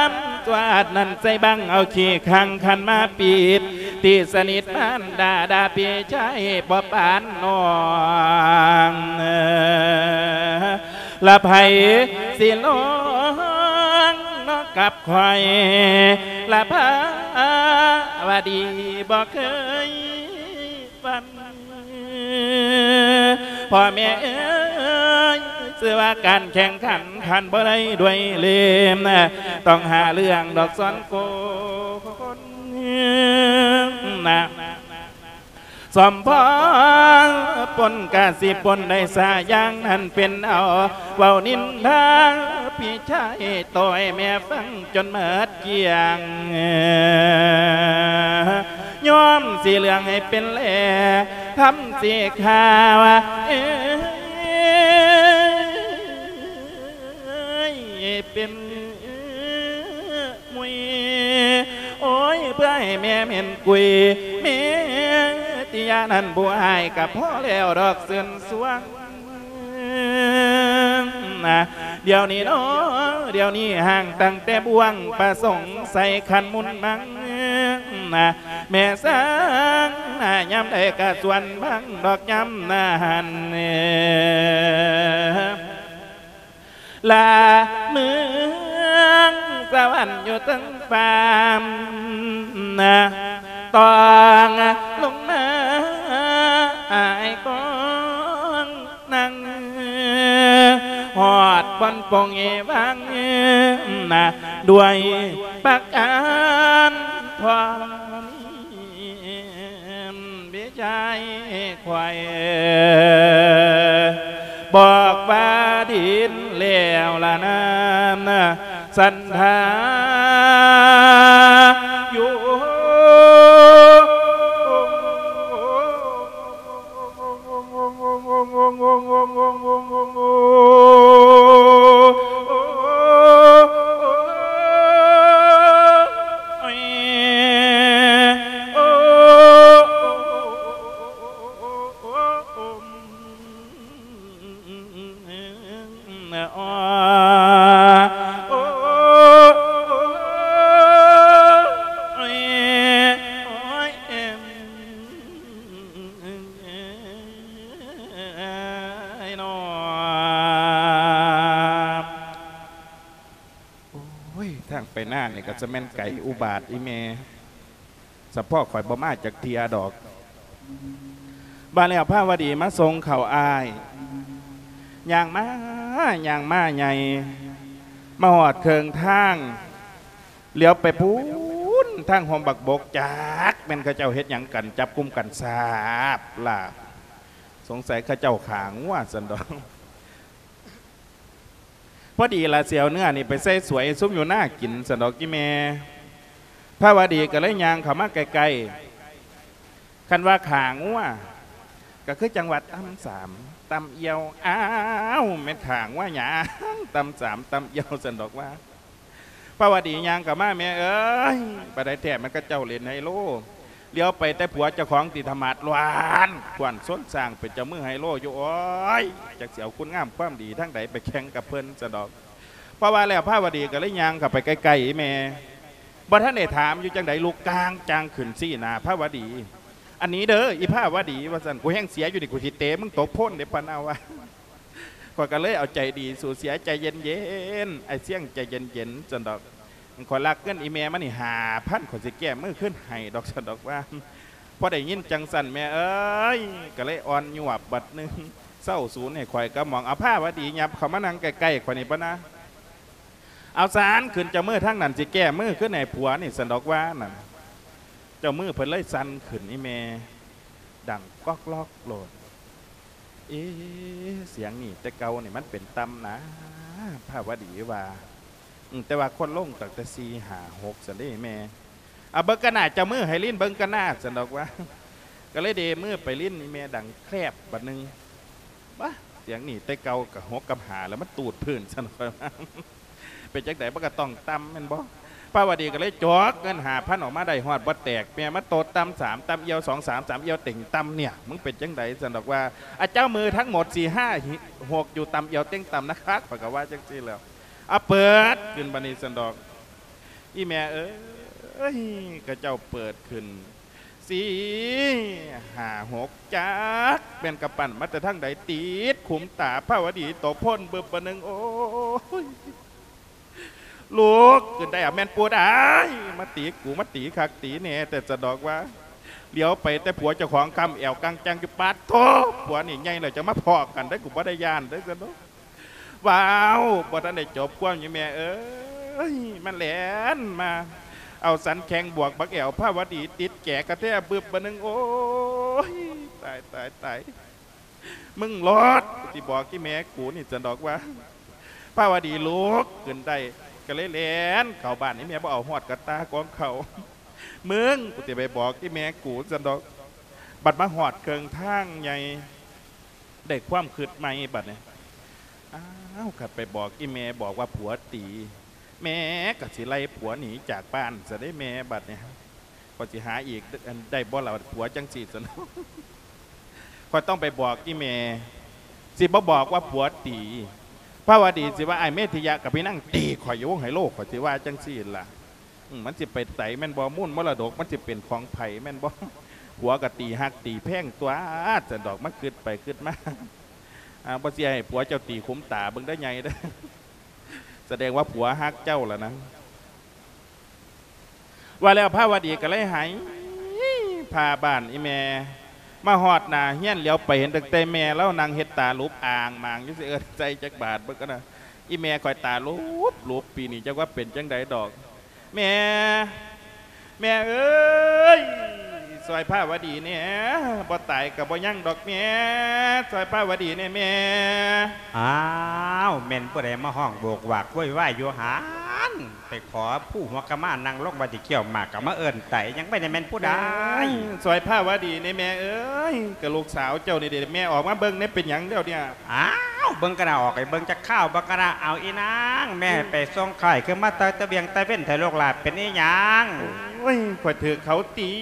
ມຕົວະອັດນັ້ນໃສ່ບັງ ເອົາຂີ້ຂັງຂັນມາປິດ ຕີສະໜິດມານດາ ດ່າພີ່ຊາຍບໍ່ປານນ້ອງ ລະໃຜຊິລອງເນາະກັບຂ້ອຍ ລະພາວະດີບໍ່ເຄີຍ ວັນ ພໍ່ແມ່ເອີຍ ຊື່ວ່າການແຂ່ງຂັນ ຂັນບໍ່ໄດ້ດ້ວຍເລມ ຕ້ອງຫາເລື່ອງດອກສອນໂກນນະ ສົມພໍປົນກະຊິປົນໄດ້ສາຢ່າງນັ້ນເປັນເອົາ ເວົ້ານິນທາພີ່ຊາຍ ໂຕໃຫ້ແມ່ຟັງຈົນໝົດ ກຽງ ຍອມສີເຫຼືອງໃຫ້ເປັນແລ ທຳສີຂາວ ເອີຍ ເປັນມຸຍ ໂອ້ຍ ເພື່ອໃຫ້ແມ່ເໝັນກຸຍ ແມ່ຕິຍານັ້ນຜູ້ອ້າຍ ກະພໍແລ້ວດອກເຊີນຊວນ ນະ ດຽວນີ້ເນາະ ດຽວນີ້ຫ່າງຕັ້ງແຕ່ບ່ວງປະສົງໄສຂັນມຸນມັງນະ ແມ່ສາງນະ ຍາມໃດກະຊວນບັງດອກຍາມນັ້ນ ລະເມືອງສະຫວັນຢູ່ເທິງຟ້ານະ ຕ້ອງລົງມາອ້າຍກອງ ນັ່ງຮອດບ່ອນປົງເອວັງນະ ດ້ວຍປະການພ້ອມມີພີ່ຊາຍຂ້ອຍ ບອກວ່າດິນແລ້ວລະນານ ສັນທາຢູ່ ໄປນານີ້ກໍຈະແມ່ນໄກອຸບາດອີ່ແມ່ ສະເພາະຂ້ອຍບໍ່ມາຈັກເທື່ອດອກ. ບາດແລ້ວພາວະດີມາສົ່ງເຂົ້າອ້າຍ ຍ່າງມາ ຍ່າງມາໃຫຍ່ ມາຮອດເຄິ່ງທາງ ຫຼຽວໄປພຸ້ນ ທາງຮົ່ມບັກບົກ ຈັກແມ່ນເຂົາເຈົ້າເຮັດຫຍັງກັນ ຈັບກຸມກັນສາບລາບ ສົງໄສເຂົາເຈົ້າຂ້າງົວຊັ້ນດອກ. ພໍດີລະ ຊິເອົາເນື້ອນີ້ໄປໃສ່ສວຍໃຫ້ຊຸມຢູ່ນາກິນຊັ້ນດອກອີ່ແມ່. ພາວະດີກໍເລີຍຍ່າງເຂົ້າມາໃກ້ໆ. ຄັນວ່າຂ້າງົວ ກໍຄືຈັ່ງວ່າຕຳສາມ ຕຳອ່ຽວ ອ້າວ ແມ່ນຂ້າງົວຫຍັງ ຕຳສາມ ຕຳອ່ຽວຊັ້ນດອກວ່າ. ພາວະດີຍ່າງເຂົ້າມາ ແມ່ເອີຍ ປານໃດແທ້ ມັນເຂົາເຈົ້າຫຼິ້ນໄຮໂລ ຫຼຽວໄປແຕ່ຜົວເຈົ້າຂອງຕິທະໝາດ ລ້ວນ ຂວັນຊົນຊ້າງ ເປັນເຈົ້າມືໄຮໂລຢູ່. ໂອ້ຍ ຈັກຊິເອົາຄຸນງາມຄວາມດີທາງໃດໄປແຂ່ງກັບເພິ່ນຊັ້ນດອກ. ເພາະວ່າແລ້ວພາວະດີກໍເລີຍຍ່າງເຂົ້າໄປໃກ້ໆ ອີ່ແມ່ ບໍ່ທັນໄດ້ຖາມຢູ່ຈັ່ງໃດ ລຸກກາງຈ້າງຂຶ້ນຊີ້ໜ້າພາວະດີ. ອັນນີ້ເດີ ອີພາວະດີ ວ່າຊັ້ນ ກູແຮງເສຍຢູ່ນີ້ ກູຊິເຕະມຶງຕົກໂພນເດ້ ພະນາວ່າ. ຂ້ອຍກໍເລີຍເອົາໃຈດີສູ້ເສຍ ໃຈເຢັນໆ ອ້າຍຊຽງ ໃຈເຢັນໆ ຊັ້ນດອກ. ຂ້ອຍລັກເງິນອີ່ແມ່ມານີ້ຫ້າພັນ ຂ້ອຍຊິແກ້ມືຄືນໃຫ້ດອກ ຊັ້ນດອກວ່າ. ພໍໄດ້ຍິນຈັ່ງຊັ້ນ ແມ່ເອີຍ ກໍເລີຍອ່ອນຍວບບັດໜຶ່ງ ເຊົາສູນໃຫ້ຂ້ອຍກັບໝອງ. ເອົາພາວະດີຫຍັບເຂົ້າມານັ່ງໃກ້ໆ ຂ້ອຍນີ້ ປະນາ. ເອົາຊັ້ນ ຂຶ້ນເຈົ້າມືທາງນັ້ນ ຊິແກ້ມືຄືນໃຫ້ຜົວນີ້ ຊັ້ນດອກວ່ານັ້ນ. ເຈົ້າມືເພິ່ນເລີຍສັ່ນຂຶ້ນອີ່ແມ່ ດັງກອກລອກໂລດ. ເອ ສຽງນີ້ແຕ່ເກົ່ານີ້ມັນເປັນຕ່ຳນາ ພາວະດີວ່າ. ອືມ ແຕ່ວ່າຄົນລົງຕັ້ງແຕ່ສີ່ ຫ້າ ຫົກ ຊັ້ນເດ້ແມ່. ເອົາເບິ່ງກັນໜ້າ ເຈົ້າມືໃຫ້ລີ້ນເບິ່ງກັນໜ້າ ຊັ້ນດອກວ່າ. ກໍເລີຍເດມືໄປລີ້ນ ອີ່ແມ່ດັງແຄບບັດໜຶ່ງ. ບາ ສຽງນີ້ແຕ່ເກົ່າກໍຫົກກັບຫ້າແລ້ວ ມັນຕູດພື້ນ ຊັ້ນຂ້ອຍວ່າ. ເປັນຈັ່ງໃດ ມັນກໍຕ້ອງຕ່ຳແມ່ນບໍ່? ພາວະດີກໍເລີຍຈອກເງິນຫ້າພັນອອກມາໄດ້ຮອດບໍ່ແຕກ ແມ່ມາໂຕດຕ່ຳສາມ ຕ່ຳອຽວສອງ ສາມ ສາມອຽວເຕັງຕ່ຳເນຍ. ມຶງເປັນຈັ່ງໃດ ຊັ້ນດອກວ່າ. ອາ ເຈົ້າມືທັງໝົດສີ່ ຫ້າ ຫົກ ຢູ່ຕ່ຳອຽວເຕັງຕ່ຳນະຄັກ ຂ້ອຍກໍວ່າຈັ່ງຊີ້ແຫຼ້ວ. ເອົາເປີດຂຶ້ນບາດນີ້ ຊັ້ນດອກ. ອີ່ແມ່ເອີຍ ເຂົາເຈົ້າເປີດຂຶ້ນ ສີ່ ຫ້າ ຫົກ ຈັກແມ່ນກະປັ່ນມາແຕ່ທາງໃດ ຕິດຂຸມຕາພາວະດີຕົກໂພນບຶບບາດໜຶ່ງ. ໂອ້ຍ ລຸກຂຶ້ນໄດ້ ອາ ແມ່ນປູດອ້າຍ ມາຕີກູ ມາຕີຄັກຕີແນ່ແຕ່ ສະດອກວ່າ. ຫຼຽວໄປແຕ່ຜົວເຈົ້າຂອງຄ້ຳແອວກັງຈັງຢູ່ ປາດໂທ້ ຜົວນີ້ໃຫຍ່ແລ້ວ ຈັ່ງມາພໍ້ກັນໄດ໋ ກູບໍ່ໄດ້ຢ້ານໄດ໋ ສະດອກ. ວ້າວ ບໍ່ທັນໄດ້ຈົບຄວາມຢູ່ ແມ່ເອີຍ ມັນແລ່ນມາເອົາສັນແຂ້ງບວກບັກແອວພາວະດີ ຕິດແຈກະແທບບຶບບາດໜຶ່ງ. ໂອ້ຍ ຕາຍ ຕາຍ ຕາຍ ມຶງໂລດ ກູຊິບອກອີ່ແມ່ກູນີ້ ຊັ້ນດອກວ່າ. ພາວະດີລຸກຂຶ້ນໄດ້ ກະເລີຍແລ່ນເຂົ້າບ້ານ ອີ່ແມ່ບໍ່ເອົາຮອດກະຕ່າກອງເຂົ້າ. ມຶງ ກູຊິໄປບອກອີ່ແມ່ກູ ຊັ້ນດອກ. ບັດມາຮອດເຄິ່ງທາງໃຫຍ່ ໄດ້ຄວາມຄິດໃໝ່ບັດນີ້. ອ້າວ ຄັນໄປບອກອີ່ແມ່ບອກວ່າຜົວຕີ ແມ່ກໍຊິໄລ່ຜົວໜີຈາກບ້ານຊະເດ້ແມ່ ບັດນີ້. ຂ້ອຍຊິຫາອີກໄດ້ບໍ່ລະ ຜົວຈັ່ງຊີ້ຊັ້ນ. ຂ້ອຍຕ້ອງໄປບອກອີ່ແມ່ ຊິບໍ່ບອກວ່າຜົວຕີ ພາວະດີຊິວ່າ ອ້າຍເມທິຍະກັບພີ່ນາງຕີຂ້ອຍຢູ່ວົງໄຮໂລ ຂ້ອຍຊິວ່າຈັ່ງຊີ້ລະ. ອືມ ມັນຊິໄປໃສແມ່ນບໍ່? ມູນມໍລະດົກມັນຊິເປັນຂອງໃຜແມ່ນບໍ່? ຜົວກໍຕີຮັກຕີແພງຕົວະ ຊັ້ນດອກ. ມາຄິດໄປຄິດມາ ອ່າ ບໍ່ເຊື່ອໃຫ້ຜົວເຈົ້າຕີຂຸມຕາເບິ່ງເດີໃຫຍ່ເດີ. ສະແດງວ່າຜົວຮັກເຈົ້າລະນະ. ວ່າແລ້ວພາວະດີກໍເລີຍໄຫ້ ພາບ້ານອີ່ແມ່ ມາຮອດໜ້າເຮືອນ ຫຼຽວໄປເຫັນຕັ້ງແຕ່ແມ່ລາວນັ່ງເຮັດຕາຫຼຸບອ່າງໝາງຢູ່ ຊິເອີ້ນໃສ່ຈັກບາດເບິ່ງກັນນະ. ອີ່ແມ່ຂ້ອຍຕາຫຼຸບໆ ປີນີ້ ຈັກວ່າເປັນຈັ່ງໃດດອກ. ແມ່ ແມ່ເອີຍ ຊ່ອຍພາວະດີແດ່ ບໍ່ຕາຍກໍບໍ່ຍັງດອກແມ່ ຊ່ອຍພາວະດີແດ່ແມ່. ອ້າວ ແມ່ນຜູ້ໃດມາຮ້ອງໂຫວກຫວາກໂວຍວາຍຢູ່ຫັ້ນ? ໄປຂໍພູຫົວກະມານັ່ງລົງວ່າຊິຄ້ຽວໝາກ ກໍມາເອີ້ນໄຕ ຍັງໄປແດ່ແມ່ນຜູ້ໃດ? ເອີຍ ຊ່ອຍພາວະດີແດ່ແມ່ເອີຍ ກໍລູກສາວເຈົ້ານີ້ເດ ແມ່ອອກມາເບິ່ງແດ່ ເປັນຫຍັງແລ້ວເນຍ? ອ້າວ ເບິ່ງກະໜ້າ ອອກໄປເບິ່ງຈັກຄາວ ເບິ່ງກະໜ້າ. ເອົາອີນາງ ແມ່ໃຫ້ໄປສົ່ງຂ້າຍຄືມາແຕ່ຕະວຽງຕະເວັນແທ້ລູກຫຼານ ເປັນອີຫຍັງ? ໂອ້ຍ ຂ້ອຍຖືກເຂົາຕີ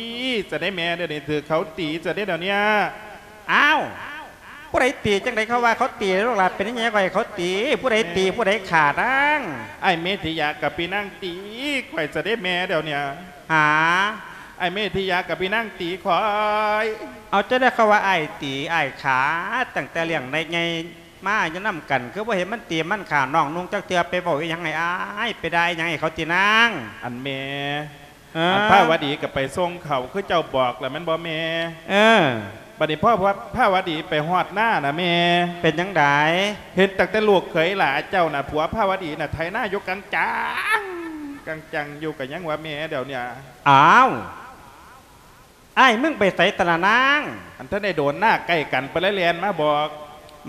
ຊະເດ້ແມ່ ດຽວນີ້ຖືກເຂົາຕີຊະເດ້ດຽວເນຍ. ອ້າວ ຜູ້ໃດຕີ? ຈັ່ງໃດເຂົາວ່າເຂົາຕີລູກຫຼານ ເປັນອີຫຍັງຂ້ອຍເຂົາຕີ? ຜູ້ໃດຕີ ຜູ້ໃດຂ້ານາງ? ອ້າຍເມທິຍະກັບພີ່ນາງຕີຂ້ອຍຊະເດ້ແມ່ດຽວເນຍ. ຫາ? ອ້າຍເມທິຍະກັບພີ່ນາງຕີຂ້ອຍ. ເອົາ ຈັ່ງໃດເຂົາວ່າອ້າຍຕີອ້າຍຂ້າ ຕັ້ງແຕ່ລ້ຽງໃຫຍ່ ມາຢູ່ນຳກັນ ຄືບໍ່ເຫັນມັນຕີມັນຂ້ານ້ອງນຸ່ງຈັກເທື່ອ ໄປເວົ້າອີ່ຫຍັງໃຫ້ອາຍ ໄປດ່າອີ່ຫຍັງໃຫ້ເຂົາຕິນາງ? ອັນແມ່ ເອີ ອັນພາວະດີກໍໄປສົ່ງເຂົ້າຄືເຈົ້າບອກລະແມ່ນບໍ່ແມ່? ເອີ ບັດນີ້ພໍພາວະດີໄປຮອດນານະແມ່ ເປັນຈັ່ງໃດ? ເຫັນຕັ້ງແຕ່ລູກເຂີຍຫຼ້າເຈົ້ານະ ຜົວພາວະດີນະ ໄຖນາຢູ່ກາງຈັງ ກາງຈັງຢູ່ ກໍຍັງວ່າແມ່ດຽວນີ້. ອ້າວ ອ້າຍ ມຶງໄປໃສຕະລະນາງ? ອັນທັນໄດ້ໂດນນາໃກ້ກັນ ເພິ່ນເລີຍແລ່ນມາບອກ.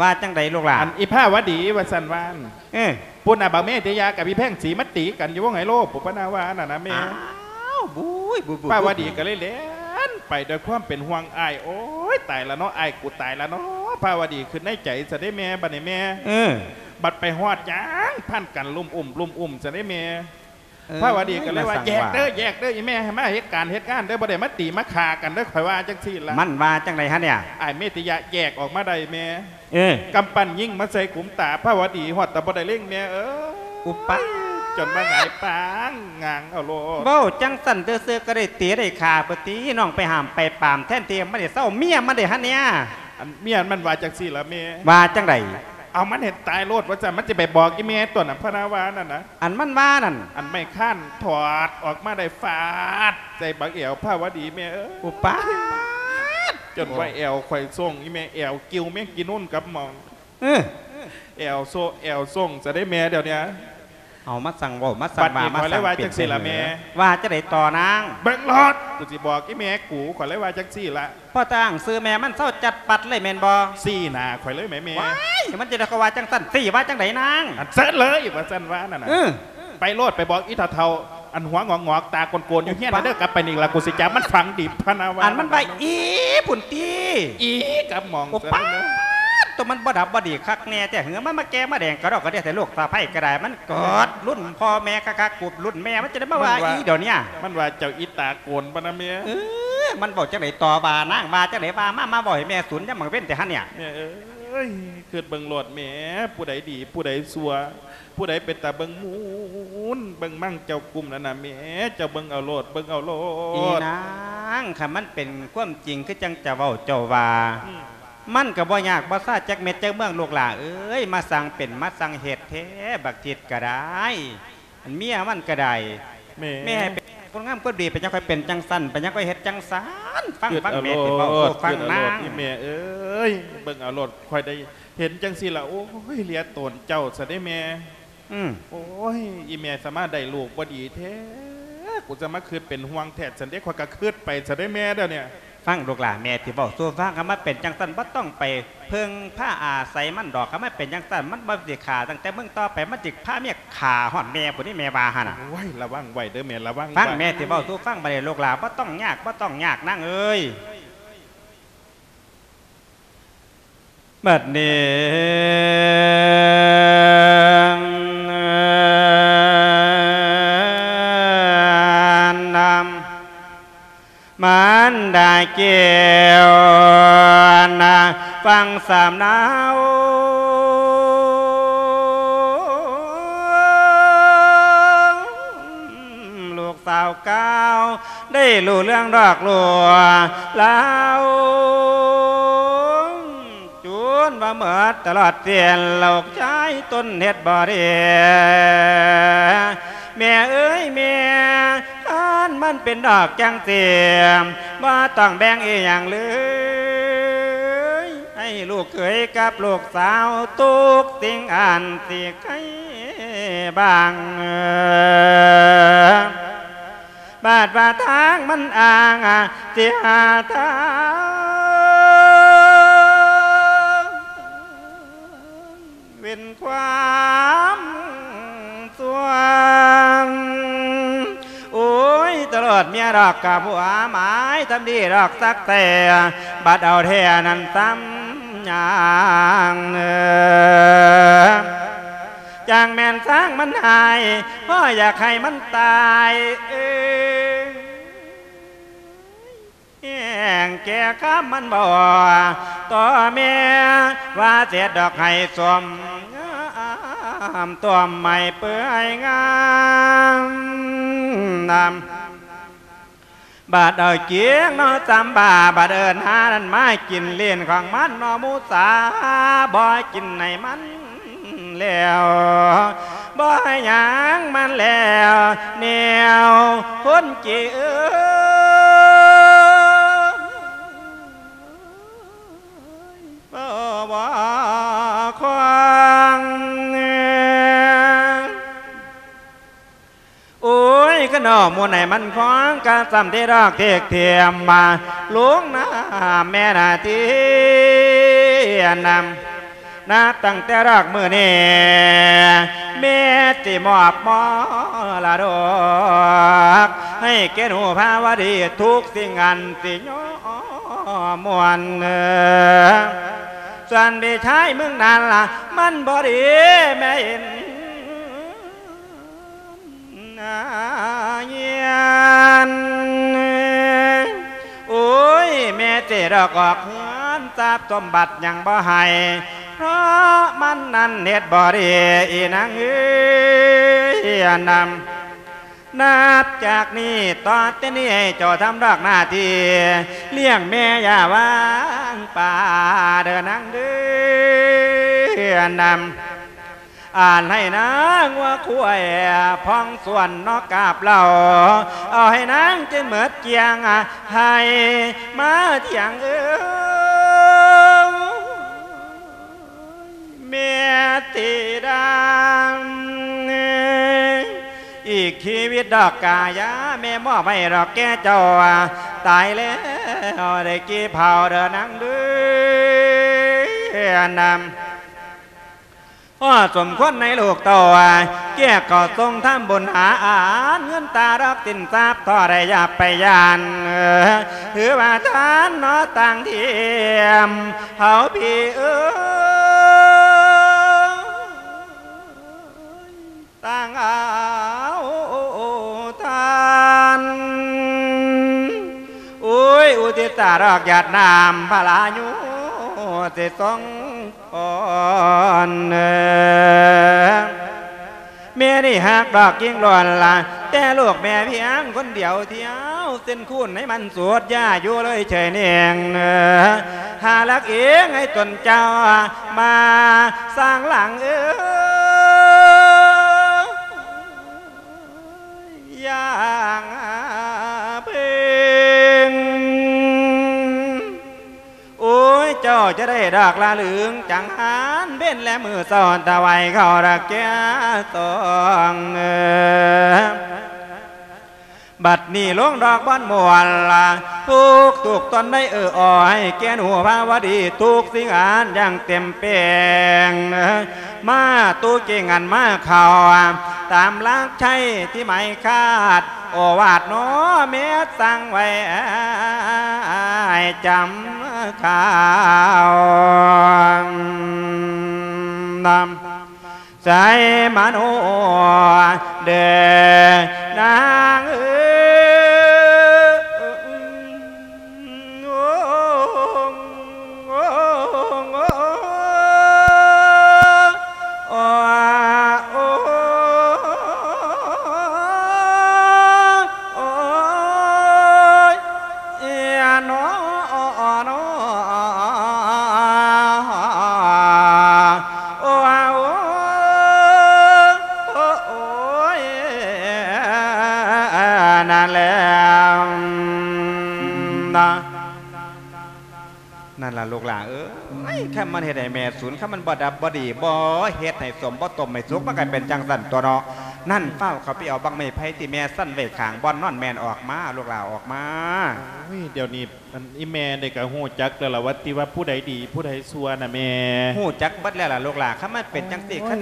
ວ່າຈັ່ງໃດລູກຫຼ້າ? ອັນອີພາວະດີວ່າຊັ້ນວ່າ ເອີ ພຸ້ນນະ ບັກເມດຕິຍາກັບອີແພງສີມາຕີກັນຢູ່ວົງໄຮໂລ ປຸບປະນາວານັ້ນນະແມ່. ອ້າວ ບຸ້ຍ ບຸ້ຍ ບຸ້ຍ ພາວະດີກໍເລີຍແລ່ນໄປດ້ວຍຄວາມເປັນຫ່ວງອ້າຍ. ໂອ້ຍ ຕາຍລະເນາະ ອ້າຍ ກູຕາຍລະເນາະ ພາວະດີຄິດໃນໃຈຊະເດ້ແມ່ ບັດນີ້ແມ່. ເອີ ບັດໄປຮອດຫຍັງ ພັນກັນລຸ້ມອຸ້ມ ລຸ້ມອຸ້ມຊະເດ້ແມ່. ພາວະດີກໍເລີຍວ່າ ແຍກເດີ ແຍກເດີ ອີແມ່ ໃຫ້ມາເຮັດການເຮັດງານເດີ ບໍ່ໄດ້ມາຕີມາຂ້າກັນເດີ ຂ້ອຍວ່າຈັ່ງຊີ້ລະ. ມັນວ່າຈັ່ງໃດຫັ້ນເນຍ? ອ້າຍເມດຕິຍະແຍກອອກມາໄດ້ແມ່. ເອີ ກຳປັ້ນຍິງມາໃສ່ກຸມຕາພາວະດີ ຮອດຕາບໍ່ໄດ້ເລັງແມ່ເອີຍ. ອຸປາດ ຈົນວ່າຫງາຍປາງງາງເອົາໂລດ. ເວົ້າຈັ່ງຊັ້ນຊື່ໆ ກໍໄດ້ຕີໄດ້ຂ້າພຸ້ນຕິ ນ້ອງໄປຫ້າມໄປປາມ ແທນທີ່ມັນຊິເຊົາ ເມຍມັນເດ້ຫັ້ນເນຍ. ອັນເມຍມັນວ່າຈັ່ງຊີ້ລະແມ່. ວ່າຈັ່ງໃດ? ເອົາມັນໃຫ້ຕາຍໂລດວ່າຊັ້ນ ມັນຊິໄປບອກອີແມ່ຕົວະນະ ພະນາວານັ້ນນະ. ອັນມັນວ່ານັ້ນ? ອັນໄມ້ຄ້ານຖອດອອກມາໄດ້ຟາດໃສ່ບັກແອວພາວະດີແມ່ເອີຍ. ອຸປາດ ຈົນວ່າແອວຂ້ອຍສົ່ງ ອີແມ່ແອວກິວແມງກີນູນກັບໝອງ. ເອີ ແອວໂຊ ແອວສົ່ງຊະເດ້ແມ່ດຽວນີ້. ເອົາ ມາສັ່ງເວົ້າ ມາສັ່ງວ່າ ມາສັ່ງເປັນແທ້ເຫີ. ວ່າຈັ່ງໃດຕໍ່ນາງ? ເບິ່ງໂລດ ກູຊິບອກອີແມ່ກູ ຂ້ອຍເລີຍວ່າຈັ່ງຊີ້ລະ. ພໍຕັ້ງຊື່ແມ່ມັນເຊົາຈັດປັດເລີຍແມ່ນບໍ່? ຊີ້ໜ້າຂ້ອຍເລີຍແໝແມ່. ວ້າຍ ມັນຈະໄດ້ ເຂົາວ່າຈັ່ງຊັ້ນ ຊີ້ວ່າຈັ່ງໃດນາງ? ອັນເຊີນເລີຍວ່າຊັ້ນວ່ານັ້ນນະ. ເອີ ໄປໂລດ ໄປບອກອີເຖົ້າໆ ອັນຫົວງອກໆ ຕາໂກນໆ ຢູ່ເຮືອນເດີ ກັບໄປນີ້ລະ ກູຊິຈັບມັນຝັງດິບ ພະນາວາ. ອັນມັນວ່າອີພຸ້ນຕິ ອີກັບໝອງ. ໂອປາດ ໂຕມັນບໍ່ດັບບໍ່ດີຄັກແນ່ແທ້ເຫີ ມັນມາແກ່ມາແດງກະດອກກະເດຍແທ້ ລູກສະໃພ້ກະດາຍ ມັນເກີດລຸ້ນພໍ່ແມ່ຄັກໆ ກູລຸ້ນແມ່ ມັນຈະໄດ້ມາວ່າອີດຽວນີ້. ມັນວ່າເຈົ້າອີຕາໂກນປານນະແມ່. ເອີ ມັນເວົ້າຈັ່ງໃດຕໍ່ວ່ານາງ ວ່າຈັ່ງໃດ ວ່າມາ ມາເວົ້າໃຫ້ແມ່ສູນຍາມກາງເວັນແທ້ຫັ້ນເນຍ. ແມ່ເອີຍ ຄິດເບິ່ງໂລດແມ່ ຜູ້ໃດດີ ຜູ້ໃດຊົ່ວ ຜູ້ໃດເປັນຕາເບິ່ງມູນເບິ່ງມັງ ເຈົ້າກຸ້ມນັ້ນນະແມ່ ເຈົ້າເບິ່ງເອົາໂລດ ເບິ່ງເອົາໂລດ. ອີນາງ ຄັນມັນເປັນຄວາມຈິງຄືຈັ່ງເຈົ້າເວົ້າເຈົ້າວ່າ ອືມ ມັນກໍບໍ່ຍາກບໍ່ຊາຈັກເມັດຈັກເມືອງ ລູກຫຼ້າເອີຍ ມາສ້າງເປັນມາສ້າງເຮັດແທ້ ບັກທິດກໍໄດ້ ອັນເມຍມັນກໍໄດ້. ແມ່ ແມ່ໃຫ້ເປັນຄົນງາມຄົນດີ ເປັນຫຍັງຄ່ອຍເປັນຈັ່ງຊັ້ນ ເປັນຫຍັງຄ່ອຍເຮັດຈັ່ງຊັ້ນ? ຟັງ ຟັງແມ່ຊິເວົ້າສູ່ຟັງນາງ. ອີແມ່ເອີຍ ເບິ່ງເອົາໂລດ ຂ້ອຍໄດ້ ເຫັນຈັ່ງຊີ້ລະ ໂອ້ຍ ເລຍໂຕນເຈົ້າຊະເດ້ແມ່. ອືມ ໂອ້ຍ ອີແມ່ສາມາດໄດ້ລູກບໍ່ດີແທ້ ກູຈະມາຄິດເປັນຫ່ວງແທ້ຊັ້ນເດ້ ຂ້ອຍກໍຄິດໄປຊະເດ້ແມ່ດຽວນີ້. ຟັງລູກຫຼ້າ ແມ່ຊິເວົ້າສູ່ຟັງ ຄັນມັນເປັນຈັ່ງຊັ້ນ ບໍ່ຕ້ອງໄປເພິ່ງພາອາໄສມັນດອກ. ຄັນມັນເປັນຈັ່ງຊັ້ນ ມັນບໍ່ຊິຂ້າຕັ້ງແຕ່ມື້ຕໍ່ໄປ ມັນຊິພາເມຍຂ້າຮອດແມ່ພຸ້ນນີ້ ແມ່ວ່າຫັ້ນນະ. ໂອ້ຍ ລະວັງໄວ້ເດີແມ່ ລະວັງໄວ້. ຟັງແມ່ຊິເວົ້າສູ່ຟັງ ບັດນີ້ລູກຫຼ້າ ບໍ່ຕ້ອງຍາກ ບໍ່ຕ້ອງຍາກນາງເອີຍ. ບັດນີ້ນຳ ມານດາແກ້ວນະ ຟັງສຳນາວ ລູກສາວກ່າວ ໄດ້ຮູ້ເລື່ອງດອກລູກລາວ ຈົນວ່າໝົດຕະຫຼອດສິ້ນ ລູກຊາຍຕົນເຮັດບໍ່ດີ. ແມ່ເອີຍແມ່ ຄັນມັນເປັນດອກຈັ່ງຊີ້ ບໍ່ຕ້ອງແບ່ງອີ່ຫຍັງເລີຍ ໃຫ້ລູກເຂີຍກັບລູກສາວ ທຸກສິ່ງອັນຊິໄກບາງ. ບາດວ່າທາງມັນອ້າງ ຊິຫາທາງເວັ້ນຄວາມຊົ່ວ. ໂອ້ຍ ຕະຫຼອດເມຍດອກກະບົວໝາຍ ທຳດີດອກສັກແທ້ ບັດເອົາແທ້ນັ້ນຊ້ຳຫຍັງ. ຈັ່ງແມ່ນຊ່າງມັນຫາຍ ພໍ່ຢາກໃຫ້ມັນຕາຍເອີຍ ແຫ້ງແກ່ຄຳມັນບໍ່ຕໍ່ແມ່ ວ່າເສດດອກໄຫ້ສົ້ມງາມ ຕົ້ມໄມ້ເປື່ອຍງາມນຳ. ບາດເອົາກຽງເນາະຈຳປາ ບາດເອີ້ນຫານັ້ນມາກິນຫຼິ້ນຂອງມັນເນາະໝູສາ ບໍ່ກິນໃຫ້ມັນແລ້ວ ບໍ່ໃຫ້ຫຍັງມັນແລ້ວ ແນວຄົນເກເອີຍ ບໍ່ ບໍ່ຄວາງ. ໂອ້ຍ ກະນອກໝູນໃຫ້ມັນຄອງ ກະຊ່ຳເດດອກເທກເທມມາ ລົງນາແມ່ນາທີ່ນຳ ນັບຕັ້ງແຕ່ດອກມື້ນີ້ ແມ່ຊິມອບມໍລະດົກ ໃຫ້ແກ່ໜູພາວະດີ ທຸກສິ່ງອັນຊິຍອມມວນ ສ່ວນພີ່ຊາຍມຶງນັ້ນລະ ມັນບໍ່ດີແມ່ເຫັນ ນາຍຽນ ໂອ້ຍ ແມ່ເຈດອກອອກເຮືອນ ຊັບສົມບັດຍັງບໍ່ໃຫ້ ເພາະມັນນັ້ນເຮັດບໍ່ດີ ອີນາງເອີຍ ນຳ ນັບຈາກນີ້ຕໍ່ແຕ່ນີ້ ໃຫ້ເຈົ້າທຳດອກໜ້າທີ່ ລ້ຽງແມ່ຢ່າວາງປາເດີນາງເດີ ນຳ ອ່ານໃຫ້ນາງົວຄວາຍ ພອງສວນນອກກາບເຫຼົ້າ ເອົາໃຫ້ນາງຈົນໝົດກ້ຽງ ໃຫ້ມາທ່ຽງເອີຍ ແມ່ຕິດາ ອີກຊີວິດດອກກາຍາ ແມ່ມອບໃຫ້ດອກແກ່ເຈົ້າ ຕາຍແລ້ວໄດ້ກີ່ເຜົາເດີນາງເດີ ນຳ ພໍສົມຄວນໃນລູກເຕົ້າ ແກ່ເຂົ້າຊົງທຳບຸນຫາອານ ເງິນຕາດອກສິນຊັບທໍ່ໄດ້ຢ່າໄປຢ້ານ ຖືວ່າທານເນາະຕ່າງທຽມ ເຮົາພີ່ເອີຍ ຕ່າງເອົາທານ ໂອ້ຍ ອຸທິດຕາດອກຢາດນ້ຳ ພະລາຍຸສິຊົງ ອ່ອນ ແມ່ນີ້ຮັກດອກຍິ່ງລ້ວນລະ ແຕ່ລູກແມ່ພຽງຄົນດຽວທຽວ ເສັ້ນຄູນໃຫ້ມັນສູດຢາຢູ່ເລີຍເຈີຍເໜ່ງ ຫາລັກເອງໃຫ້ຕົນເຈົ້າມາສ້າງຫຼັງເອີຍ ຢ່າງເພິ່ງ ໂອ້ຍ ເຈົ້າຈະໄດ້ດອກລະລຶງຈັງຫັນ ເວັນແລະມື້ເຊົ້າຖວາຍເຂົ້າດອກແກ່ສອງ ບັດນີ້ລົງດອກບ່ອນມ່ວນ ທຸກທຸກຕົນໄດ້ເອື້ອອອຍ ແກ່ນຫູພາວະດີ ທຸກສິ່ງອັນຢ່າງເຕັມແປງ ມາຕູ້ເກັ່ງອັນມາເຂົ້າ ຕາມຫຼັກໄຊທີ່ໝາຍຄາດ ໂອວາດໜໍແມ່ສັ່ງໄວ້ ໃຫ້ຈຳຂ່າວ ນຳໃສ່ມະໂນເດີນາງເອີຍ. นั่นล่ะลูกหลานเอ้ย คันมันเฮ็ดให้แม่สูน คันมันบ่ดับบ่ดี บ่เฮ็ดให้สม บ่ต้มให้สุก มันก็เป็นจั่งซั้นตั่วเนาะ นั่น ฟ้าวเข้าไปเอาบั้งไม้ไผ่ที่แม่สั่นไว้ข้างบ่อนนอนแม่นออกมา ลูกหลานออกมา โอ้ย เดี๋ยวนี้ อันอีแม่นี่ก็ฮู้จักแล้วล่ะว่าติว่าผู้ใดดีผู้ใดชั่วน่ะแม่ ฮู้จักเบิดแล้วล่ะลูกหลาน คันมันเป็นจั่งซี้ โอ้ย คัน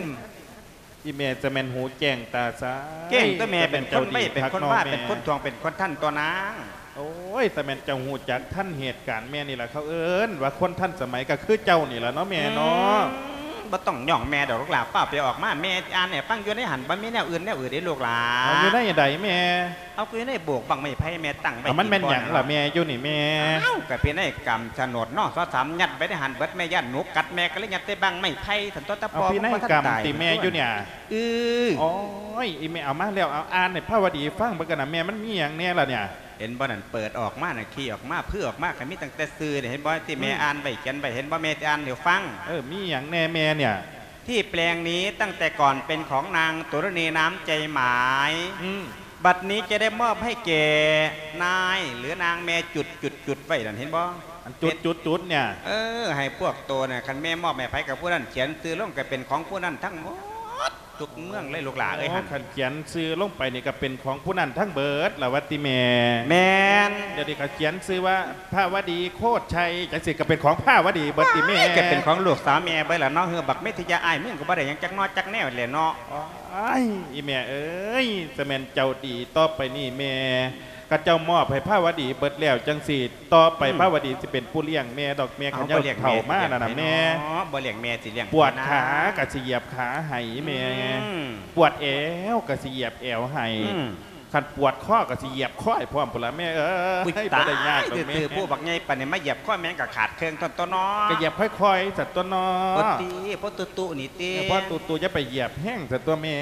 อีแม่จะแม่นหูแจ้งตาใส แจ้งตัวแม่ เป็นคนไว เป็นคนว่า เป็นคนท่วง เป็นคนทันตัวนาง โอ้ย แต่แม่นเจ้าฮู้จักทันเหตุการณ์แม่นี่ล่ะ เขาเอิ้นว่าคนทันสมัยก็คือเจ้านี่ล่ะเนาะแม่เนาะ อืม บ่ต้องย่องแม่ดอกลูกหลาน ฟ้าวไปออกมา แม่อ่านให้ฟังอยู่ในหั่น บ่มีแนวอื่นแนวอื่นเด้ลูกหลาน เอาอยู่ในใดแม่ เอาก็อยู่ในโบกบั้งไม้ไผ่แม่ตั้งไว้ เอามันแม่นหยังล่ะแม่อยู่นี่แม่ อ้าว ก็พินัยกรรมโฉนด น.ส.สาม ยัดไว้ในหั่นเบิด แม่ย้านหนูกัด แม่ก็เลยยัดใส่บั้งไม้ไผ่ ซั่นตั๊ว แต่พ่อ เอาพินัยกรรม บ่ทันตาย ติแม่อยู่เนี่ย เออ โอ้ย อีแม่เอามาแล้ว เอาอ่านให้พาวดีฟังเบิ่งกันนะแม่ มันมีหยังแน่ล่ะเนี่ย ເຫັນບໍ່ນັ້ນ ເປີດອອກມານັ້ນ ຂີ້ອອກມາ ຜື່ອອກມາ ກໍມີຕັ້ງແຕ່ຊື່ນີ້ ເຫັນບໍ່ ທີ່ແມ່ ອືມ ອ່ານໄວ້ ຂຽນໄວ້ ເຫັນບໍ່ ແມ່ຊິອ່ານໃຫ້ຟັງ. ເອີ ມີຫຍັງແດ່ແມ່ເນຍ? ທີ່ແປງນີ້ຕັ້ງແຕ່ກ່ອນເປັນຂອງນາງ ໂຕລະນີ ນາມໃຈໝາຍ ອືມ ບັດນີ້ຈະໄດ້ມອບໃຫ້ແກ່ນາຍ ຫຼື ນາງແມ່ ຈຸດ ຈຸດ ຈຸດ ໄວ້ນັ້ນ ເຫັນບໍ່? ອັນ ຈຸດ ເປັນ ຈຸດ ຈຸດ ເນຍ ເອີ ໃຫ້ພວກໂຕນະ ຄັນແມ່ມອບໃຫ້ໃຜກໍຜູ້ນັ້ນ ຂຽນຊື່ລົງກໍເປັນຂອງຜູ້ນັ້ນທັງໝົດ ທຸກເມືອງເລີຍລູກຫຼ້າເອີຍ. ໂອ້ ຫັ້ນ ຄັນຂຽນຊື່ລົງໄປນີ້ກໍເປັນຂອງຜູ້ນັ້ນທັງເບິດລະວ່າຕິແມ່? ແມ່ນ. ດຽວນີ້ກໍຂຽນຊື່ວ່າ ພາວະດີ ໂຄດໄຊ ຈັ່ງຊີ້ກໍເປັນຂອງພາວະດີເບິດຕິແມ່? ໂອ້ຍ ກໍເປັນຂອງລູກສາວແມ່ເບິດລະເນາະ. ເຮືອບັກເມທິຍາ ອ້າຍມຶງກໍບໍ່ໄດ້ຫຍັງຈັກໜໍ່ຈັກແນວແຫຼະເນາະ. ໂອ້ຍ ອີແມ່ເອີຍ ຈະແມ່ນເຈົ້າດີ ຕໍ່ໄປນີ້ແມ່ ຂະເຈົ້າມອບໃຫ້ພາວະດີເບິດແລ້ວຈັ່ງຊີ້ ຕໍ່ໄປ ອືມ ພາວະດີຊິເປັນຜູ້ລ້ຽງແມ່ດອກ ແມ່ ເອົາ ຂະເຈົ້າ ບໍ່ລ້ຽງ ເຖົ້າ ແມ່ ມານັ້ນນະແມ່ ບໍ່ລ້ຽງແມ່ຊິລ້ຽງ ປວດຂາກໍຊິຢຽບຂາໃຫ້ແມ່ ອືມ ປວດແອວກໍຊິຢຽບແອວໃຫ້ ອືມ ຄັນປວດຄໍກໍຊິຢຽບຄໍໃຫ້ພ້ອມພຸ້ນລະແມ່ເອີຍ. ອຸ້ຍ ບໍ່ໄດ້ຍາກດອກແມ່ ຕາຍ ຊື່ໆ ຜູ້ບັກໃຫຍ່ປານນີ້ມາຢຽບຄໍແມ່ກໍຂາດເຄິ່ງທ່ອນຕົວເນາະ. ກໍຢຽບຄ່ອຍໆ ຊັ້ນຕົວເນາະ. ໂອ້ ຕິ ພໍຕຸໆ ນີ້ຕິ ເອີ ພໍຕຸໆ ຢ່າໄປຢຽບແຮງຊັ້ນຕົວແມ່.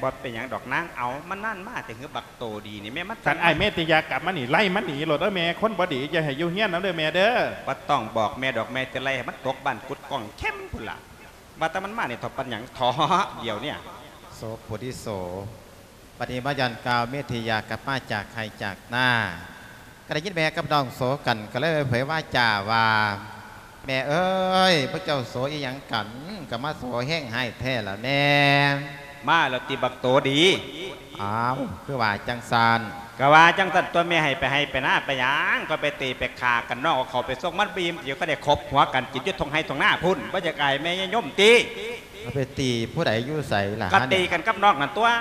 ບໍ່ເປັນຫຍັງດອກນາງ ເອົາ ມັນນານມາແຕ່ ເຮືອບັກ ໂຕດີນີ້ແມ່ ມັນ ຄັນອ້າຍເມດຕິຍາກັບມານີ້ ໄລ່ມັນໜີໂລດເດີແມ່ ຄົນບໍ່ດີ ຢ່າໃຫ້ຢູ່ເຮືອນນຳເດີແມ່ເດີ. ບໍ່ຕ້ອງບອກແມ່ດອກ ແມ່ຈະໄລ່ໃຫ້ມັນຕົກບ້ານກຸດກ້ອງເຂັມພຸ້ນລະ. ວ່າແຕ່ມັນມານີ້ເຖາະ ປັນຫຍັງເຖາະດຽວນີ້. ໂສໂພທິໂສ ບັດນີ້ມາຢ້ອນກ່າວເມດທິຍາກັບມາຈາກໄຮ່ຈາກນາ ກໍໄດ້ຍິນແມ່ກັບນ້ອງໂສກັນ ກໍເລີຍເຜີຍວາຈາວ່າ ແມ່ເອີຍ ພວກເຈົ້າໂສອີ່ຫຍັງກັນ ກໍມາໂສແຮງຮ້າຍແທ້ລະແມ່. ມາແລ້ວຕິບັກໂຕດີ. ອ້າວ ຄືວ່າຈັ່ງຊັ້ນ? ກໍວ່າຈັ່ງຊັ້ນຕົວະແມ່ ໃຫ້ໄປໄຮ່ໄປນາໄປຫຍັງ ກໍໄປຕີໄປຂ້າກັນ ນ້ອງເອົາເຂົ້າໄປສົ່ງມັນບໍ່ອີ່ມ ຊິໄດ້ຄົບຫົວກັນກິນຢູ່ທົ່ງໄຮ່ທົ່ງນາພຸ້ນ ບໍ່ຢາກອາຍແມ່ຍາຍົມຕິ? ເອົາໄປຕີຜູ້ໃດຢູ່ໃສລະ? ກໍຕີກັນກັບນ້ອງນັ້ນຕົວະ.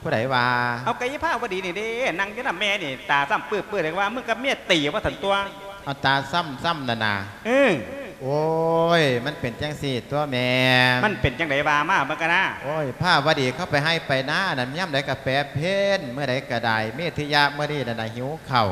ຜູ້ໃດວ່າ? ເອົາ ກໍອີພາວະດີນີ້ເດ້ ນັ່ງຢູ່ນຳແມ່ນີ້ ຕາຊ້ຳປື້ໆ ເລີຍວ່າ ມຶງກັບເມຍຕີວ່າຊັ້ນຕົວະ. ເອົາ ຕາຊ້ຳຊ້ຳນັ້ນນະ? ເອີ. ໂອ້ຍ ມັນເປັນຈັ່ງຊີ້ຕົວະແມ່. ມັນເປັນຈັ່ງໃດວ່າມາເບິ່ງກັນນາ. ໂອ້ຍ ພາວະດີເຂົາໄປໄຮ່ໄປນານັ້ນ ຍາມໃດກໍແປເພນ ມື້ໃດກໍໄດ້ ເມທິຍະມື້ນີ້ນັ້ນນະຫິວເຂົ້າ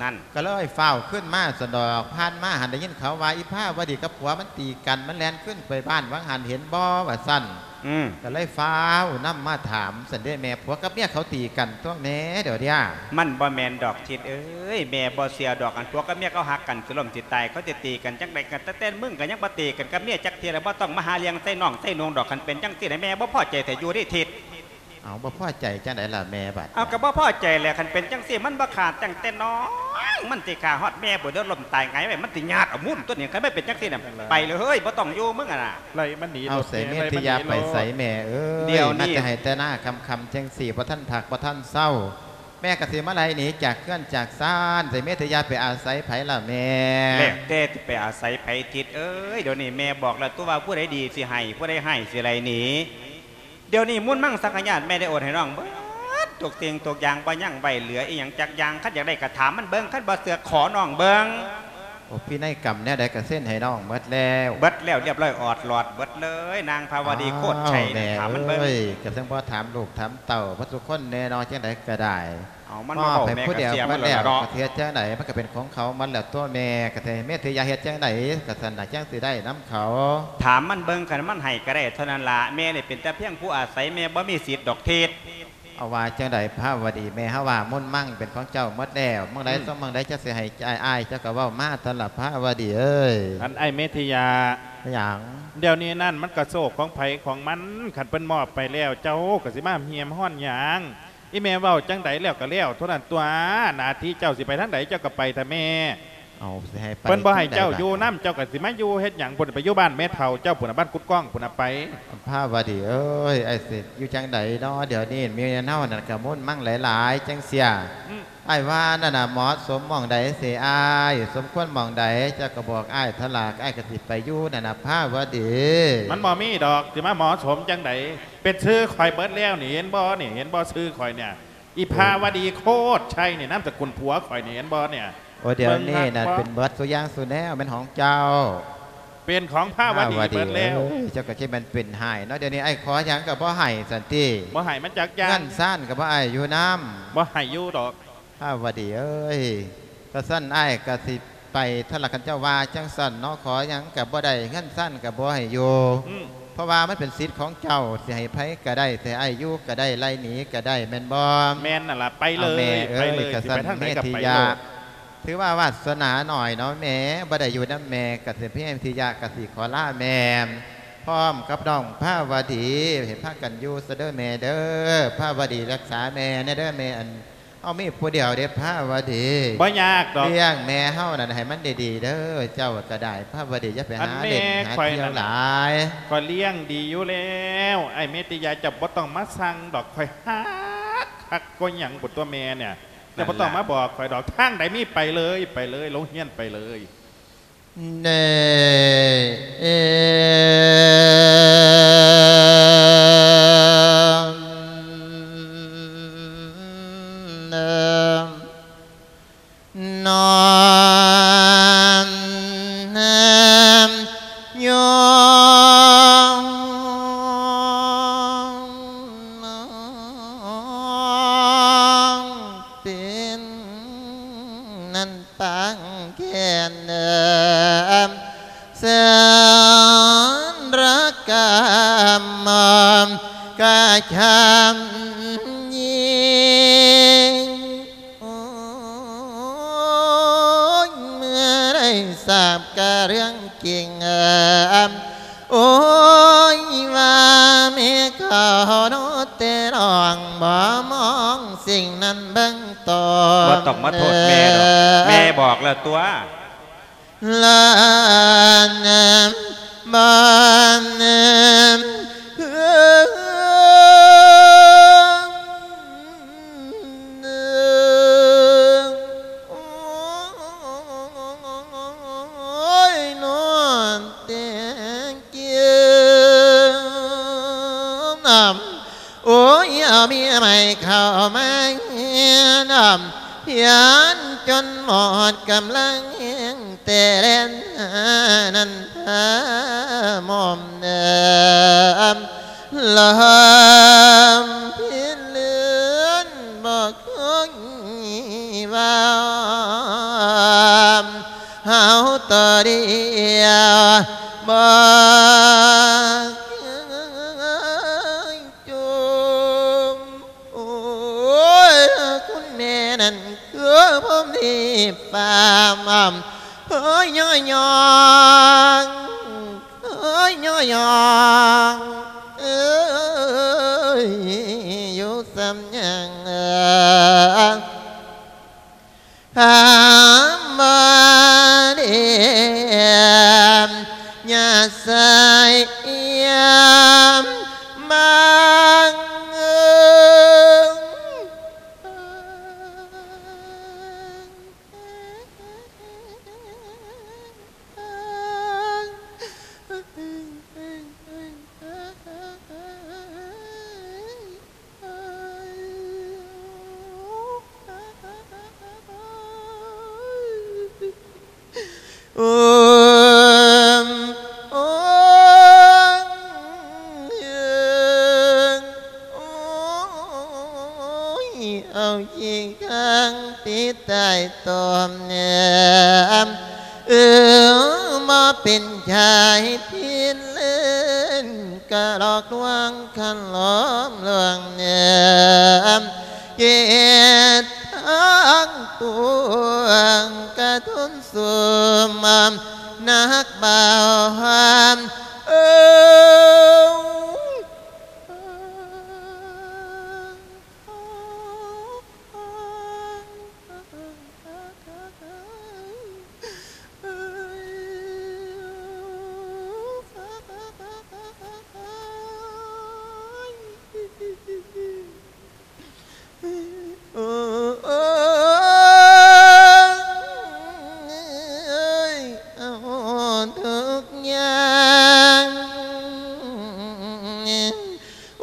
ນັ້ນ ກໍເລີຍຟ້າວຂຶ້ນມາຊັ້ນດອກ. ຜ່ານມາຫັ້ນໄດ້ຍິນເຂົາວ່າ ອີພາວະດີກັບຜົວມັນຕີກັນ ມັນແລ່ນຂຶ້ນໄປບ້ານຫວ່າງຫັ້ນ ເຫັນບໍ່ ວ່າຊັ້ນ. ອືມ ກໍເລີຍຟ້າວນຳມາຖາມຊັ້ນເດ້ແມ່ ຜົວກັບເມຍເຂົາຕີກັນຕົວະແມ່ ດຽວນີ້. ມັນບໍ່ແມ່ນດອກທິດເອີຍ ແມ່ບໍ່ເຊື່ອດອກ ອັນຜົວກັບເມຍເຂົາຮັກກັນ ຊິລົ້ມຊິຕາຍ ເຂົາຊິຕີກັນຈັ່ງໃດກັນ? ແຕ່ແຕ່ມຶງກໍຍັງບໍ່ຕີກັນກັບເມຍຈັກເທື່ອ ແລ້ວບໍ່ຕ້ອງມາຫາເລື່ອງໃສ່ນ້ອງໃສ່ນຸ່ງດອກ. ຄັນເປັນຈັ່ງຊີ້ນະ ແມ່ບໍ່ພໍໃຈແທ້ຢູ່ເດ້ທິດ. ເອົາ ບໍ່ພໍໃຈຈັ່ງໃດລະແມ່ບັດ? ເອົາ ກໍບໍ່ພໍໃຈແຫຼະ ຄັນເປັນຈັ່ງຊີ້ ມັນບໍ່ຂ້າຕັ້ງແຕ່ນ້ອງ ມັນຊິຂ້າຮອດແມ່ພຸ້ນເດີ ລົ້ມຕາຍຫງາຍໄວ້ ມັນຊິຍາດເອົາໝູນຕົວນີ້. ຄັນມັນເປັນຈັ່ງຊີ້ນະ ໄປເລີຍເຮີ້ຍ ບໍ່ຕ້ອງຢູ່ມຶງຫັ້ນນະ. ໄລ່ມັນໜີ ເອົາ ໂລດ ໃສ່ເມທິຍາໄປໃສແມ່ເອີຍ? ດຽວນີ້ ມາແຕ່ໄຮ່ແຕ່ນາຄ່ຳໆ ຈັ່ງຊີ້ ບໍ່ທັນພັກບໍ່ທັນເຊົາ ແມ່ກໍຊິມາໄລ່ໜີຈາກເຮືອນຈາກຊານ ໃສ່ເມທິຍາໄປອາໄສໃຜລະແມ່? ແລ້ວແຕ່ຊິໄປອາໄສໃຜທິດເອີຍ. ດຽວນີ້ແມ່ບອກແລ້ວຕົວະວ່າ ຜູ້ໃດດີຊິໃຫ້ ຜູ້ໃດຮ້າຍຊິໄລ່ໜີ. ດຽວນີ້ມຸນມັງສັງຂະຍາດແມ່ໄດ້ໂອນໃຫ້ນ້ອງເບິດທຸກສິ່ງທຸກຢ່າງ ບໍ່ຍັງໄວ້ເຫຼືອອີ່ຫຍັງຈັກຢ່າງ. ຄັນຢາກໄດ້ກໍຖາມມັນເບິ່ງ ຄັນບໍ່ເຊື່ອຂໍນ້ອງເບິ່ງ. ໂອ້ ພິໄນກຳແນວໃດກໍເຊັນໃຫ້ນ້ອງໝົດແລ້ວ. ເບິດແລ້ວ ລຽບຮ້ອຍອອດຫຼອດເບິດເລີຍ ນາງພາວະດີ ໂຄດໄຊນະ. ຖາມມັນເບິ່ງ. ໂອ້ຍ ກໍຈັ່ງບໍ່ຖາມລູກຖາມເຕົ້າເບິດທຸກຄົນແນ່ເນາະ ຈັ່ງໃດກໍໄດ້. ເອົາ ມັນມາເວົ້າໃຜຜູ້ດຽວໝົດແລ້ວ ກໍເຮັດຈັ່ງໃດ ມັນກໍເປັນຂອງເຂົາໝົດແລ້ວຕົວະແມ່. ກໍໃຫ້ເມທິຍາເຮັດຈັ່ງໃດ ກໍຊັ້ນນະ ຈັ່ງຊິໄດ້ນຳເຂົາ. ຖາມມັນເບິ່ງ ຄັນມັນໃຫ້ກໍໄດ້ເທົ່ານັ້ນລະ. ແມ່ນີ້ເປັນແຕ່ພຽງຜູ້ອາໄສ ແມ່ບໍ່ມີສິດດອກທິດ. ເອົາ ວ່າຈັ່ງໃດພາວະດີ? ແມ່ເຮົາວ່າມຸນມັງເປັນຂອງເຈົ້າໝົດແລ້ວ ໝ່ອງໃດ ອືມ ຊ່ອງໝ່ອງໃດ ເຈົ້າຊິໃຫ້ອ້າຍ ອ້າຍເຈົ້າກໍເວົ້າມາ ທ່ານລະພາວະດີເອີຍ. ອັນອ້າຍເມທິຍາ ຫຍັງ? ດຽວນີ້ນັ້ນ ມັນກໍໂຊກຂອງໃຜຂອງມັນ ຄັນເພິ່ນມອບໄປແລ້ວ ເຈົ້າກໍຊິມາຮ່ຽມຮ້ອນຫຍັງ? ອີແມ່ເວົ້າຈັ່ງໃດແລ້ວກໍແລ້ວເທົ່ານັ້ນຕົວະ ໜ້າທີ່ເຈົ້າຊິໄປທາງໃດ ເຈົ້າກໍໄປເຖາະແມ່. ເອົາ ຊິໃຫ້ໄປ ເພິ່ນບໍ່ໃຫ້ເຈົ້າຢູ່ນຳ ເຈົ້າກໍຊິມາຢູ່ເຮັດຫຍັງພຸ້ນ ໄປຢູ່ບ້ານແມ່ເຖົ້າເຈົ້າພຸ້ນນະ ບ້ານກຸດກ້ອງພຸ້ນນະ ໄປ. ພາວະດີເອີຍ ອ້າຍຊິຢູ່ຈັ່ງໃດເນາະ ດຽວນີ້ເມຍເຮົານັ້ນກໍມຸນມັງຫຼາຍໆ ຈັ່ງເສຍ ອືມ ອ້າຍວ່ານັ້ນນະ ເໝາະສົມໝ່ອງໃດເສຍອ້າຍ ສົມຄວນໝ່ອງໃດ ເຈົ້າກໍບອກອ້າຍເຖາະລະ ອ້າຍກໍຊິໄປຢູ່ນັ້ນນະ ພາວະດີ. ມັນບໍ່ມີດອກ ຊິມາເໝາະສົມຈັ່ງໃດ ເປັນຊື່ຂ້ອຍເບິດແລ້ວນີ້ ເຫັນບໍ່ນີ້ ເຫັນບໍ່ຊື່ຂ້ອຍນີ້ ອີພາວະດີ ໂຄດໄຊນີ້ ນາມສະກຸນຜົວຂ້ອຍນີ້ ເຫັນບໍ່ນີ້. ໂອ້ ດຽວນີ້ນະ ເປັນເບິດສູ່ຢ່າງສູ່ແນວ ແມ່ນຂອງເຈົ້າ ເປັນຂອງພາວະດີເບິດແລ້ວ. ພາວະດີເອີຍ ເຈົ້າກໍຄິດແມ່ນເປັນໃຫ້ເນາະ ດຽວນີ້ອ້າຍຂໍຫຍັງກໍບໍ່ໃຫ້ຊັ້ນຕິ. ບໍ່ໃຫ້ມັນຈັກຢ່າງ ເຮືອນຊານກໍບໍ່ໃຫ້ຢູ່ນຳ ບໍ່ໃຫ້ຢູ່ດອກ. ພາວະດີເອີຍ ກະຊັ້ນອ້າຍກະຊິ ໄປ ຖ້າລະຄັນເຈົ້າວ່າຈັ່ງຊັ້ນເນາະ ຂໍຫຍັງກໍບໍ່ໄດ້ ເຮືອນຊານກໍບໍ່ໃຫ້ຢູ່ ອືມ ເພາະວ່າມັນເປັນສິດຂອງເຈົ້າ ຊິໃຫ້ໃຜກໍໄດ້ ຊິໃຫ້ອ້າຍຢູ່ກໍໄດ້ ໄລ່ໜີກໍໄດ້ ແມ່ນບໍ່? ແມ່ນນັ້ນລະ ໄປເລີຍ ເອົາແມ່ເອີຍ ໄປເລີຍ ຄັນ ຊິໄປທາງໃດກໍໄປໂລດ ຖືວ່າວາດສະໜາໜ້ອຍເນາະແມ່ ບໍ່ໄດ້ຢູ່ນຳແມ່ ກໍຊິພະຍາຍາມທີ່ຢາກະຊິຂໍລາແມ່ ພ້ອມກັບນ້ອງພາວະດີ ໃຫ້ພາກັນຢູ່ຊະເດີແມ່ເດີ ພາວະດີຮັກສາແມ່ແດ່ເດີແມ່ ອັນ ເຮົາມີຜູ້ດຽວເດ້ພາວະດີ ບໍ່ຍາກດອກ ລ້ຽງແມ່ເຮົານັ້ນໃຫ້ມັນດີໆເດີ ເຈົ້າກໍໄດ້ ພາວະດີຢ່າໄປຫາເລ່ນຫາທ່ຽວຫຼາຍ ຂ້ອຍລ້ຽງດີຢູ່ແລ້ວ ອ້າຍເມດຕິຍາ ເຈົ້າບໍ່ຕ້ອງມາສັ່ງດອກ ຂ້ອຍຮັກຄັກກໍຫຍັງພຸ້ນຕົວະແມ່ນີ້ ເຈົ້າບໍ່ຕ້ອງມາບອກຂ້ອຍດອກ ທາງໃດມີໄປເລີຍ ໄປເລີຍ ໂຮງຮຽນໄປເລີຍ. ເນ ເອ ນ ນ ຍ ເປັນນັ້ນ ປາງແກ່ນເດີ ເຊີນລະກຳມອມກະຄຳຍິງ ໂອ້ຍ ເມື່ອໄດ້ຊາບກະເລື່ອງຈິງ ໂອ້ຍ ວ່າແມ່ເຂົາໂນແຕ່ນ້ອງ ບໍ່ມອງສິ່ງນັ້ນເບິ່ງຕົນ ບໍ່ຕ້ອງມາໂທດແມ່ດອກ ແມ່ບອກແລ້ວຕົວະ ລານະ ບານະ ໂອ້ຍ ນອນແຕ່ງເກຍ ໂອ້ຍ ເອົາເມຍໃໝ່ເຂົ້າມາເຮືອນ ພຽນຈົນໝົດກຳລັງແຮງ ແຕ່ແລ່ນຫານັນທາໝອມເດີ ລອມພິເລືອນບໍ່ເຄີຍວ່າ ເຮົາໂຕດຽວບໍ່ເຄີຍ ໂອ້ຍ ຄຸນແມ່ນັ້ນຄືພົມທີ່ຟ້າມາ ເຮີຍຍ້ອຍຍ້ອງ ເຮີຍຍ້ອຍຍ້ອງ ເອີຍ ຢູ່ສ່ຳຫຍັງ ຫາມາດຽມ ຍາສາຍຍາມມາງ ໂອ້ຍ ເອົາຂີ້ຄ້າງຕິດໃຕ້ຕົມແນມ ເອີ ມາເປັນຊາຍພິເລີນ ກະຫຼອກລວງຄັນຫຼອມລວງແນມ ເກດທາງປວງກະທົນສຸມ ໜັກເບົາຫາມ ເອີ. ໂ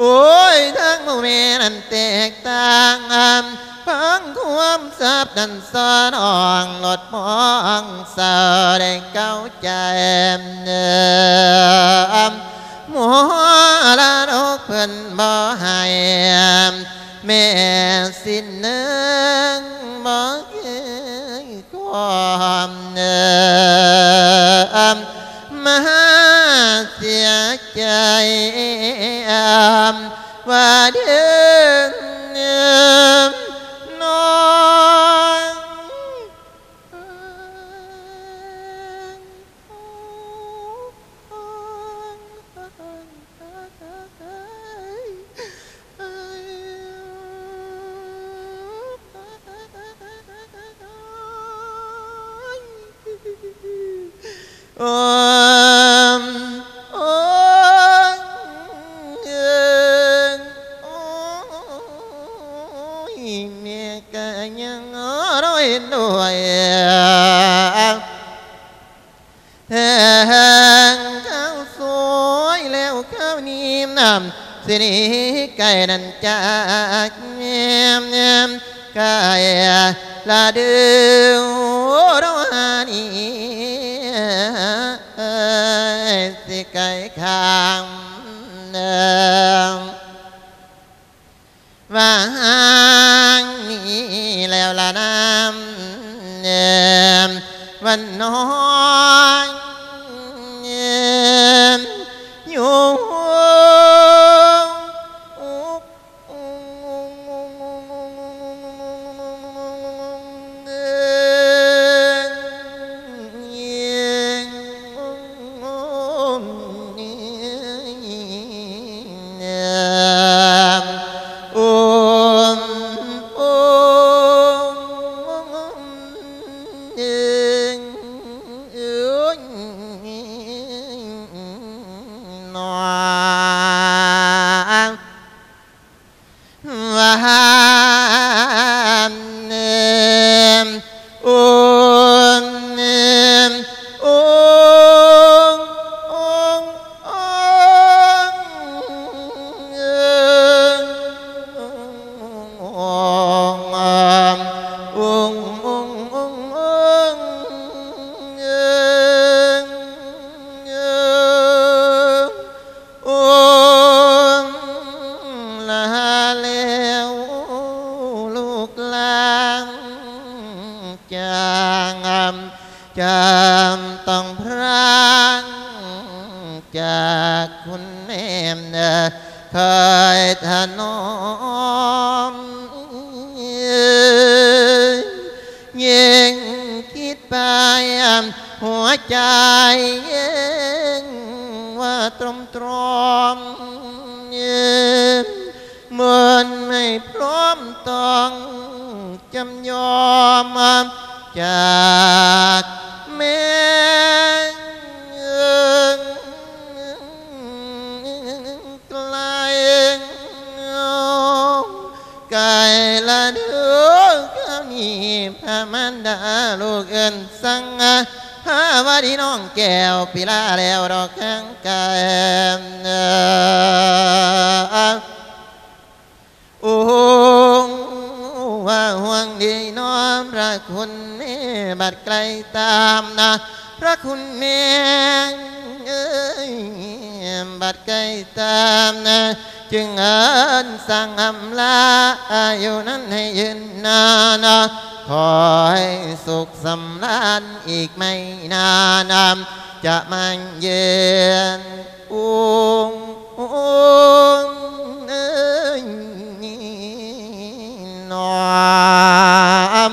ອ້ຍ ທາງໝູ່ແມ່ນັ້ນແຕກຕ່າງ ຟັງຄວາມສັບນັ້ນສອນອອງ ລົດມອງເສົ້າໄດ້ເກົ້າໃຈ ມໍລະດົກເພິ່ນບໍ່ໃຫ້ ແມ່ສິ້ນເໜິງບໍ່ເຄີຍຄວາມ ວ່າເດີນ້ອງ. ໂອມ ໂອມ ເອີຍ ໂອ້ຍ ແມ່ກະຍັງລໍເຫັນດ້ວຍ ແທງເຂົ້າສວຍແລ້ວຄາວນີ້ນຳ ຊິໜີໄກນັ້ນຈາກແມ່ນ ໄກລະເດີ ເດີ ນີ້ ເອີຍ ຊິໄກຂ້າງ ວ່າຫາງນີ້ແລ້ວລະນາມ ວັນນ້ອຍຢູ່. ໂອມ ລາແລ້ວລູກຫຼານ ຈາງ ຈຳຕ້ອງພຣາກຈາກຄຸນແມ່ ເຄີຍຖະໜອມ ຍິ່ງຄິດໄປ ຫົວໃຈເຢັນວ່າຕຣອມໆ ເມື່ອນໃຫ້ພ້ອມຕ້ອງຈຳຍອມ ຈາກແມ່ນໄກລ ໄກລະເດີ ຄາວນີ້ພະມານດາລູກເອີ້ນສັ່ງ ພາວະດີນ້ອງແກ້ວ ປີລາແລ້ວດອກຄາງໄກ. ໂອ້ ວ່າຫ່ວງດີນ້ອມພະຄຸນແມ່ ບັດໄກລຕາມນະ ພະຄຸນແມ່ເອີຍ ບັດໄກລຕາມນະ ຈຶ່ງເອີ້ນສັ່ງອຳລາ ອາຍຸນັ້ນໃຫ້ຍືນນານ ຂໍໃຫ້ສຸກສຳລານ ອີກໄມ່ນານ ຈະມາເຢີນ ໂອງ ໂອງເອີຍ ນ້ອມ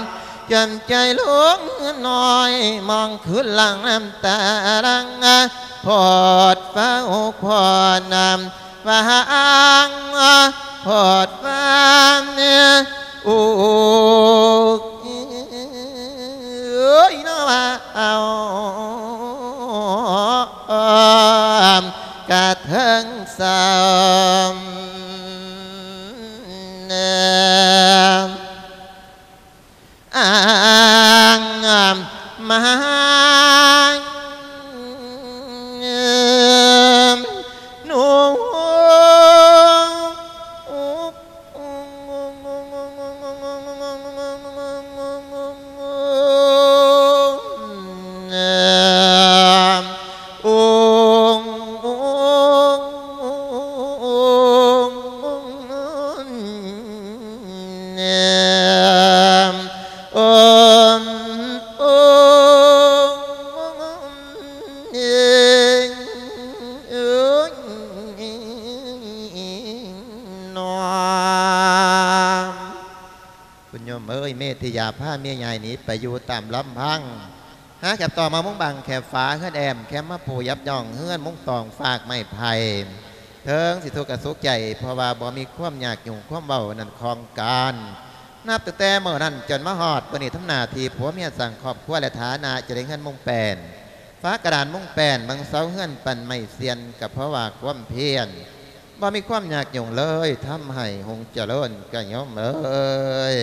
ຈຳໃຈລູກນ້ອຍ ມອງຄືນຫຼັງນ້ຳຕາຫຼັງ ພອດຟ້າໂອກພອນນຳ ວ່າຫາງ ພອດຟ້າໂອກ ເອີຍ ນະວ່າເອົາ ກະເທິງເສົ້າ ອ້າງມາ ໜູ ເອີຍ ເມທິຢາພາເມຍໃຫຍ່ໜີໄປຢູ່ຕາມລຳພັງ ຫາແຄບຕໍ່ມາມຸງບັງແຄບຝາເຮືອນແອ້ມ ແຄມມາປູຢາບຍ່ອງເຮືອນມຸງຕອງຟາກໄມ້ໄຜ່ ເຖິງຊິທຸກກະສຸກໃຈ ເພາະວ່າບໍ່ມີຄວາມຍາກຫຍຸ້ງຄວາມເວົ້ານັ້ນຂອງການ. ນັບຕັ້ງແຕ່ມື້ນັ້ນຈົນມາຮອດມື້ນີ້ ທຳໜ້າທີ່ຜົວເມຍສ້າງຄອບຄົວ ແລະ ຖານະຈະໄດ້ເຮືອນມຸງແປ້ນ ຝາກະດານມຸງແປ້ນ ເບິ່ງເສົາເຮືອນປັ້ນໄມ້ຊຽນ ກໍເພາະວ່າຄວາມພຽນ ບໍ່ມີຄວາມຍາກຫຍຸ້ງເລີຍ ທຳໃຫ້ຮຸ່ງຈະເລີນກະໂຍມເອີຍ.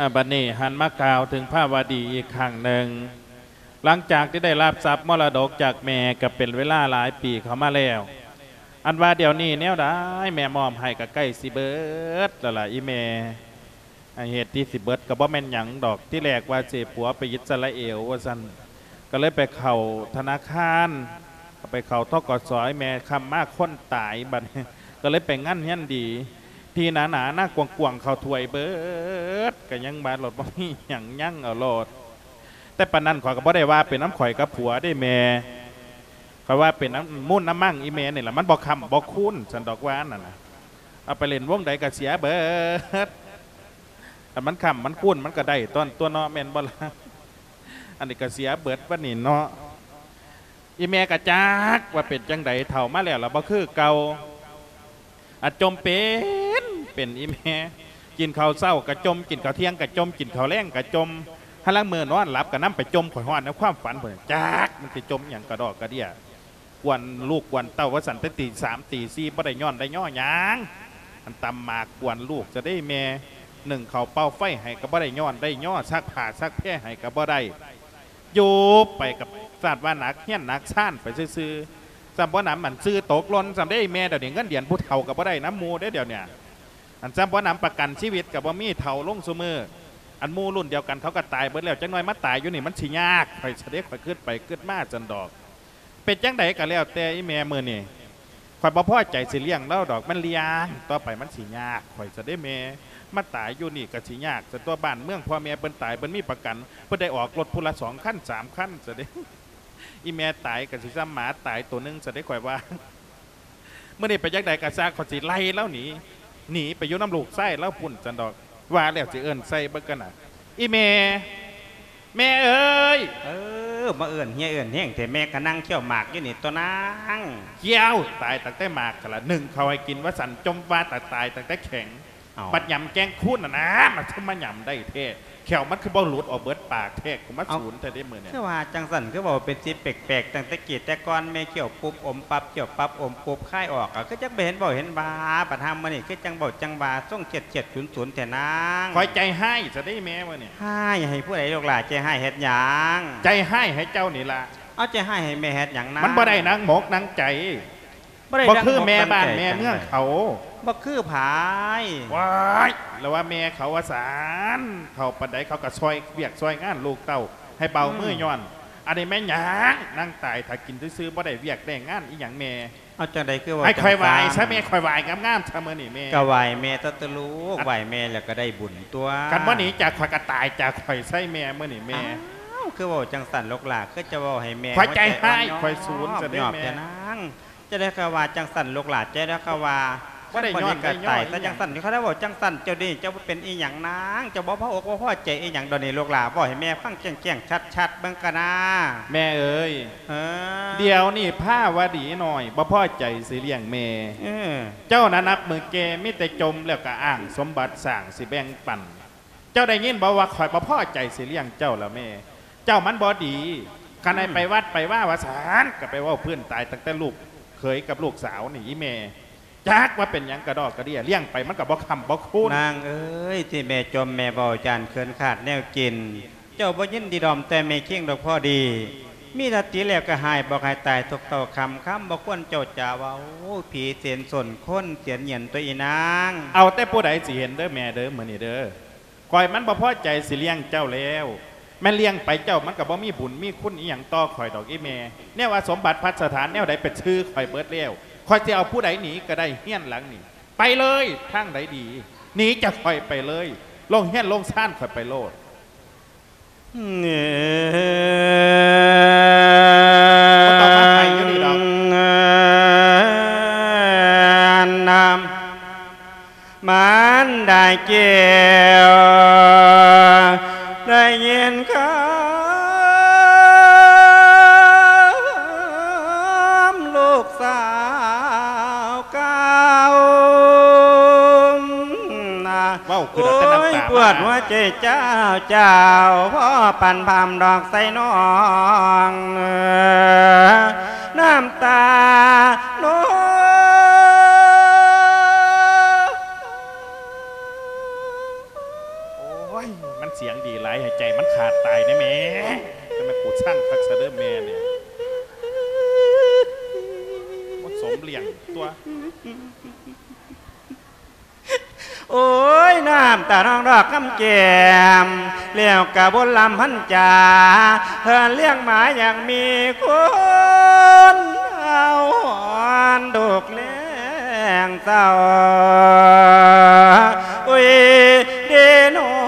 ອາ ບັດນີ້ຫັນມາກ່າວເຖິງພາວະດີອີກຄັ້ງໜຶ່ງ ຫຼັງຈາກທີ່ໄດ້ຮັບຊັບມໍລະດົກຈາກແມ່ກໍເປັນເວລາຫຼາຍປີເຂົ້າມາແລ້ວ ອັນວ່າດຽວນີ້ແນວໃດແມ່ມອບໃຫ້ກໍໃກ້ຊິເບິດແລ້ວລະອີ່ແມ່. ອັນເຫດທີ່ຊິເບິດກໍບໍ່ແມ່ນຫຍັງດອກ ທີແລກວ່າຊິໃຫ້ຜົວໄປອິດສະຣາເອວວ່າຊັ້ນ ກໍເລີຍໄປເຂົ້າທະນາຄານ ກໍໄປເຂົ້າ ທກສ ແມ່ ຄ່ຳມາຄົນຕາຍ ບັດນີ້ກໍເລີຍໄປງານຮຽນດີ ທີ່ໜາໆ ນາກວ້າງໆ ເຂົ້າຖ້ວຍເບິດ ກໍຍັງວ່າໂລດ ບໍ່ມີຫຍັງ ຍັງເອົາໂລດ. ແຕ່ປານນັ້ນຂ້ອຍກໍບໍ່ໄດ້ວ່າເປັນນຳຂ້ອຍກັບຜົວເດ້ແມ່ ຂ້ອຍວ່າເປັນນຳມູນນຳມັງອີ່ແມ່ນີ້ລະ ມັນບໍ່ຄ້ຳບໍ່ຄູນຊັ້ນດອກວ່ານັ້ນນະ ເອົາໄປຫຼິ້ນວົງໃດກໍເສຍເບິດ ຄັນມັນຄ້ຳມັນຄູນມັນກໍໄດ້ຕອນຕົວເນາະ ແມ່ນບໍ່ລະ? ອັນນີ້ກໍເສຍເບິດບັດນີ້ເນາະ. ອີ່ແມ່ກໍຈັກວ່າເປັນຈັ່ງໃດ ເຖົ້າມາແລ້ວລະບໍ່ຄືເກົ່າ ອາ ຈົ່ມເປັນ ເປັນອີ່ແມ່ ກິນເຂົ້າເຊົ້າກໍຈົ່ມ ກິນເຂົ້າທ່ຽງກໍຈົ່ມ ກິນເຂົ້າແລງກໍຈົ່ມ ຫາລາງມື້ນອນຫຼັບກໍນຳໄປຈົ່ມ ຂ້ອຍຮອດໃນຄວາມຝັນພຸ້ນ ຈັກມັນຊິຈົ່ມຫຍັງກະດອກກະເດຍ ກວນລູກກວນເຕົ້າວ່າຊັ້ນ ແຕ່ຕີສາມຕີສີ່ບໍ່ໄດ້ຍ້ອນໄດ້ຍໍຫຍັງ ອັນຕຳໝາກກວນລູກຊະເດ້ແມ່ ໜຶ້ງເຂົ້າເປົ່າໄຟໃຫ້ກໍບໍ່ໄດ້ຍ້ອນໄດ້ຍໍ ຊັກຜ້າຊັກແພໃຫ້ກໍບໍ່ໄດ້ ຢູ່ໄປກັບຊາດວ່າໜັກ ຮຽນໜັກຊານໄປຊື່ໆ ຊ້ຳບໍ່ໜຳ ອັນຊື່ຕົກຫຼົ່ນຊ້ຳເດ້ແມ່ ດຽວນີ້ເງິນເດືອນຜູ້ເຖົ້າກໍບໍ່ໄດ້ນຳໝູ່ເດ້ດຽວນີ້ ອັນຊ້ຳບໍ່ໜຳປະກັນຊີວິດກໍບໍ່ມີ ເຖົ້າລົງຊຸມື້ ອັນໝູ່ລຸ້ນດຽວກັນເຂົາກໍຕາຍເບິດແລ້ວ ຈັກໜ່ອຍມາຕາຍຢູ່ນີ້ມັນຊິຍາກ ຂ້ອຍຊະເດ້ ຂ້ອຍຄິດໄປຄິດມາຊັ້ນດອກ. ເປັນຈັ່ງໃດກໍແລ້ວແຕ່ອີ່ແມ່ ມື້ນີ້ຂ້ອຍບໍ່ພໍໃຈຊິລ້ຽງລາວດອກ ມັນລ້ຽງຕໍ່ໄປມັນຊິຍາກ ຂ້ອຍຊະເດ້ແມ່ ມາຕາຍຢູ່ນີ້ກໍຊິຍາກຊະຕົວະ ບ້ານເມືອງພໍ່ແມ່ເພິ່ນຕາຍ ເພິ່ນມີປະກັນ ເພິ່ນໄດ້ອອກລົດຜູ້ລະສອງຄັນສາມຄັນຊະເດ້ ອີ່ແມ່ຕາຍກໍຊິຊ້ຳໝາຕາຍໂຕໜຶ່ງຊະເດ້ ຂ້ອຍວ່າ. ມື້ນີ້ໄປຈັ່ງໃດກໍຊ່າງ ຂ້ອຍຊິໄລ່ລາວໜີ ໜີໄປຢູ່ນຳລູກຊາຍລາວພຸ້ນຊັ້ນດອກ ວ່າແລ້ວຊິເອີ້ນໃສ່ເບິ່ງກັນນະ ອີ່ແມ່ ແມ່ເອີຍ ເອີ ມາເອີ້ນເຮຍເອີ້ນແຮງແທ້ ແມ່ກໍນັ່ງຄ້ຽວໝາກຢູ່ນີ້ຕົວະນາງ ຄ້ຽວຕາຍຕັ້ງແຕ່ໝາກຫັ້ນລະ ໜຶ້ງເຂົ້າໃຫ້ກິນວ່າຊັ້ນ ຈົ່ມວ່າຕາຍຕັ້ງແຕ່ແຂງ ເອົ້າ ບັດຫຍຳແກງຄູນຫັ້ນນາ ມັນຄືມາຫຍຳໄດ້ແທ້ ແຂ້ວມັນຄືບໍ່ຫຼຸດອອກເບິດປາກແທ້ ກູມາສູນແທ້ເດ້ມື້ນີ້ ຄືວ່າຈັ່ງຊັ້ນ ຄືເວົ້າເປັນສິດແປກໆ ຕັ້ງແຕ່ກີ້ແຕ່ກ່ອນ ແມ່ຄ້ຽວປຸບອົມປັບ ຄ້ຽວປັບອົມປຸບ ຄາຍອອກ ກໍຄືຈັກບໍ່ເຫັນເວົ້າເຫັນວ່າ ບັດຫາມື້ນີ້ຄືຈັ່ງເວົ້າຈັ່ງວ່າ ຊົງຂຽດໆ ສູນໆ ແທ້ນາງ ຂ້ອຍໃຈຮ້າຍຊະເດ້ແມ່ມື້ນີ້ ຮ້າຍໃຫ້ຜູ້ໃດລູກຫຼ້າ ໃຈຮ້າຍເຮັດຫຍັງ ໃຈຮ້າຍໃຫ້ເຈົ້ານີ້ລະ ເອົາ ໃຈຮ້າຍໃຫ້ແມ່ເຮັດຫຍັງນາງ ມັນບໍ່ໄດ້ໜັງໝົກໜັງໃຈ ບໍ່ໄດ້ ບໍ່ຄືແມ່ບ້ານແມ່ເມືອງເຂົາ ບໍ່ຄືໃຜ ວ້າຍ ລະວ່າແມ່ເຂົາວ່າຊັ້ນ ເຖົ້າປານໃດເຂົາກໍຊ່ອຍວຽກຊ່ອຍງານລູກເຕົ້າ ໃຫ້ເບົາມື ອືມ ຍ້ອນ ອັນນີ້ແມ່ນຫຍັງ ນັ່ງຕາຍຖ້າກິນຊື່ໆ ບໍ່ໄດ້ວຽກໄດ້ງານອີ່ຫຍັງແມ່ ເອົາ ຈັ່ງໃດຄືເວົ້າ ໃຫ້ຂ້ອຍໄຫວ້ຊະແມ່ ຈັ່ງຊັ້ນ ຂ້ອຍໄຫວ້ງາມໆຊະມື້ນີ້ແມ່ ກໍໄຫວ້ແມ່ຕົວະ ລູກ ໄຫວ້ແມ່ແລ້ວກໍໄດ້ບຸນຕົວະ ຄັນບໍ່ໜີຈາກຂ້ອຍກໍຕາຍຈາກຂ້ອຍຊະແມ່ມື້ນີ້ແມ່ ອ້າວ ຄືເວົ້າຈັ່ງຊັ້ນລູກຫຼ້າ ຄືຈະເວົ້າໃຫ້ແມ່ ຂ້ອຍໃຈຮ້າຍ ຫົວໃຈອ່ອນ ຂ້ອຍສູນຊະເດ້ແມ່ ຍອມໆ ແທ້ນາງ ຈະໄດ້ຄະວ່າຈັ່ງຊັ້ນລູກຫຼ້າ ຈະໄດ້ຄະວ່າ ບໍ່ໄດ້ຍ້ອນໄດ້ຍໍຫຍັງ ຈັ່ງຊັ້ນ ຄັນເວົ້າຈັ່ງຊັ້ນ ເຈົ້ານີ້ເຈົ້າບໍ່ເປັນອີ່ຫຍັງນາງ ເຈົ້າບໍ່ພໍອົກບໍ່ພໍໃຈອີ່ຫຍັງດອກນີ້ ລູກຫຼ້າ ເວົ້າໃຫ້ແມ່ຟັງແຈ້ງໆ ຊັດໆ ເບິ່ງກະນາ ແມ່ເອີຍ ເອີ ດຽວນີ້ພາວະດີນ້ອຍບໍ່ພໍໃຈຊິລ້ຽງແມ່ ເອີ ເຈົ້ານະນັບມື້ແກ່ມີແຕ່ຈົ່ມ ແລ້ວກະອ້າງສົມບັດສ້າງຊິແບ່ງປັນ ເຈົ້າໄດ້ຍິນບໍ່ວ່າຂ້ອຍບໍ່ພໍໃຈຊິລ້ຽງເຈົ້າລະແມ່ ເຈົ້າມັນບໍ່ດີ ຄັນໃຫ້ ອືມ ໄປວັດໄປວາວ່າຊັ້ນ ກໍໄປເວົ້າພື້ນຕາຍຕັ້ງແຕ່ລູກເຂີຍກັບລູກສາວນີ້ອີ່ແມ່ ຈັກວ່າເປັນຫຍັງກະດອກກະເດຍ ລ້ຽງໄປມັນກໍບໍ່ຄ້ຳບໍ່ຄູນ ນາງເອີຍ ທີ່ແມ່ຈົ່ມແມ່ເວົ້າຢ້ານເຂີນຂາດແນວກິນ ເຈົ້າບໍ່ຍິນດີດອມແຕ່ແມ່ຄີງດອກພໍດີ ມີສະຕິແລ້ວກໍຫາຍບອກໃຫ້ຕາຍທຸກເທົ່າຄ່ຳ ຄຳບໍ່ຄວນເຈົ້າຈະເວົ້າ ຜີເສນສົນຄົນເສນຫຍັນຕົວະອີ່ນາງ ເອົາແຕ່ຜູ້ໃດຊິເຫັນເດີແມ່ເດີ ມື້ນີ້ເດີ ຂ້ອຍມັນບໍ່ພໍໃຈຊິລ້ຽງເຈົ້າແລ້ວ ແມ່ນລ້ຽງໄປເຈົ້າມັນກໍບໍ່ມີບຸນມີຄຸນອີ່ຫຍັງຕໍ່ຂ້ອຍດອກອີ່ແມ່ ແນວວ່າສົມບັດພັດສະຖານແນວໃດເປັນຊື່ຂ້ອຍເບິດແລ້ວ ຂ້ອຍຊິເອົາຜູ້ໃດໜີກໍໄດ້ ເຮືອນຫຼັງນີ້ ໄປເລີຍ ທາງໃດດີ ໜີຈາກຂ້ອຍໄປເລີຍ ໂລງເຮືອນໂລງຊານຂ້ອຍໄປໂລດ ເອີ ບໍ່ຕ້ອງມາໄຫຢູ່ນີ້ດອກ ນຳ ມານດາແກ້ວ ໄດ້ຍິນຄຳລູກສາວກ່າວ ເວົ້າຄືເອົາແຕ່ນ້ຳຕາ ໂອ້ຍ ປວດຫົວໃຈເຈົ້າ ເຈົ້າ ພໍປັນພາມດອກໃສ່ນ້ອງ ນ້ຳຕານ້ອງ ໂອ້ຍ ມັນສຽງດີຫຼາຍ ໃຫ້ໃຈມັນຂາດຕາຍແດ່ແມ່ ແຕ່ແມ່ນກູຊັງຄັກຊະເດີແມ່ນີ້ ບໍ່ສົມລ້ຽງຕົວ. ໂອ້ຍ ນ້ຳຕານ້ອງດອກຄຳແກ້ມ ແລ້ວກະບົນລຳພັນຈາ ເຮືອນລ້ຽງໝາຍັງມີຄົນເອົາ ຮ້ອນທຸກແລງເຊົາ ໂອ້ຍ ເດນ້ອງ.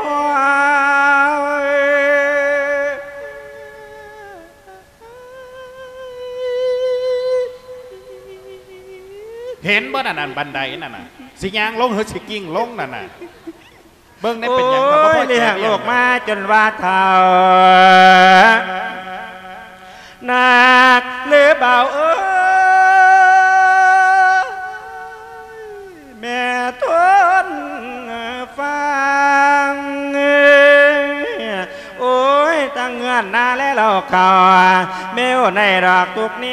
ເຫັນບໍ່ນັ້ນ ອັນບັນໄດນັ້ນນະ ຊິຍ່າງລົງ ຫຼື ຊິກິ້ງລົງນັ້ນນະ ເບິ່ງແດ່ເປັນຫຍັງ ໂອ້ຍ ຂ້ອຍບໍ່ພໍໃຈ ລ້ຽງລູກມາຈົນວ່າເຖົ້າ ໜັກຫຼືເບົາເອີຍ ແມ່ທົນຟັງ ໂອ້ຍ ທັງເຮືອນນາແລເລົ້າເຂົ້າ ແມ່ໂອໃນດອກທຸກແນ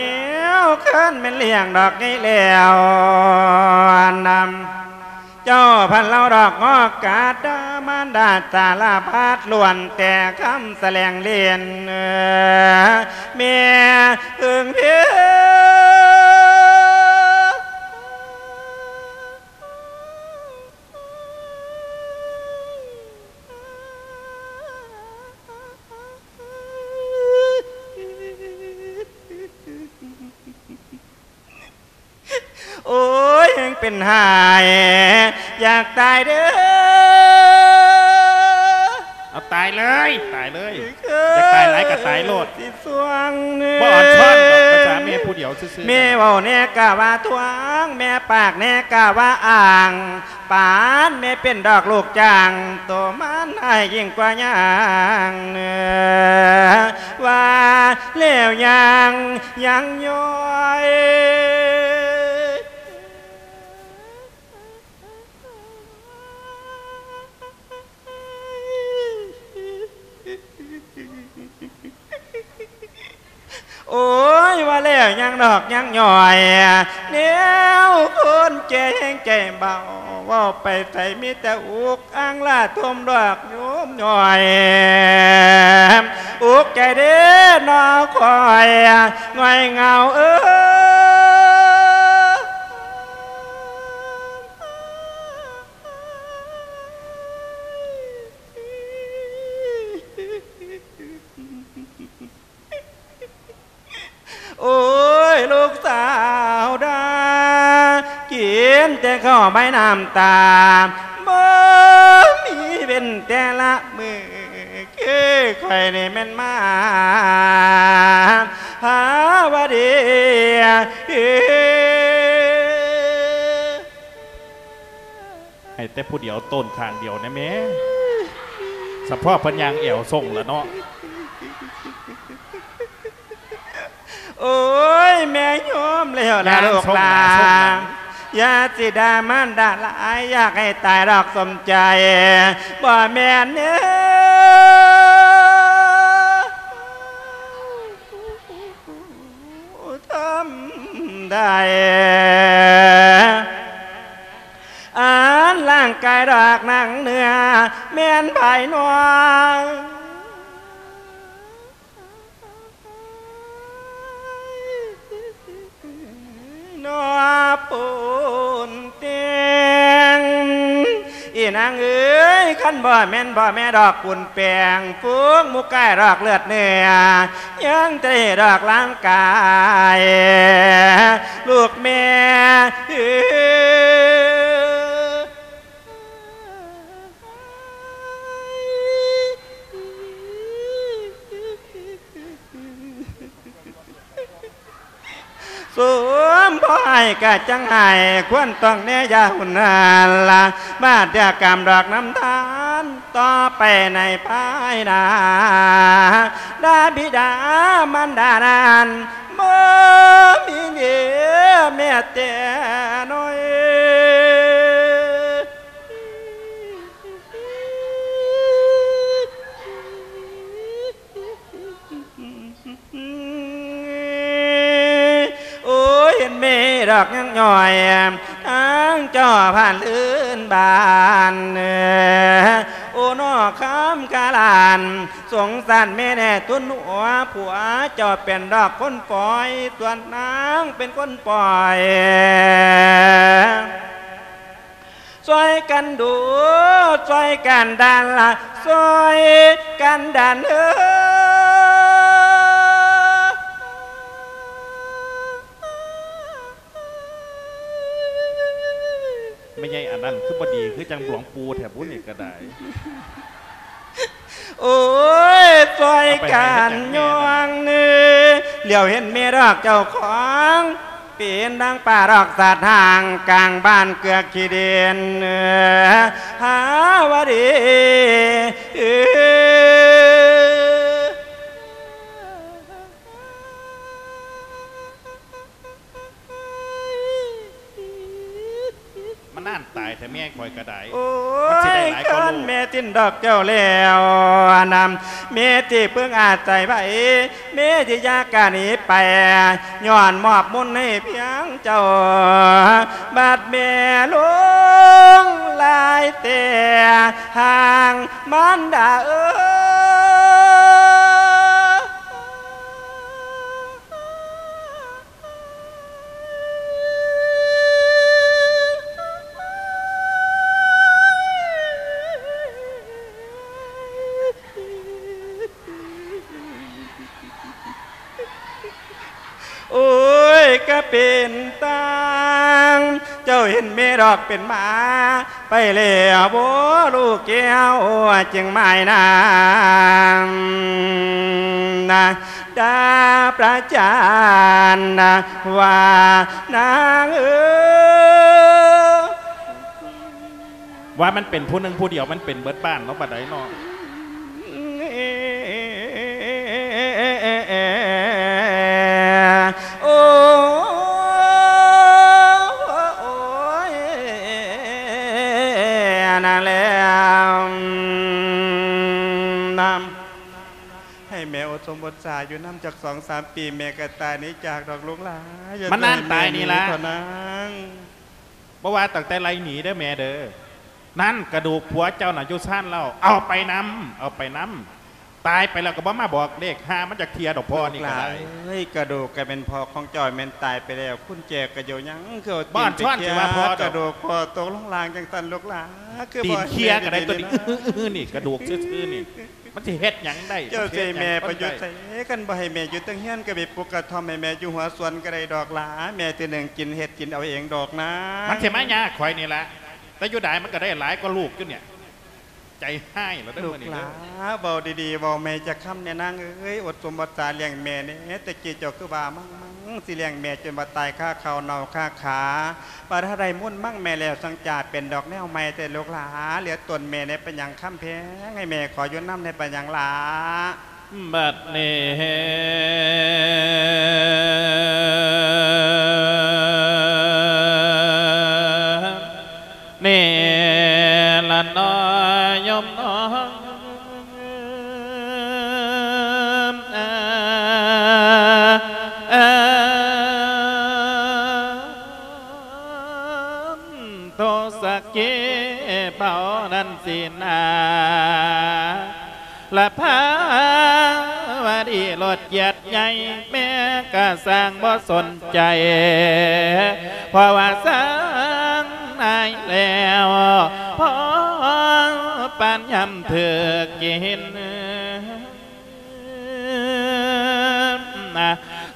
ວ ຄັນແມ່ນລ້ຽງດອກໃຫຍ່ແລ້ວ ນຳເຈົ້າພັນເລົ່າດອກງອກກາດ ມານດາສາລະພັດ ລ້ວນແຕ່ຄຳສະແຫຼງເຫຼັ້ນ ແມ່ເພິ່ງເພ. ໂອ້ຍ ແຮງເປັນຫາຍ ຢາກຕາຍເດີ ເອົາຕາຍເລີຍ ຕາຍເລີຍ ຢາກຕາຍຫຼາຍກໍຕາຍໂລດ ຊິສວງ ບໍ່ອ່ອນຊ້ອນດອກ ພາສາແມ່ຜູ້ດຽວຊື່ໆ ແມ່ເວົ້າແດ່ກະວ່າທວງ ແມ່ປາກແດ່ກະວ່າອ້າງ ປານແມ່ເປັນດອກລູກຈ້າງ ໂຕມັນຮ້າຍຍິ່ງກວ່າຍ່າງ ວ່າແລ້ວຍັງ ຍັງຍ້ອຍ. ໂອ້ຍ ວ່າແລ້ວຍັງນອກຍັງຍ່ອຍ ແນວຄົນແກ່ແຮງໃຈເບົາ ເວົ້າໄປໃສມີແຕ່ອຸກອັ່ງລະທົມດອກໂຍມຍ່ອຍ ອຸກໃຈເດ້ນ້ອງຂ້ອຍ ງ່ອຍເຫງົາເອີຍ. ໂອ້ຍ ລູກສາວດາ ກິນແຕ່ເຂົ້າໃບນ້ຳຕາ ບໍ່ມີເວັ້ນແຕ່ລະມື້ ຄືຂ້ອຍນີ້ແມ່ນມາຫາວ່າດີ. ໃຫ້ແຕ່ຜູ້ດຽວໂຕນຂ້າງດຽວແດ່ແມ່ ສະເພາະເພິ່ນຍ່າງແອວສົ່ງລະເນາະ. ໂອ້ຍ ແມ່ຍອມແລ້ວລະລູກຫຼານ ຢ່າຊິດ່າມານດາຫຼາຍ ຢາກໃຫ້ຕາຍດອກສົມໃຈ ບໍ່ແມ່ນເດີ ທຳໄດ້ ອັນຮ່າງກາຍດອກໜັງເນື້ອ ແມ່ນພາຍນອກ ນອກປົນແຕ່ງ ອີນາງເອີຍ ຄັນບໍ່ແມ່ນພໍ່ແມ່ດອກປຸນແປງ ຝູງໝູ່ກາຍດອກເລືອດເນື້ອ ຍັງໄດ້ດອກຮ່າງກາຍ ລູກແມ່ເອີຍ. ສົມພໍໃຫ້ ກະຈັ່ງໃຫ້ຄວນຕ້ອງແນຢ່າຮຸນແຮງລະ ມາເທື່ອກຳດອກນຳທານຕໍ່ໄປໃນພາຍໜ້າ ດາບິດາມານດານັ້ນ ບໍ່ມີເຫຍື່ອແມ້ແຕ່ນ້ອຍ. ໂອ້ຍ ເຫັນແມ່ດອກຍັງຍ່ອຍ ທາງເຈົ້າຜ່ານເຮືອນບ້ານ ໂອ້ ນອກຄຳຄາລານ ສົງສານແມ່ແດ່ ທົນຫົວຜົວເຈົ້າເປັນດອກຄົນປ່ອຍ ສ່ວນນາງເປັນຄົນປ່ອຍ. ຊ່ອຍກັນດູ ຊ່ອຍກັນດັນລະ ຊ່ອຍກັນດັນເອີ. ແມ່ໃຫຍ່ອັນນັ້ນຄືບໍ່ດີ ຄືຈັ່ງຫຼວງປູ່ແທ້ບຸນີ້ກະໄດ້. ໂອ້ຍ ຊ່ອຍກັນຍ່ອງເນີ ຫຼຽວເຫັນແມ່ດອກເຈົ້າຂອງ ເປັນດັ່ງປາດອກສາດຫາງ ກາງບ້ານເກືອກຂີ້ດິນ ຫາວະດີ. ມານານຕາຍແທ້ແມ່ຂ້ອຍກະໄດ້. ໂອ້ຍ ມັນຊິໄດ້ຫຼາຍກວ່າລູກ ຄັນແມ່ຖິ້ມດອກເຈົ້າແລ້ວນຳ ແມ່ຊິເພິ່ງອາໄສໃຜ ແມ່ຊິຢ່າກະໜີໄປ ຍ້ອນມອບມົນໃຫ້ພຽງເຈົ້າ ບັດແມ່ຫຼົງຫຼາຍແຕ່ຫ່າງ ມານດາເອີຍ. ໂອ້ຍ ກະເປັນຕ່າງ ເຈົ້າເຫັນແມ່ດອກເປັນໝາ ໄປແລ້ວບໍ່ລູກແກ້ວ ຈຶ່ງໝາຍນາງນະ ດາປະຈານນະ ວ່ານາງເອີຍ. ວ່າມັນເປັນຜູ້ໜຶ່ງຜູ້ດຽວ ມັນເປັນເບິດບ້ານເນາະ ບາດໃດເນາະ. ໂອ້ຍ ນັ້ນແຫຼະ ນຳ ໃຫ້ແມ່ອົດສົມອົດສາຢູ່ນຳຈັກສອງສາມປີ ແມ່ກະຕາຍໜີຈາກດອກລູກຫຼານ. ມານານຕາຍນີ້ລະ ເທົ່ານາງ ບໍ່ວ່າຕັ້ງແຕ່ໄລ່ໜີເດີແມ່ເດີ. ນັ້ນ ກະດູກຜົວເຈົ້ານະຢູ່ຊານເຫຼົ້າ ເອົາໄປນຳ ເອົາໄປນຳ ຕາຍໄປແລ້ວກະບໍ່ມາບອກເລກ ຫາມັນຈັກເທື່ອດອກພໍ່ນີ້ກະໄດ້. ລູກຫຼານເອີຍ ກະດູກກະແມ່ນພໍ່ຂອງເຈົ້າ ແມ່ນຕາຍໄປແລ້ວ ກຸນແຈກະຢູ່ຍັງ ຄືເອົາຕີນໄປເຄຍກະດູກພໍ່ຕົກລົງລ່າງຈັ່ງຊັ້ນລູກຫຼານ ຄືບໍ່ໃຫ້ແມ່ຢູ່ດີໆ ຕີນເຄຍກະໄດ້ຕົວນີ້ ນີ້ກະດູກຊື່ໆນີ້ ມັນຊິເຮັດຫຍັງໄດ້ ເຈົ້າຊິໃຫ້ແມ່ໄປຢູ່ໃສ ຄັນບໍ່ໃຫ້ແມ່ຢູ່ເທິງເຮືອນ ກະໄປປຸກກະທ່ອມໃຫ້ແມ່ຢູ່ຫົວສວນກະໄດ້ດອກຫຼາ ແມ່ຊິໜຶ້ງກິນເຮັດກິນເອົາເອງດອກນາງ. ມັນຊິມາຍາກຂ້ອຍນີ້ລະ ແຕ່ຢູ່ໄດ້ມັນກະໄດ້ຫຼາຍກວ່າລູກຢູ່ນີ້ ໃຈຮ້າຍລະເດີມື້ນີ້ເດີ. ລູກຫຼາ ເວົ້າດີໆ ເວົ້າແມ່ຈັກຄຳແນ່ນາງເອີຍ ອົດສົມອົດສາລ້ຽງແມ່ແນ່ ແຕ່ກີ້ເຈົ້າຄືວ່າມັງໆ ຊິລ້ຽງແມ່ຈົນວ່າຕາຍຄາເຂົ້າເນົ່າຄາຂາ ບາດຖ້າໄດ້ມົນມັງແມ່ແລ້ວ ສັງຈາເປັນດອກແນວໃໝ່ແຕ່ລູກຫຼາ ເຫຼືອຕົນແມ່ແນ່ ເປັນຫຍັງຄຳແພງ ໃຫ້ແມ່ຂໍຢູ່ນຳແນ່ ເປັນຫຍັງຫຼາ. ບັດນີ້ນີ້ລະເນາະໂຍມເນາະ ໂທສັກກີເປົ່ານັ້ນສິນາ ລະພາວະດີລົດກຽດໃຫຍ່ ແມ່ກະຊ່າງບໍ່ສົນໃຈ ເພາະວ່າຊ່າງນາຍແລ້ວ ພໍປານຍາມຖືກກິນ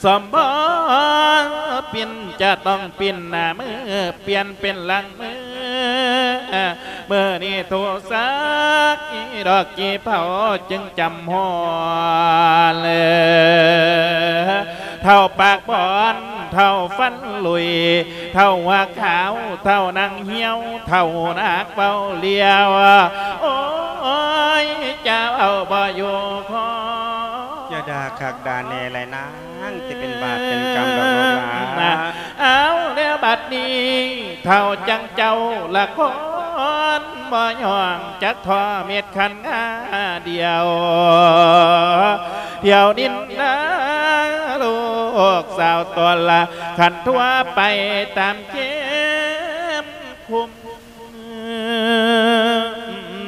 ສົມພໍປິ່ນຈະຕ້ອງປິ່ນໜ້າມື ປ່ຽນເປັນຫຼັງມື ມື້ນີ້ໂທສັກ ດອກກີເຜົາຈຶ່ງຈຳຮອດ ເຖົ້າປາກບອນ ເຖົ້າຟັນລຸຍ ເຖົ້າຫົວຂາວ ເຖົ້າໜັງຫ່ຽວ ເຖົ້າໜາກເວົ້າຫຼຽວ ໂອ້ຍ ຈະເວົ້າບໍ່ຢູ່ຄໍ. ຢ່າດ່າຄັກດ່າແນ່ແຫຼະນາງ ຊິເປັນບາບເປັນກຳດອກລູກຫຼານ. ເອົາແລ້ວບັດນີ້ ເຖົ້າຈັ່ງເຈົ້າລະຄອນ ບໍ່ຍ້ອງຈັກທໍ່ເມັດຄັນງາດຽວ ທ່ຽວນິນນາລູກສາວຕົນລະ ຄັນທົ່ວໄປຕາມເຂມຄຸ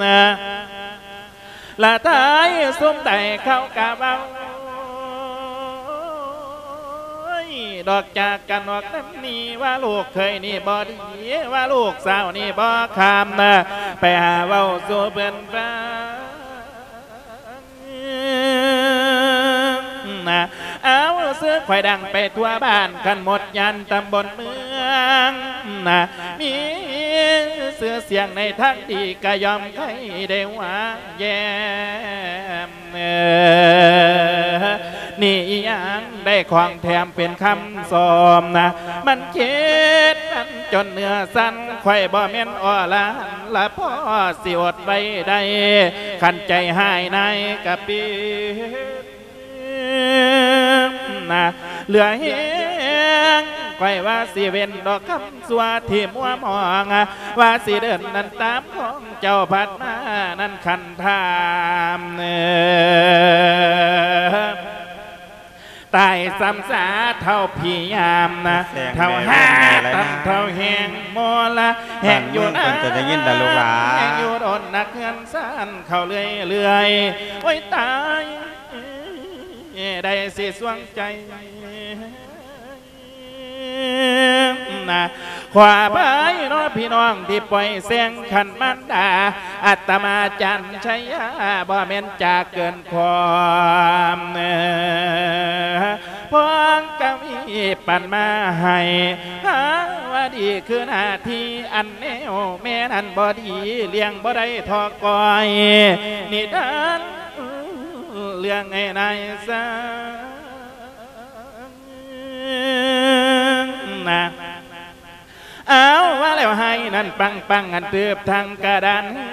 ມ ລະທ້າຍຊຸມໃດເຂົາກະເວົ້າ ດອກຈາກກັນອອກນຳນີ້ ວ່າລູກເຂີຍນີ້ບໍ່ດີ ວ່າລູກສາວນີ້ບໍ່ຄາມ ໄປຫາເວົ້າສູ່ເພິ່ນຟັງ. ເອົາ ຊື່ຂ້ອຍດັງໄປທົ່ວບ້ານ ຄັນໝົດຍ່ານຕຳບົນເມືອງ ມີຊື່ສຽງໃນທາງດີ ກະຍ່ອມໃຄ່ໄດ້ວ່າແຍ້ມ ນີ້ອີ່ຫຍັງໄດ້ຂອງແຖມເປັນຄຳຊອມນະ ມັນຄິດມັນຈົນເນື້ອສັ່ນ ຂ້ອຍບໍ່ແມ່ນອໍລະຫັນລະພໍຊິອົດໄວ້ໄດ້ ຄັນໃຈຮ້າຍນາຍກະປິນນະ ເຫຼືອແຮງຂ້ອຍວ່າຊິເວັ້ນດອກຄຳ ຊົ່ວທີ່ມົວມອງ ວ່າຊິເດີນນັ້ນຕາມຂອງເຈົ້າພັດມານັ້ນຄັນຖາມ ຕາຍຊ້ຳສາເຖົ້າພະຍາມນະ ເຖົ້າຫາຕຳເຖົ້າແຮງໂມລະ ແຮງຢູ່ນານ ແຮງຢູ່ດົນນັກເຮືອນຊານເຂົ້າເລື້ອຍໆ ໂອ້ຍຕາຍ ໄດ້ຊິສວງໃຈ ນະ ຂໍອະໄພເນາະພີ່ນ້ອງທີ່ປ່ອຍແສງ ຄັນມານດາ ອາດຕະມາຈັນໄຊຍາ ບໍ່ແມ່ນຈາກເກີນຄວາມ ເອີ ພອງກະມີປັນມາໃຫ້ ຫາວ່າດີຄືໜ້າທີ່ ອັນແນວແມ່ນັ້ນບໍ່ດີ ລ້ຽງບໍ່ໄດ້ທໍ່ກ້ອຍ ນິທານເລື່ອງໃຫ້ນາຍຊາ ນະ ເອົາ ວ່າແລ້ວໄຫ້ນັ້ນປັງໆ ອັນເຕີບທັງກະດານເຮື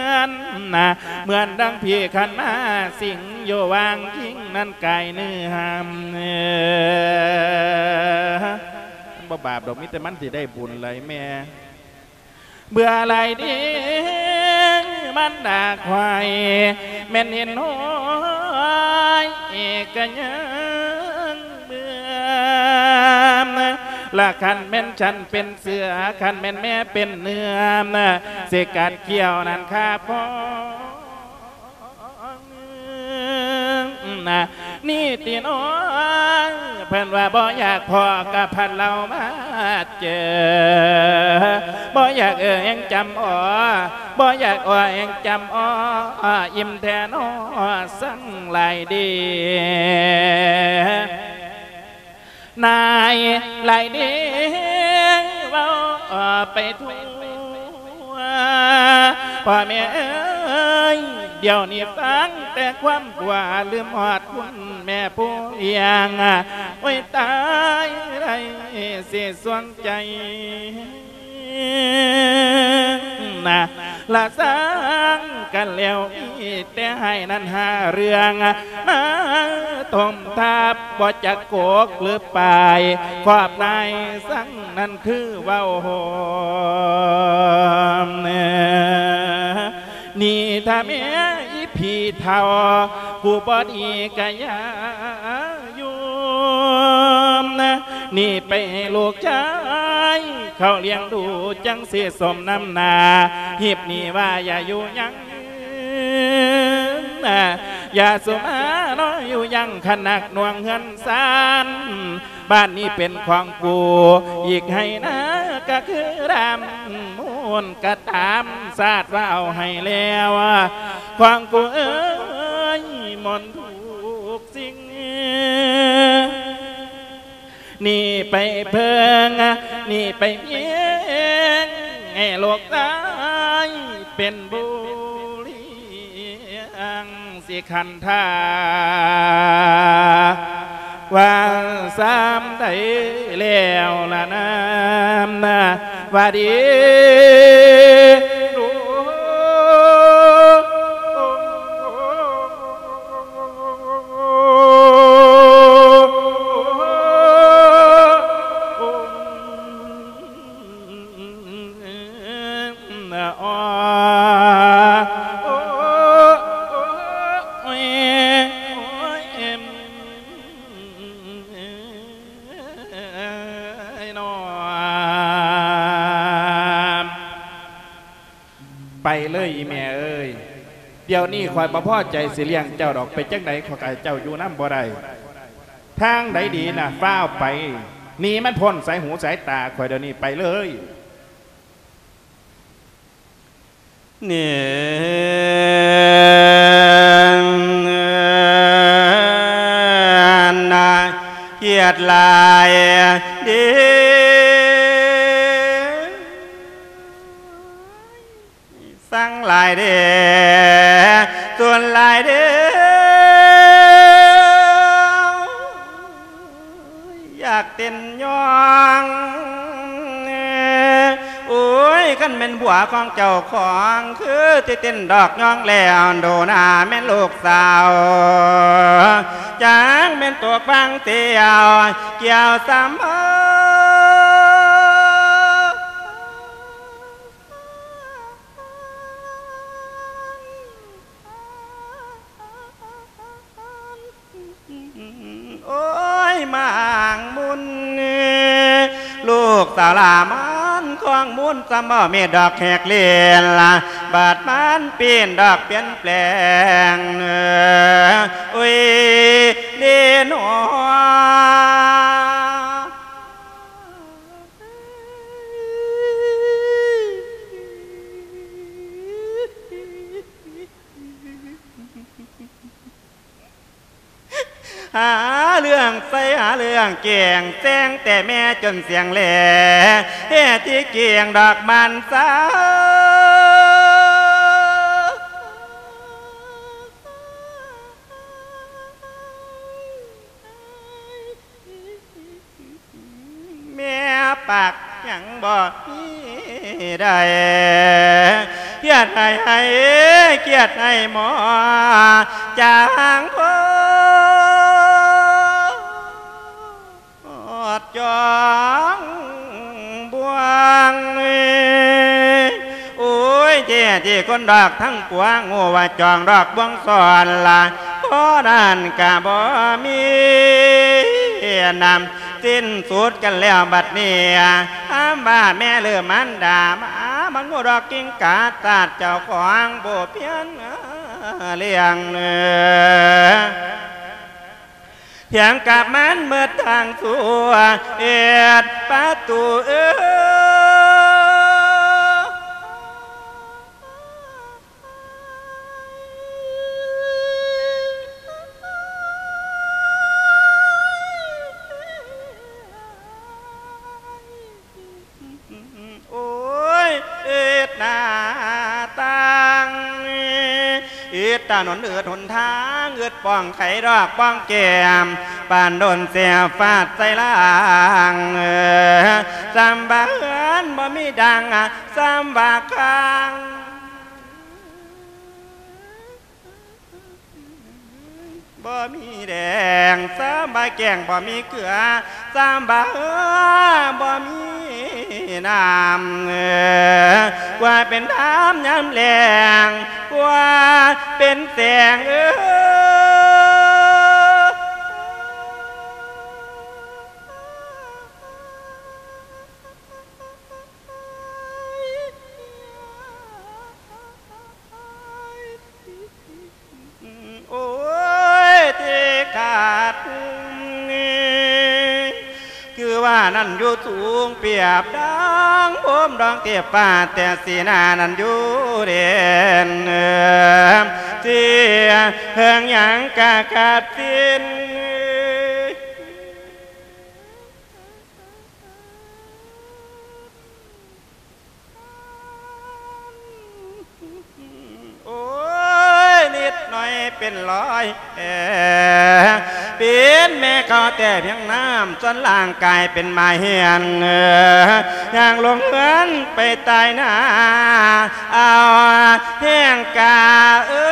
ອນນະ ເໝືອນດັ່ງຜີຂັນໝາສິງຢູ່ຫວ່າງຄິງນັ້ນກາຍເນື້ອ ມັນບໍ່ບາບດອກ ມີແຕ່ມັນຊິໄດ້ບຸນຫຼາຍແມ່. ເບື່ອຫຼາຍເດ ມັນດາຄວາຍ ແມ່ນເຫັນຫ້ອຍກະຍັງເບື່ອ ລະຄັນແມ່ນສັນເປັນເສືອ ຄັນແມ່ນແມ່ເປັນເນື້ອ ຊິກັດຂ້ຽວນັ້ນຄາບຄອ ນະ ນີ້ຕິນ້ອງ ເພິ່ນວ່າບໍ່ຢາກພໍ້ກະພັດເຫຼົ່າມາເຈີ ບໍ່ຢາກເອີ່ຍແຮງຈຳອໍ ບໍ່ຢາກອໍແຮງຈຳອໍ ອີ່ມແທ້ນໍສັງຫຼາຍເດ. ນາຍຫຼາຍເດ ເວົ້າໄປທົ່ວ ພໍ່ແມ່ເອີຍ ດຽວນີ້ຟັງແຕ່ຄວາມກົວ ລືມຮອດຄຸນແມ່ຜູ້ລ້ຽງ ໂອ້ຍຕາຍ ໄດ້ຊິສວງໃຈ ນະ ລະສ້າງກັນແລ້ວ ມີແຕ່ໃຫ້ນັ້ນຫາເລື່ອງ ມາຖົມທັບ ບໍ່ຈັກກົກຫຼືປາຍ ຄອບນາຍສັງນັ້ນຄືເວົ້າໂຫມ ນີ້ຖ້າແມ່ອີ່ຜີເຖົ້າ ຜູ້ບໍ່ດີກະຢ່າ ຢູ່ນະ ນີ້ໄປໃຫ້ລູກຊາຍເຂົາລ້ຽງດູ ຈັ່ງຊິສົມນຳໜ້າ ຮີບໜີວ່າຢ່າຢູ່ຍັງນະ ຢ່າສຸມາເນາະຢູ່ຍັງ ຄັນໜັກໜ່ວງເຮືອນຊານ ບ້ານນີ້ເປັນຂອງກູ ອີກໄຮ່ນາກະຄືດຳມູນກະຕາມ ຊາດວ່າເອົາໃຫ້ແລ້ວ ຂອງກູເອີຍ ໝົດທຸກ ສິ່ງ ນີ້ໄປເພິ່ງ ນີ້ໄປພິງ ໃຫ້ລູກຊາຍເປັນບຸລິ ອັງສິຄັນທາ ວ່າຊ້ຳ ໃດແລ້ວລະນາ ວ່າດີ. ໄປເລີຍອີ່ແມ່ເອີຍ, ດຽວນີ້ຂ້ອຍບໍ່ພໍໃຈຊິລ້ຽງເຈົ້າດອກ, ເປັນຈັ່ງໃດຂ້ອຍກະເຈົ້າຢູ່ນຳບໍ່ໄດ້. ທາງໃດດີນະ ຟ້າວໄປ ໜີມັນພົ້ນສາຍຫູສາຍຕາຂ້ອຍດຽວນີ້, ໄປເລີຍ. ນີ້ນະ ຄຽດຫຼາຍເດ້ ສັງຫຼາຍເດ້ ສ່ວນຫຼາຍເດ້ ຢາກເຕັ້ນຍ້ອງ. ໂອ້ຍ ຄັນແມ່ນຜົວຂອງເຈົ້າຂອງ ຄືຊິເຕັ້ນດອກຍ້ອງແລ້ວ ໂດນາແມ່ນລູກສາວ ຈັກແມ່ນຕົກບາງຕຽວ ກ່ຽວສຳ ໂອ້ຍ ໝາງມຸນ ລູກສາວຫຼ້າມັນຄອງມຸນ ສ່ຳບໍ່ມີດອກແຮກເລນລະ ບາດມັນປີ້ນດອກປ່ຽນແປງ ໂອ້ຍ ເດນອ. ຫາເລື່ອງໃສ່ ຫາເລື່ອງແກ່ງ ແຊງແຕ່ແມ່ຈົນສຽງແຫຼ ເຮັດທີ່ກຽງດອກມັນສາວ. ແມ່ປາກຍັງບໍ່ມີໄດ້ ຄຽດໃຫ້ ໃຫ້ ຄຽດໃຫ້ໝໍ ຈາງໂພດຈອງບວງ. ໂອ້ຍ ເຈ້ ເຈ້ຄົນດອກທັງປວງ ຮູ້ວ່າຈອງດອກບວງຊ້ອນລະ ພໍນັ້ນກະບໍ່ມີນຳ ສິ້ນສຸດກັນແລ້ວບັດນີ້ ຄຳວ່າແມ່ຫຼືມານດາ ມາ ມາງູດອກກິງກາ ຊາດເຈົ້າຂອງບໍ່ພຽງລ້ຽງ ພຽງກັບມັນເໝິດທາງຊົ່ວ ເອັດປະຕູເອີ. ໂອ້ຍ ເອີດໜ້າຕ່າງ ເອີດຖະໜົນ ເອີດຫົນທາງ ເອີດປ່ອງໄຂດອກປ່ອງແກ້ມ ປານໂດນແສບຟາດໃສ່ລ່າງ ສ່ຳວ່າເຮືອນບໍ່ມີດັງ ສ່ຳວ່າຂ້າງ ບໍ່ມີແດງ ສ່ຳວ່າແກ້ງບໍ່ມີເກືອ ສ່ຳວ່າເຮືອບໍ່ມີນ້ຳ ກວ່າເປັນນ້ຳຍາມແລ້ງ ກວ່າເປັນແສງ ເອີ. ໂອ້ຍ ທີ່ຂາດຫຸ້ມນີ້ ຄືວ່ານັ້ນຢູ່ສູງ ປຽບດັ່ງໂຮມດອງເທບຟ້າ ແຕ່ສີໜ້ານັ້ນຢູ່ເດັ່ນ ທີ່ເຖິງຫຍັງກະຂັດສິນ. ໂອ້ຍ ນິດໜ້ອຍ ເປັນລອຍແອ ເປັນແມ່ເຂົາແຕ່ພຽງນ້ຳ ສ່ວນຮ່າງກາຍເປັນໝາກຮຽນ ຍ່າງລົງເຮືອນໄປຕາຍໜ້າ ເອົາແຮງກາເອີ.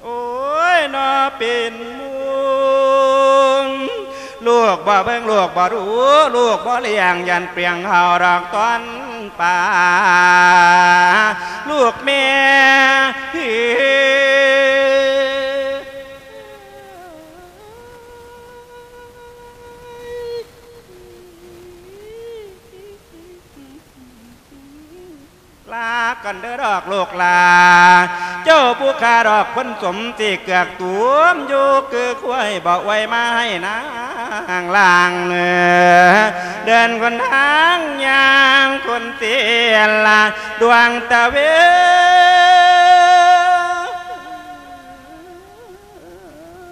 ໂອ້ຍ ເນາະ ເປັນໝູ່ ລູກບໍ່ເບິ່ງ ລູກບໍ່ດູ ລູກບໍ່ລ້ຽງ ຢ້ານເປືອງເຮົາດອກຕອນປາ ລູກແມ່ ລາກັນເດີດອກລູກຫຼາ ເຈົ້າຜູ້ຂ້າດອກຄົນສົມ ຊິເກືອກຕຸມຢູ່ຄືຄວາຍ ບໍ່ອວຍມາໃຫ້ນາງລ້າງເໜືອ ເດີນຄົນທາງຍ່າງຄົນເສຍລະ ດວງຕາເວ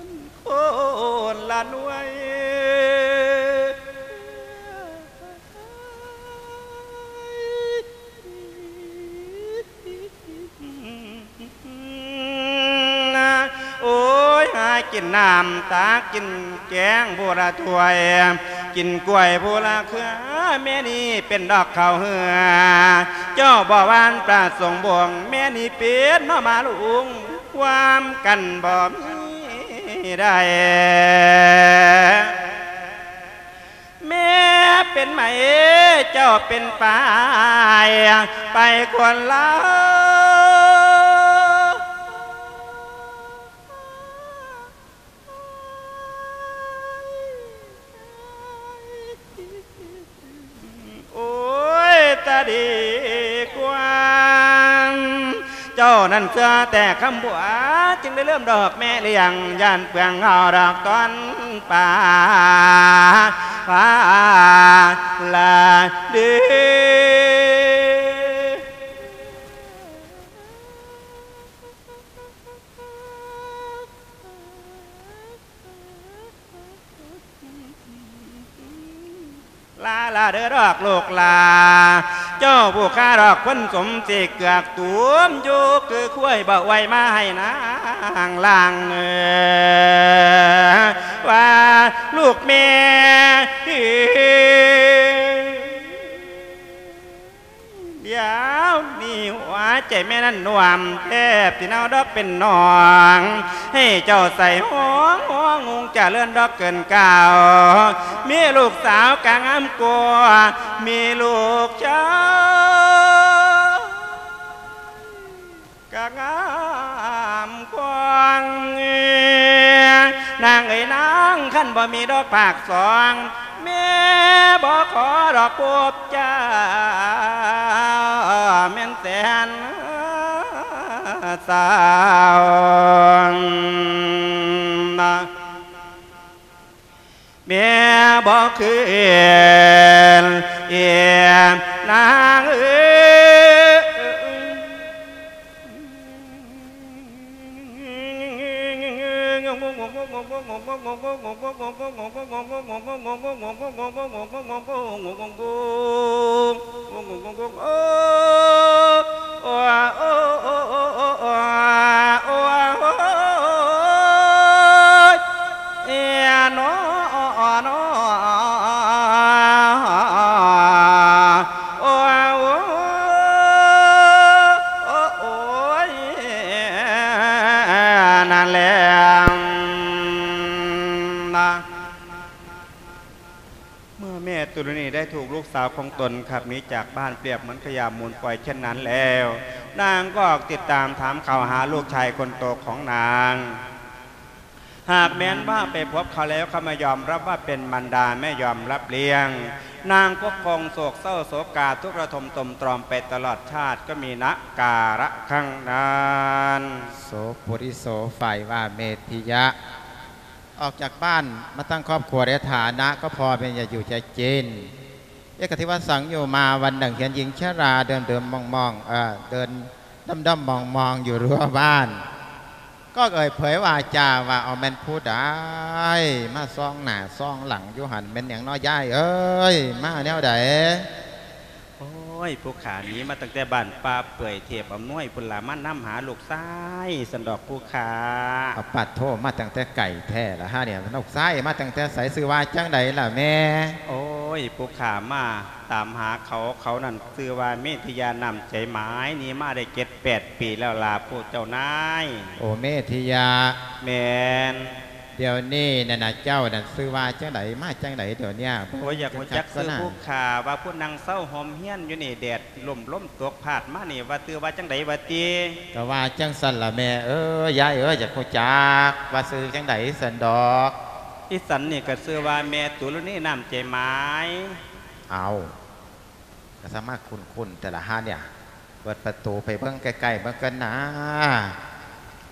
ນ ໂຄນລະໜ່ວຍ. ໂອ້ຍ ຫາກິນນ້ຳ ຕັກກິນແກງຜູ້ລະຖ້ວຍ ກິນກ້ວຍຜູ້ລະເຄືອ ແມ່ນີ້ເປັນດອກເຂົ້າເຮືອ ເຈົ້າບໍ່ຫວ່ານປະສົງບົງ ແມ່ນີ້ເປັນໜໍ່ໝາກລຸງ ຄວາມກັນບໍ່ມີໃດ. ແມ່ເປັນໄມ້ ເຈົ້າເປັນຝ້າຍ ໄປຄົນລະ ໂອ້ຍ ຕາດີກວ່າ ເຈົ້ານັ້ນເຊື່ອແຕ່ຄຳບົວ ຈຶ່ງໄດ້ເລີ່ມດອກແມ່ລ້ຽງ ຢ້ານເປືອງເຮົາດອກຕອນປາ ປາລະເດ. ລາລາເດີດອກລູກຫຼາ ເຈົ້າຜູ້ຂ້າດອກຄົນສົມ ຊິເກືອກຕຸມຢູ່ຄືຄວາຍ ບໍ່ອວຍມາໃຫ້ນາງລ້າງເໜືອ ວ່າລູກແມ່ ດຽວນີ້ຫົວໃຈແມ່ນັ້ນໜ່ວມແທບຊິເນົ່າດອກເປັນໜອງ ໃຫ້ເຈົ້າໃສ່ຫ້ອງ ຫ້ອງຮຸ່ງຈະເລີນດອກເກີນກ່າວ ມີລູກສາວກະງາມກວ່າ ມີລູກຊາຍ ກະງາມກວ່າ ນາງເອີຍນາງ ຄັນບໍ່ມີດອກພາກສອງ ແມ່ບໍ່ຂໍດອກພົບເຈົ້າ ແມ່ນແສນສາວ. ແມ່ບໍ່ຄືນ ເອີ ນາງເອີຍ. ນັ້ນແຫຼະ ເມື່ອແມ່ຕຸລະນີໄດ້ຖືກລູກສາວຂອງຕົນຂັບໜີຈາກບ້ານປຽບເໝືອນຂະຫຍະມູນຝອຍເຊັ່ນນັ້ນແລ້ວ, ນາງກໍອອກຕິດຕາມຖາມຂ່າວຫາລູກຊາຍຄົນໂຕຂອງນາງ. ຫາກແມ່ນວ່າໄປພົບເຂົາແລ້ວ ເຂົາບໍ່ຍອມຮັບວ່າເປັນມານດາ, ແມ່ຍອມຮັບລ້ຽງ. ນາງກໍຄົງໂສກເສົ້າໂສກາ ທຸກລະທົມຕົມຕອມໄປຕະຫຼອດຊາດ ກໍມີນະກາລະຄັ້ງນັ້ນ. ໂສປຸລິໂສ ຝ່າຍວ່າເມທິຍະ ອອກຈາກບ້ານມາຕັ້ງຄອບຄົວໄດ້ຖານະ ກໍພໍແມ່ນຢາກຢູ່ຢາກກິນ. ເອກະທິວະສັງໂຍມາ ວັນໜຶ່ງເຫັນຍິງຊະລາເດີ່ມໆມອງໆ ເອີ ເດີນດ້ອມໆມອງໆຢູ່ຮົ້ວບ້ານ. ກໍເອີຍເຜີຍວາຈາວ່າ ເອົາແມ່ນຜູ້ໃດມາສ່ອງໜ້າສ່ອງຫຼັງຢູ່ຫັ້ນ ແມ່ນຫຍັງເນາະຍາຍເອີຍ ມາແນວໃດ? ໂອ້ຍ ຜູ້ຂ້າໜີມາຕັ້ງແຕ່ບ້ານປ່າເປື່ອຍ ເທບອຳນວຍພຸ້ນລະ ມານຳຫາລູກຊາຍຊັ້ນດອກຜູ້ຂ້າ. ອາ ປາດໂທ ມາຕັ້ງແຕ່ໄກແທ້ລະຫານີ້ ລູກຊາຍມາຕັ້ງແຕ່ໃສ? ຊື່ວ່າຈັ່ງໃດລະແມ່? ໂອ້ຍ ຜູ້ຂ້າມາ ຕາມຫາເຂົາ ເຂົານັ້ນຊື່ວ່າເມທິຍາ ນ້ຳໃຈໝາຍ ໜີມາໄດ້ເຈັດແປດປີແລ້ວລະພວກເຈົ້ານາຍ. ໂອ ເມທິຍາ. ແມ່ນ. ດຽວນີ້ນັ້ນນະ ເຈົ້ານັ້ນຊື່ວ່າຈັ່ງໃດ ມາຈັ່ງໃດດຽວນີ້? ໂອ ຢາກຮູ້ຈັກຊື່ຜູ້ຂ້າ ວ່າຜູ້ນັ່ງເຊົາຫົ່ມຮຽນຢູ່ນີ້ ແດດລົມ ລົມຕົກພາດມານີ້ ວ່າຊື່ວ່າຈັ່ງໃດຫວາຕິ? ກະວ່າຈັ່ງຊັ້ນລະແມ່ເອີຍ ຍາຍເອີຍ ຢາກຮູ້ຈັກວ່າຊື່ຈັ່ງໃດຊັ້ນດອກ. ອີ່ສັນນີ້ກະຊື່ວ່າແມ່ຕຸລະນີ ນ້ຳໃຈໝາຍ. ເອົາ ກະສະມາຄຸ້ນໆແຕ່ລະຫານີ້ ເປີດປະຕູໄປເບິ່ງໃກ້ໆເບິ່ງກ່ອນນາ.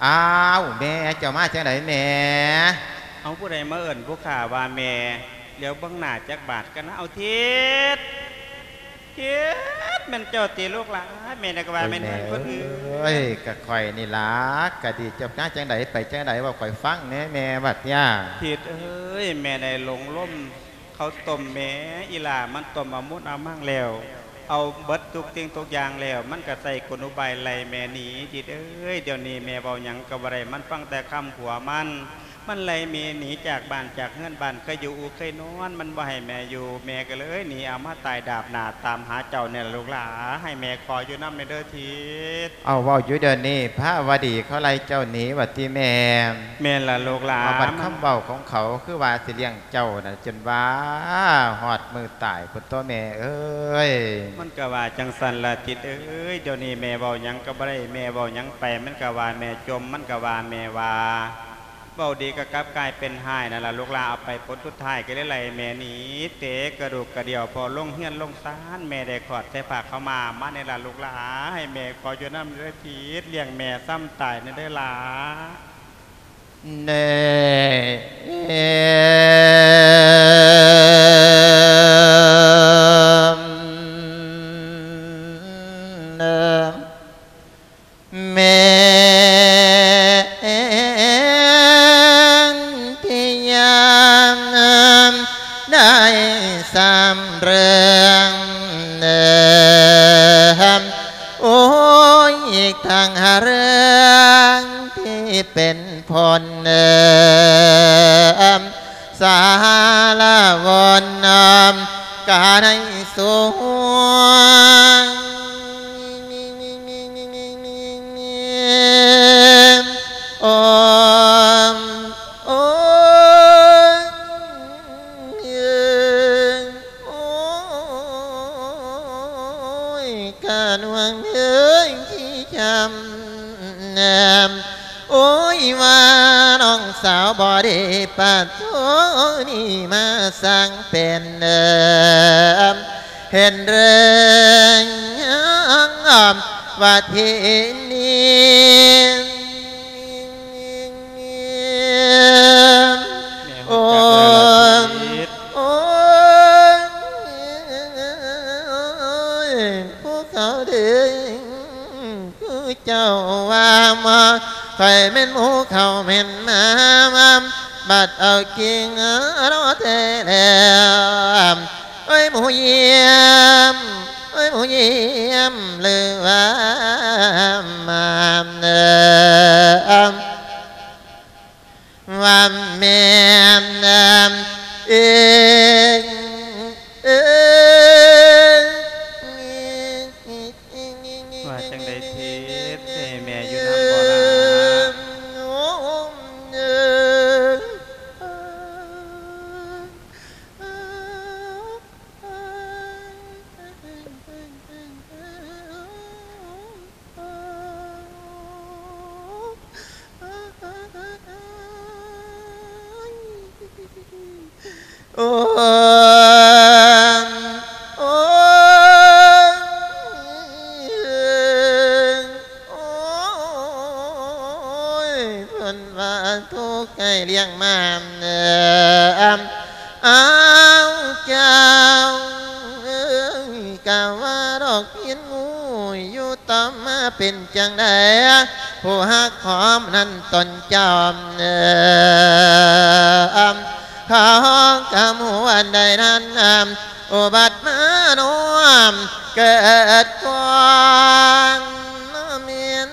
ອ້າວ ແມ່ ເຈົ້າມາຈັ່ງໃດແມ່? ເອົາ ຜູ້ໃດມາເອີ້ນຜູ້ຂ້າວ່າແມ່? ຫຼຽວເບິ່ງໜ້າຈັກບາດກ່ອນນາ. ເອົາ ທິດ ທິດ ແມ່ນເຈົ້າຕິລູກຫຼາ? ແມ່ນກະວ່າແມ່ນເພິ່ນຜູ້ອື່ນ. ໂອ້ຍ ກະຂ້ອຍນີ້ລະ. ກະດີ ເຈົ້າມາຈັ່ງໃດ ໄປຈັ່ງໃດ ເວົ້າຂ້ອຍຟັງແດ່ແມ່ ບັດນີ້. ທິດເອີຍ ແມ່ໄດ້ຫຼົງລົມ ເຂົາຕົ້ມແມ່ ອີ່ຫຼ້າມັນຕົ້ມເອົາມຸດເອົາມັງແລ້ວ ເອົາເບິດທຸກສິ່ງທຸກຢ່າງແລ້ວ ມັນກະໃຊ້ກົນອຸບາຍໄລ່ແມ່ໜີ. ທິດເອີຍ ດຽວນີ້ແມ່ເວົ້າຫຍັງກະບໍ່ໄດ້ ມັນຟັງແຕ່ຄຳຜົວມັນ ມັນໄລ່ແມ່ໜີຈາກບ້ານຈາກເຮືອນ ບ້ານເຄີຍຢູ່ເຄີຍນອນ ມັນບໍ່ໃຫ້ແມ່ຢູ່ ແມ່ກະເລີຍໜີ ເອົາມາຕາຍດາບໜ້າຕາມຫາເຈົ້ານີ້ລະລູກຫຼາ ໃຫ້ແມ່ຂໍຢູ່ນຳແດ່ເດີທິດ. ເອົາ ເວົ້າຢູ່ດຽວນີ້ ພາວະດີເຂົາໄລ່ເຈົ້າໜີວ່າຕິແມ່? ແມ່ນລະລູກຫຼາ. ເອົາ ບັດຄຳເວົ້າຂອງເຂົາຄືວ່າຊິລ້ຽງເຈົ້ານະ ຈົນວ່າຮອດມື້ຕາຍພຸ້ນຕົວະແມ່ເອີຍ. ມັນກະວ່າຈັ່ງຊັ້ນລະທິດເອີຍ ດຽວນີ້ແມ່ເວົ້າຫຍັງກະບໍ່ໄດ້ ແມ່ເວົ້າຫຍັງໄປມັນກະວ່າແມ່ຈົ່ມ ມັນກະວ່າແມ່ວ່າ ເວົ້າດີກະກັບກາຍເປັນຮ້າຍນັ້ນລະລູກຫຼາ. ເອົາໄປຜົນສຸດທ້າຍກະເລີຍໄລ່ແມ່ໜີ ເຕະກະດູກກະດຽວ ພໍລົງເຮືອນລົງຊານ ແມ່ໄດ້ຄອດໃສ່ຜ້າຂາວມ້າມານີ້ລະລູກຫຼາ ໃຫ້ແມ່ຂໍຢູ່ນຳເດີທິດ ລ້ຽງແມ່ຊ່ຳຕາຍແດ່ເດີຫຼາ. ແນ່ ແມ່ທີ່ຍາມໄດ້ສຳເລື່ອງ ໂອ້ຍ ທັງເລື່ອງທີ່ເປັນຜົນ ສາລະວົນ ການໃນສວງ ໂອ້ ໂອ້ຍ ໂອ້ຍ ກະນວງເອີຍ ທີ່ຈຳ ໂອ້ຍ ວ່ານ້ອງສາວບໍ່ໄດ້ປາໂທນີ້ ມາສ້າງເປັນເດີ ເຫັນເລື່ອງວ່າທີ່ນີ້ ໂອ້ຍ ໂອ້ຍ ຜູ້ເຂົາເດີ ຄືເຈົ້າວ່າມາ ຂ້ອຍແມ່ນໝູເຂົາແມ່ນໝາ ມາບັດເອົາກິ່ງເນາະແທ້ແລ້ວ ໂອ້ຍ ໝູຢ້ຽມ ໂອ້ຍ ໝູຢ້ຽມ ຫຼືວ່າມາ ວ່າແມ່ນເອີງ ເອີງ ວ່າຈັ່ງໃດທິດ ຊິໃຫ້ແມ່ຢູ່ນຳບໍ່ລະ? ໂອ້ຍ ໂອ້ຍ ໂອ້ຍ ເພິ່ນວ່າທຸກໃຫ້ລ້ຽງມາ ອ້າວ ເຈົ້າເອີຍ ກະວ່າດອກພິນງູຢູ່ຕໍ່ມາເປັນຈັ່ງໃດ? ຜູ້ຮັກຫອມນັ້ນຕົນເຈົ້າ ເອີ ເຂົາກະຮູ້ອັນໃດນັ້ນ ອຸບັດມາໂນມເກີດກ່ອນ ແມ່ນ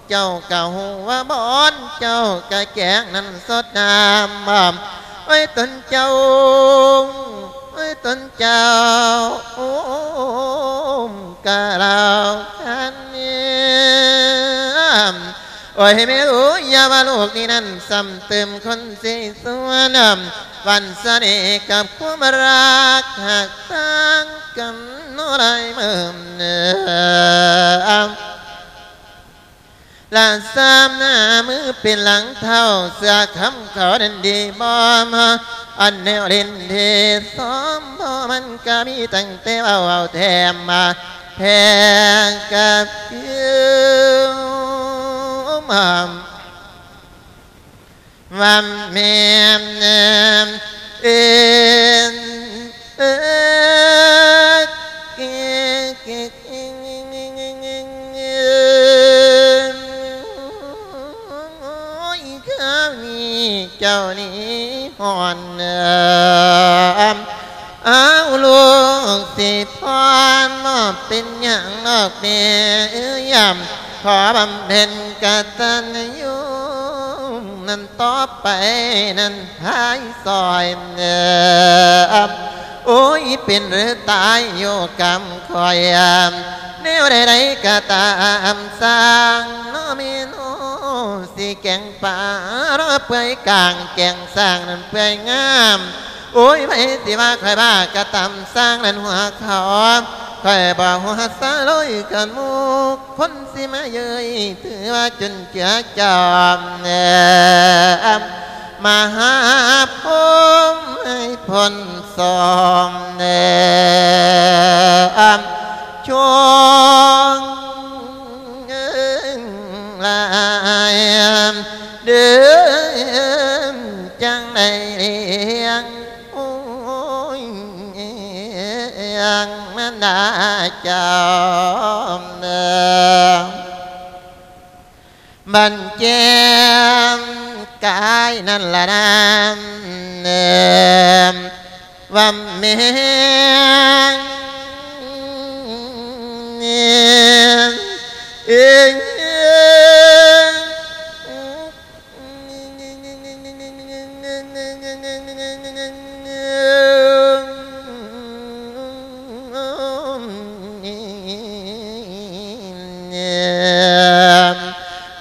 ເຈົ້າກະຮູ້ວ່າບ່ອນເຈົ້າກະແກງນັ້ນສົດນ້ຳ ໂອ້ຍຕົນເຈົ້າ ໂອ້ຍຕົນເຈົ້າ ໂອ້ ກະລາວຄັນ ໂອ້ຍແມ່ເອີຍ ຢ່າວ່າລູກນີ້ນັ້ນ ຊ້ຳຕື່ມຄົນສີສວນ ຫວັ່ນສະເໜ່ກັບຄວາມຮັກ ຮັກຕ່າງກັນເນາະຫຼາຍມື້ ລະຊ້ຳໜ້າມືເປັນຫຼັງເທົ້າ ເສື້ອຄຳເຂົານັ້ນດີບໍ່ ອັນແນວຫຼິ້ນທີ່ຊອມພໍ ມັນກະມີຕັ້ງແຕ່ເວົ້າ ເວົ້າແຖມມາແພງກັບຄືມ ວ່າແມ່ນເອີນເອີຍ ໂອ້ຍ ຄາວນີ້ເຈົ້ານີ້ຮ້ອນ ເອີ ອ້າວ ລູກຊິພອນ ບໍ່ເປັນຫຍັງດອກແມ່ເອີຍ ຂໍບຳເພັນກະຕັນຍູນັ້ນຕໍ່ໄປນັ້ນພາຍຊ່ອຍ ໂອ້ຍ ເປັນຫຼືຕາຍຢູ່ກຳຂ້ອຍ ແນວໃດໆກະຕາມຊ່າງເນາະແມ່ເນາະ ຊິແກງປາເປື່ອຍກາງແກງຊ່າງນັ້ນເປື່ອຍງາມ ໂອ້ຍ ໃຜຊິວ່າຂ້ອຍບ້າກະຕາມຊ່າງນັ້ນຫົວເຂົາ ຂ້ອຍບໍ່ຫົວສະໂລຍກັນໝູ່ຄົນຊິມາເຍີ້ຍ ຖືວ່າຈຸນເຈືອຈອມ ມະຫາພົມໃຫ້ພົ້ນສອງ ຊ່ວງ ເອີ ລາຍເດີ ຈັ່ງໄດ້ລ້ຽງ ໂອ້ຍ ມານດາເຈົ້າ ບັນແຈມກາຍນັ້ນລະນາ ວ່າແມ່ເອີຍ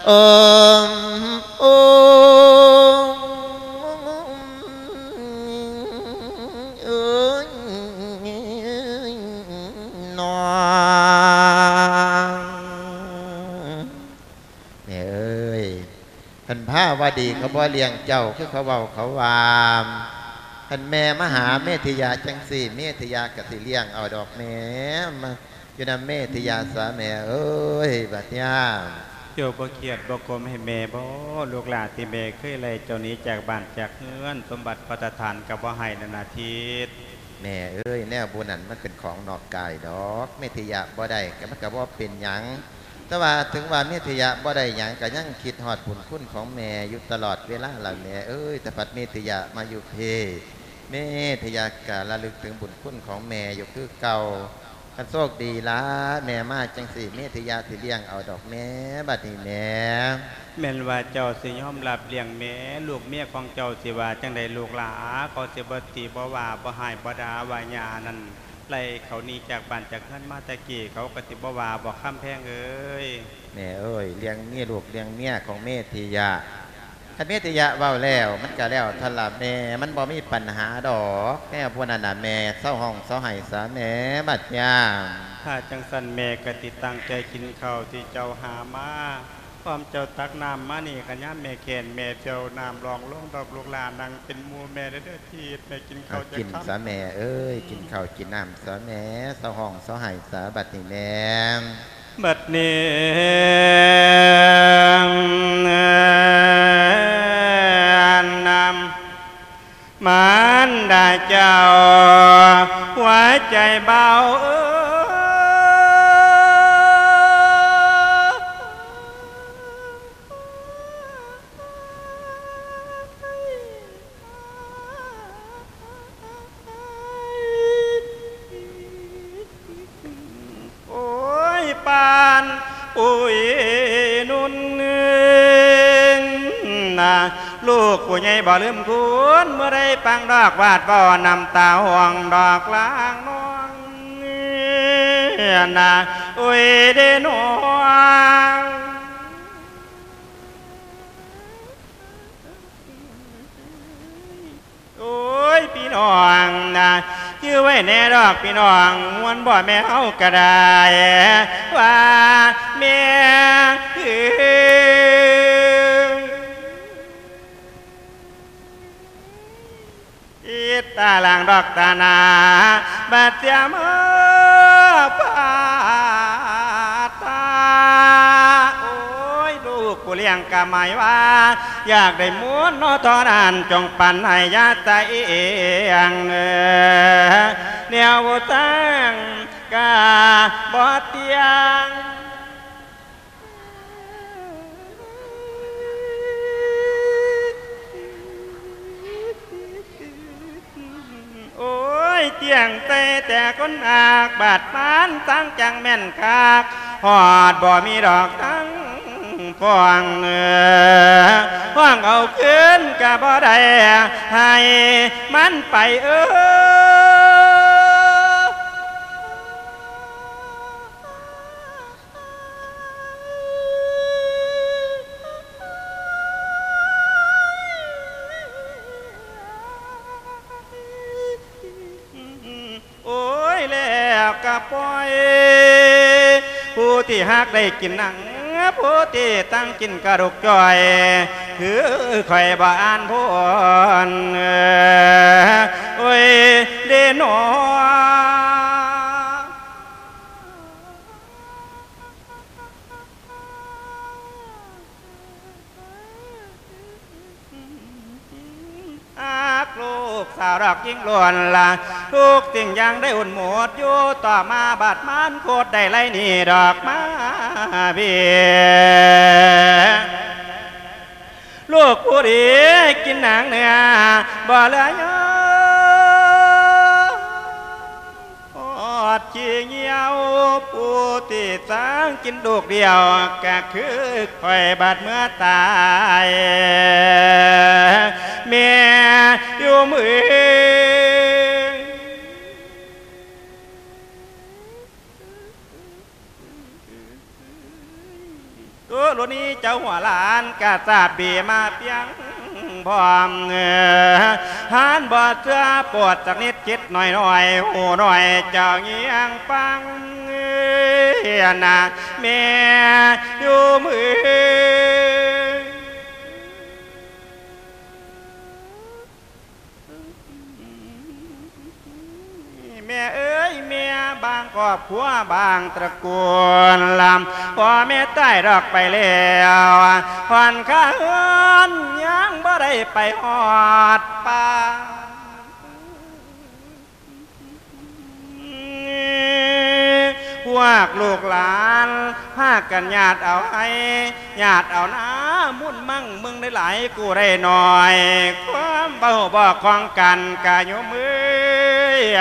ໂອມ ໂອມ ໂອມ ໂອມ ນອງ ແມ່ເອີຍ ຄັນພາວະດີເຂົາບໍ່ລ້ຽງເຈົ້າ ຄືເຂົາເວົ້າເຂົາວ່າ ຄັນແມ່ມາຫາເມທິຍະຈັ່ງຊີ້ ເມທິຍະກະຊິລ້ຽງເອົາດອກແມ່ ມາ ຢູ່ນຳເມທິຍາສາແມ່ເອີຍ ບັດຍາມ. ເຈົ້າບໍ່ຄຽດບໍ່ກົມໃຫ້ແມ່ບໍ? ລູກຫຼານທີ່ແມ່ເຄີຍໄລ່ເຈົ້າໜີຈາກບ້ານຈາກເຮືອນ ສົມບັດພັດຕະຖານກໍບໍ່ໃຫ້ນັ້ນນາທິດ. ແມ່ເອີຍ ແນວບຸນນັ້ນມັນເປັນຂອງນອກກາຍດອກ ເມທິຍະບໍ່ໄດ້ກໍມັນກໍບໍ່ເປັນຫຍັງ. ແຕ່ວ່າເຖິງວ່າເມທິຍະບໍ່ໄດ້ຫຍັງ ກໍຍັງຄິດຮອດບຸນຄຸນຂອງແມ່ຢູ່ຕະຫຼອດເວລາລະແມ່ເອີຍ. ແຕ່ພັດເມທິຍະມາຢູ່ພີ້ ເມທິຍະກໍລະລຶກເຖິງບຸນຄຸນຂອງແມ່ຢູ່ຄືເກົ່າ. ຄັນໂຊກດີລະ ແມ່ມາຈັ່ງຊີ້ ເມທິຍະຊິລ້ຽງເອົາດອກແມ່ ບັດນີ້ແມ່. ແມ່ນວ່າເຈົ້າຊິຍອມຮັບລ້ຽງແມ່ ລູກເມຍຂອງເຈົ້າຊິວ່າຈັ່ງໃດລູກຫຼາ? ເຂົາຊິບໍ່ຕິບໍ່ວ່າ ບໍ່ຮ້າຍບໍ່ດ່າວ່າຍ່ານັ້ນໄລ່ເຂົາໜີຈາກບ້ານຈາກເຮືອນມາແຕ່ກີ້ ເຂົາກໍຊິບໍ່ວ່າບໍ ຄຳແພງເອີຍ? ແມ່ເອີຍ ເລື່ອງເມຍລູກ ເລື່ອງເມຍຂອງເມທິຍະ ຄັນເມທິຍະເວົ້າແລ້ວ ມັນກະແລ້ວທັນລະແມ່ ມັນບໍ່ມີປັນຫາດອກ ແນວພວກນັ້ນນະແມ່. ເຊົາຮ້ອງເຊົາໄຫ້ສາແມ່ ບັດຍາມ. ຖ້າຈັ່ງຊັ້ນແມ່ກະຕິຕັ້ງໃຈກິນເຂົ້າທີ່ເຈົ້າຫາມາ ພ້ອມເຈົ້າຕັກນ້ຳມານີ້ ກະຍາມແມ່ແຄ້ນແມ່ດຽວ ນ້ຳລອງລົງດອກລູກຫຼານ ນັ່ງເປັນໝູ່ແມ່ເດີ ທີດແມ່ກິນເຂົ້າຈັກຄຳ ກິນສາແມ່ເອີຍ ກິນເຂົ້າກິນນ້ຳສາແມ່ ເຊົາຮ້ອງເຊົາໄຫ້ສາ ບັດນີ້ແມ່. ບັດນີ້ນຳມານດາເຈົ້າ ຫົວໃຈເບົາເອີຍ ລູກຜູ້ໃຫຍ່ບໍ່ລືມຄຸນ ເມື່ອໄດ້ຟັງດອກວາດເວົ້າ ນ້ຳຕາຮ່ວງດອກລາງນອງ ນາ ໂອ້ຍເດ້ນ້ອງ. ໂອ້ຍ ພີ່ນ້ອງນະ ຈື່ໄວ້ແດ່ດອກພີ່ນ້ອງ ມ່ວນບໍ່ແມ່ເຮົາກະໄດ້ ວ່າແມ່ເອີຍ ອີດຕາລາງດອກຕາໜາ ບາດເສຍມາປາຕາ ໂອ້ຍ ລູກຜູ້ລ້ຽງກະໝາຍວ່າ ຢາກໄດ້ມູນເນາະ ເທົ່ານັ້ນ ຈົ່ງປັນໃຫ້ຢ່າສະອຽງເອີ ແນວບໍ່ສ້າງກະບໍ່ຕຽງ. ໂອ້ຍ ຕຽງໃສ່ແຕ່ຄົນຮັກ ບາດປານສັງຈັງແມ່ນຄັກ ຮອດບໍ່ມີດອກທັງຟອງເອີ ຮ້ອງເອົາຄືນກະບໍ່ໄດ້ ໃຫ້ມັນໄປເອີ. ໂອ້ຍ ແລ້ວກະປ່ອຍ ຜູ້ທີ່ຮັກໄດ້ກິນໜັງ ຜູ້ທີ່ຕັ້ງກິນກະດູກຈ້ອຍ ຄືຂ້ອຍບໍ່ອ່ານພົນ ໂອ້ຍ ເດ້ນ້ອງ. ຫາກລູກສາວດອກຍິງລ້ວນລະ ທຸກສິ່ງຢ່າງໄດ້ອຸ່ນໝົດຢູ່ ຕໍ່ມາບາດມານໂຄດໄດ້ໄລ່ໜີດອກມາເບຍ ລູກຜູ້ດີກິນໜາງເນື້ອ ບໍ່ເຫຼືອຍອດຂີ້ຫ່ຽວ ຜູ້ທີ່ສ້າງກິນລູກດຽວ ກະຄືຂ້ອຍບາດເມື່ອຕາຍ ແມ່ຢູ່ເມືອງ. ໂຕໂລນີເຈົ້າຫົວຫຼານກະສາບເບມາປຽງພ້ອມ ຫານບໍ່ເຊື່ອໂປດສັກນິດ ຄິດໜ້ອຍໆ ຮູ້ໜ້ອຍເຈົ້າງຽງຟັງ ນະແມ່ຢູ່ເມືອງ. ແມ່ເອີຍແມ່ ບາງຄອບຄົວບາງຕະກູນ ລຳພໍ່ແມ່ຕາຍດອກໄປແລ້ວ ຮອນຄາເຮືອນຍັງບໍ່ໄດ້ໄປຮອດປ່າ ພວກລູກຫຼານພາກັນຍາດເອົາໄຮ່ ຍາດເອົານາ ມຸນມັງເມືອງໄດ້ຫຼາຍ ກູ້ໄດ້ໜ້ອຍ ຄວາມເວົ້າບໍ່ຄ່ອງກັນກະໂຍມເອີຍ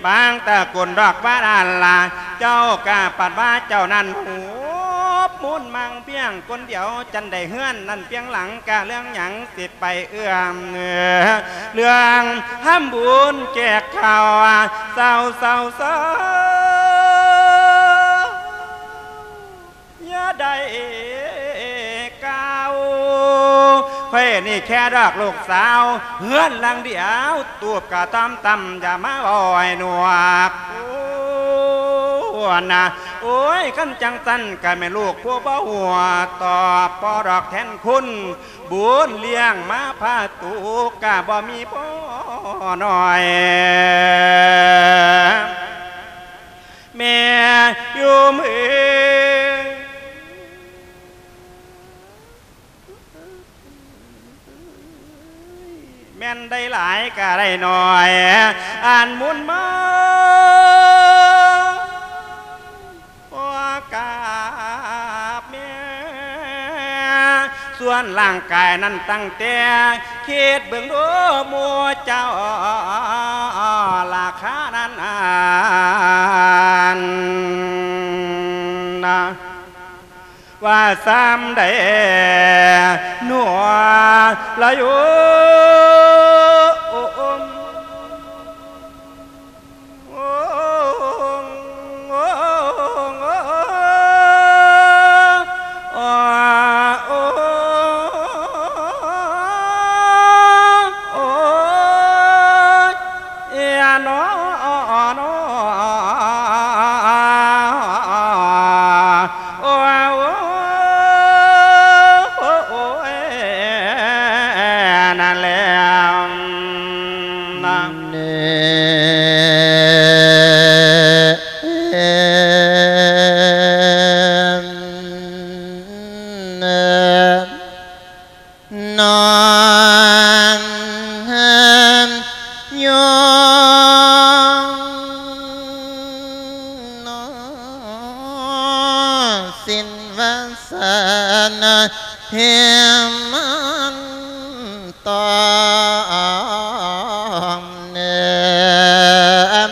ບາງຕະກຸນດອກວ່ານັ້ນລະ ເຈົ້າກະປັດວ່າເຈົ້ານັ້ນຫູບມຸນມັງພຽງຄົນດຽວ ຈັ່ນໃດເຮືອນນັ້ນພຽງຫຼັງ ກະເລື່ອງຫຍັງຊິໄປເອື້ອມເລື່ອງທຳບຸນແຈກເຂົ້າ ເຊົາ ເຊົາ ເຊົາ. ຢ່າໄດ້ກ່າວ ຂ້ອຍນີ້ແຄ່ດອກລູກສາວ ເຮືອນຫຼັງດຽວ ຕູບກະຕ່ອມຕ່ຳ ຢ່າມາເວົ້າໃຫ້ໜວກ ໂອ້ນະ ໂອ້ຍ ຄັນຈັ່ງຊັ້ນກະແມ່ນລູກຜູ້ບໍ່ຮູ້ ຕອບບໍ່ດອກແທນຄຸນ ບຸນລ້ຽງມາພາຕູ ກະບໍ່ມີພໍໜ້ອຍ ແມ່ຢູ່ເມືອງ ແມ່ນໄດ້ຫຼາຍກະໄດ້ໜ້ອຍ ອັນບຸນມາ ຂໍກາບແມ່ ສ່ວນຮ່າງກາຍນັ້ນຕັ້ງແຕ່ ຄິດເບິ່ງດູໝູ່ເຈົ້າ ລາຄານັ້ນນະ. ວ່າຊ້ຳໃດໜວລະໂຍ. ນອນຫັ້ນຢູ່ ນອນສິນວາສະນາ ເຫັນມັນຕ້ອງເນີມ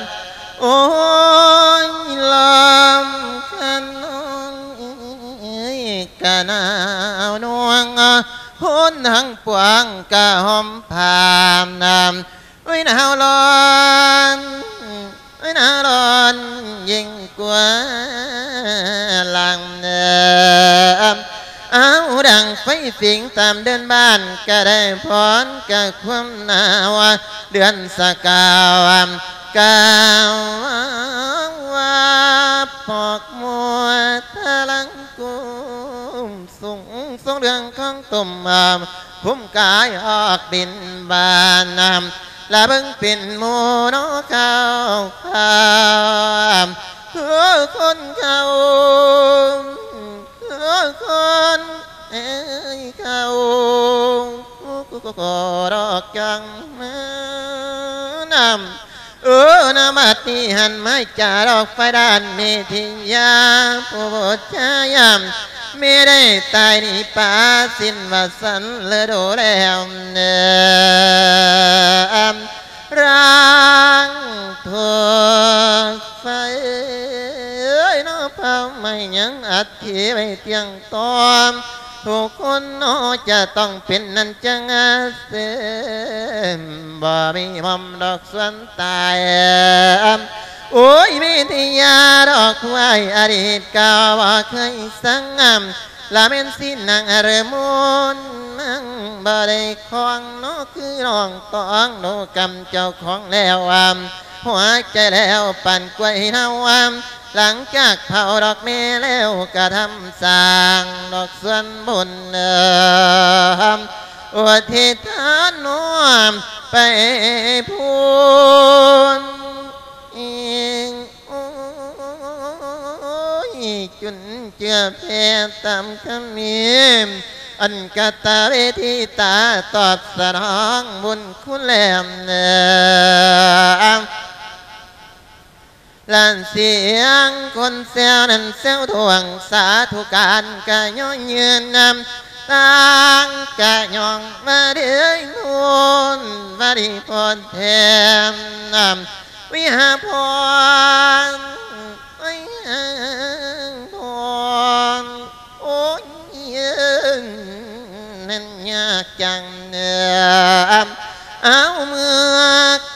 ໂອ້ຍ ລຳຄານນ້ອຍກະໜາວນວງ ຄົນທັງປວງກະຫອມຜາມນຳ ໂອ້ຍ ໜາວຮ້ອນ ໂອ້ຍ ໜາວຮ້ອນຍິ່ງກວ່າຫຼັງເນີມ ເອົາ ດັງໄຟຟິງຕາມເດີ່ນບ້ານ ກະໄດ້ພອນກະຄວາມໜາວ ເດືອນສະກາວ ກາວວ່າ ພອກມົວທະລັງກຸມ ສູງ ສູງເລື່ອງຂອງຕຸ່ມ ອາ ຄຸ້ມກາຍອອກບິນບານ ລະເບິ່ງເປັນໝູ່ນໍເຂົາ ເອີ ຄົນເຂົາ ເອີ ຄົນເອີຍເຂົາ ດອກຈັງມານຳ ເອີ ນະບັດນີ້ຫັນມາຈາດອກໄຟດ້ານເມທິຍາ ຜູ້ບຸດຊາຍາມ ແມ່ໄດ້ຕາຍໜີປາສິ້ນວ່າສັນລະດູແລ້ວເນີມ ຮ່າງຖືກໄຟເອີຍ ນະເຜົາໄໝ້ຍັງອັດ ທີ່ໄວ້ທ່ຽງຕ້ອມ ທຸກຄົນເນາະຈະຕ້ອງເປັນນັ້ນຈັ່ງເສີມ ບໍ່ມີໝ່ອມດອກສ່ວນຕາຍ ໂອ້ຍ ເມທິຍາດອກຜູ້ອ້າຍ ອະດີດກໍບໍ່ເຄີຍສັງ ລະແມ່ນສິນນາງອາເລີມຸນ ນາງບໍ່ໄດ້ຄອງເນາະ ຄືນ້ອງຕ້ອງໂດກຳເຈົ້າຂອງແລ້ວ ຫົວໃຈແລ້ວປານກ້ວຍເນົ່າ ຫຼັງຈາກເຜົາດອກແມ່ແລ້ວກະທຳສ້າງດອກສ່ວນບຸນ ອຸທິດທານນ້ອມໄປພຸ້ນ ໂອ້ຍ ຈຸນເຈືອແຜ່ຕາມຄຳມີ ອັນກະຕະເວທີຕາຕອບສະໜອງບຸນຄຸນແລ້ວ ລະສຽງຄົນແຊວນັ້ນແຊວທວງ ສາທຸການກະຍ້ອນຍືນນຳ ຕ່າງກະຍ້ອງວ່າເດີຍໂພນ ວ່າດີໂພນແທ້ນຳ ວິຫາພອນ ໂອ້ຍ ເອີ ໂອ້ຍ ເອີ ນັ້ນຍາກຈັງເອີ ເອົາເມື່ອ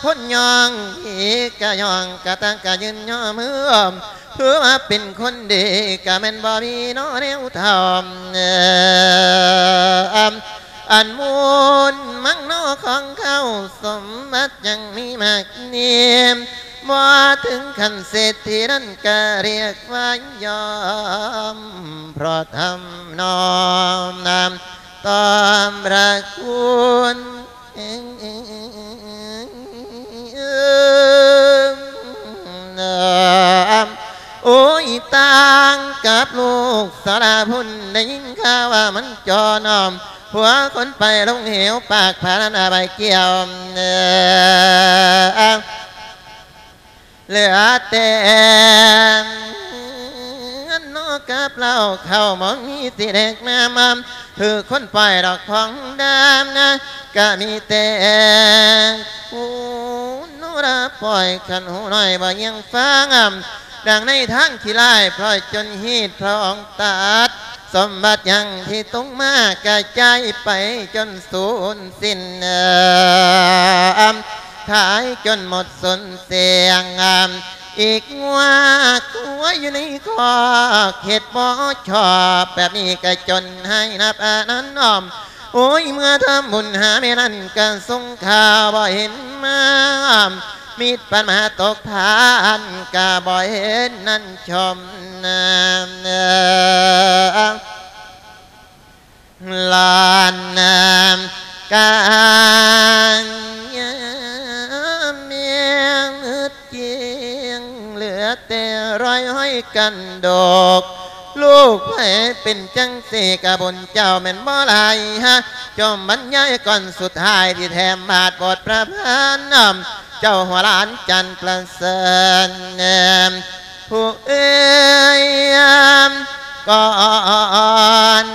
ຄົນຍ້ອງ ທີ່ກະຍ້ອງກະຕັ້ງກະຢືນຍໍມື ເພື່ອວ່າເປັນຄົນດີ ກະແມ່ນບໍ່ມີເນາະແນວທອມເອີ ອັນມູນມັງເນາະຂອງເຂົາ ສົມບັດຍັງມີມາກມີ ບໍ່ເຖິງຂັ້ນເສດຖີນັ້ນກະຮຽກວ່າຍອມ ເພາະທຳນອມນຳຕອບພະຄຸນ ໂອ້ຍ ຕ່າງກັບລູກສາລາພຸ້ນ ໄດ້ຍິນຂ່າວວ່າມັນຈອນອມ ຜົວຄົນໄປລົງເຫວປາກຜານັ້ນອາໄວ້ກ່ຽວ ເຫຼືອແຕ່ເຮືອນນອກກັບເຫຼົ້າ ເຂົ້າບໍ່ມີຊິແດກນ້ຳ ຄືຄົນປ່ອຍດອກຂອງດຳນະ ກະມີແຕ່ຜູ້ໂນລາປ່ອຍ ຄັນຫູນ້ອຍບໍ່ຍຽງຟັງ ດັ່ງໃນທາງທີ່ລາຍ ເພາະຈົນຮີດພະອົງຕັດ ສົມບັດຫຍັງທີ່ຕົງມາກະຈາຍໄປຈົນສູນສິ້ນ ຂາຍຈົນໝົດສູນສຽງ ອີກງົວຄວາຍຢູ່ໃນຄອກ ເຮັດບໍ່ຊອບ ແບບນີ້ກະຈົນໃຫ້ນັບອານັນອ້ອມ ໂອ້ຍ ເມື່ອທຳບຸນຫາແມ່ນັ້ນກະສົງຄາບໍ່ເຫັນມາ ມິດປານມາຕົກທານກະບໍ່ເຫັນນັ້ນຊົມ ຫຼານນາມກາຍແມ່ງເຮັດເກງ ເຫຼືອແຕ່ລອຍຫ້ອຍກັນດອກ ລູກໃຜເປັນຈັ່ງຊີ້ກະບຸນເຈົ້າແມ່ນບໍ່ຫຼາຍຮະ ຈົ່ມບັນຍາຍກ່ອນສຸດທ້າຍທີ່ແຖມບາດບົດປະພັນ ເຈົ້າຫົວຫຼານຈັນປະເສີນ ຜູ້ເອີຍ ກ່ອນ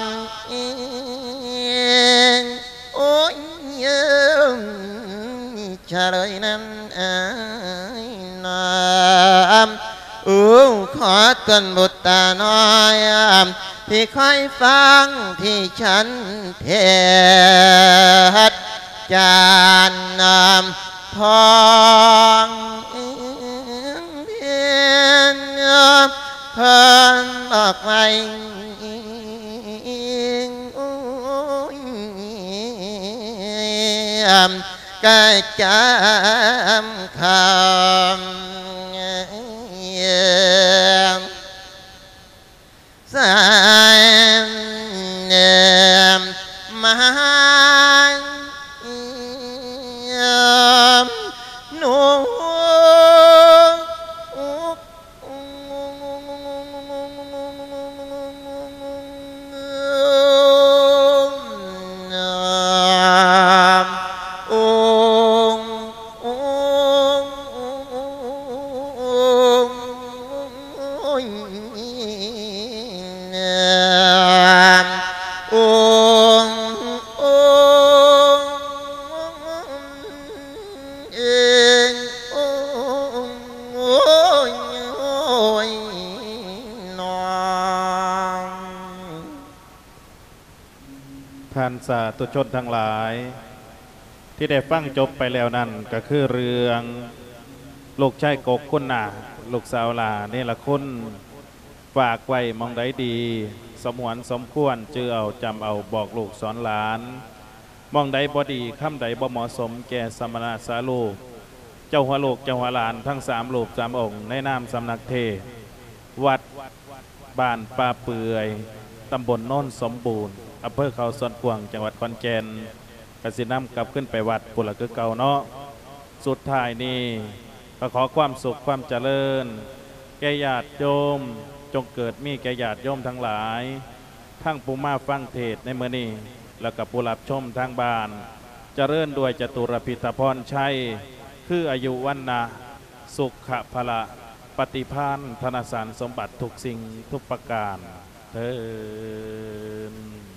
ໂອ້ຍ ຊະເລີຍນັ້ນອ້າຍນາມ ໂອ້ ຂໍຕົນບຸດຕານ້ອຍ ທີ່ຄອຍຟັງທີ່ສັນເທດ ຈານນຳ ພອງເພັນ ເພິ່ນບອກໄວ້ ກະຈຳຄຳ ສາຍມາໂນ ທ່ານສາທຸຊົນທັງຫຼາຍ ທີ່ໄດ້ຟັງຈົບໄປແລ້ວນັ້ນ ກໍຄືເລື່ອງລູກຊາຍກົກຄຸນນາກ ລູກສາວຫຼ້າເນລະຄຸນ ຝາກໄວ້ໝ່ອງໃດດີ ສະຫງວນສົມຄວນ ຈື່ເອົາ ຈຳເອົາ ບອກລູກສອນຫຼານ ໝ່ອງໃດບໍ່ດີ ຄຳໃດບໍ່ເໝາະສົມແກ່ສະມະນະສາລູກ ເຈົ້າຫົວລູກເຈົ້າຫົວຫຼານທັງສາມຮູບສາມອົງ ໃນນາມສຳນັກເທດ ວັດບ້ານປ່າເປື່ອຍ ຕຳບົນໂນນສົມບູນ ອຳເພີເຂົາສວນກວາງ ຈັງຫວັດຂອນແກ່ນ ກະຊິນຳກັບຄືນໄປວັດພຸ້ນລະຄືເກົ່າເນາະ. ສຸດທ້າຍນີ້ ກະຂໍຄວາມສຸກຄວາມຈະເລີນ ແກ່ຍາດໂຍມ ຈົ່ງເກີດມີແກ່ຍາດໂຍມທັງຫຼາຍ ທັງຜູ້ມາຟັງເທດໃນມື້ນີ້ ແລະກະຜູ້ຮັບຊົມທາງບ້ານ ຈະເລີນດ້ວຍຈະຕຸລະພິດຖະພອນໄຊ ຄືອາຍຸວັນນະ ສຸຂະພະລະ ປະຕິພານ ທະນະສານສົມບັດທຸກສິ່ງທຸກປະການເທີນ.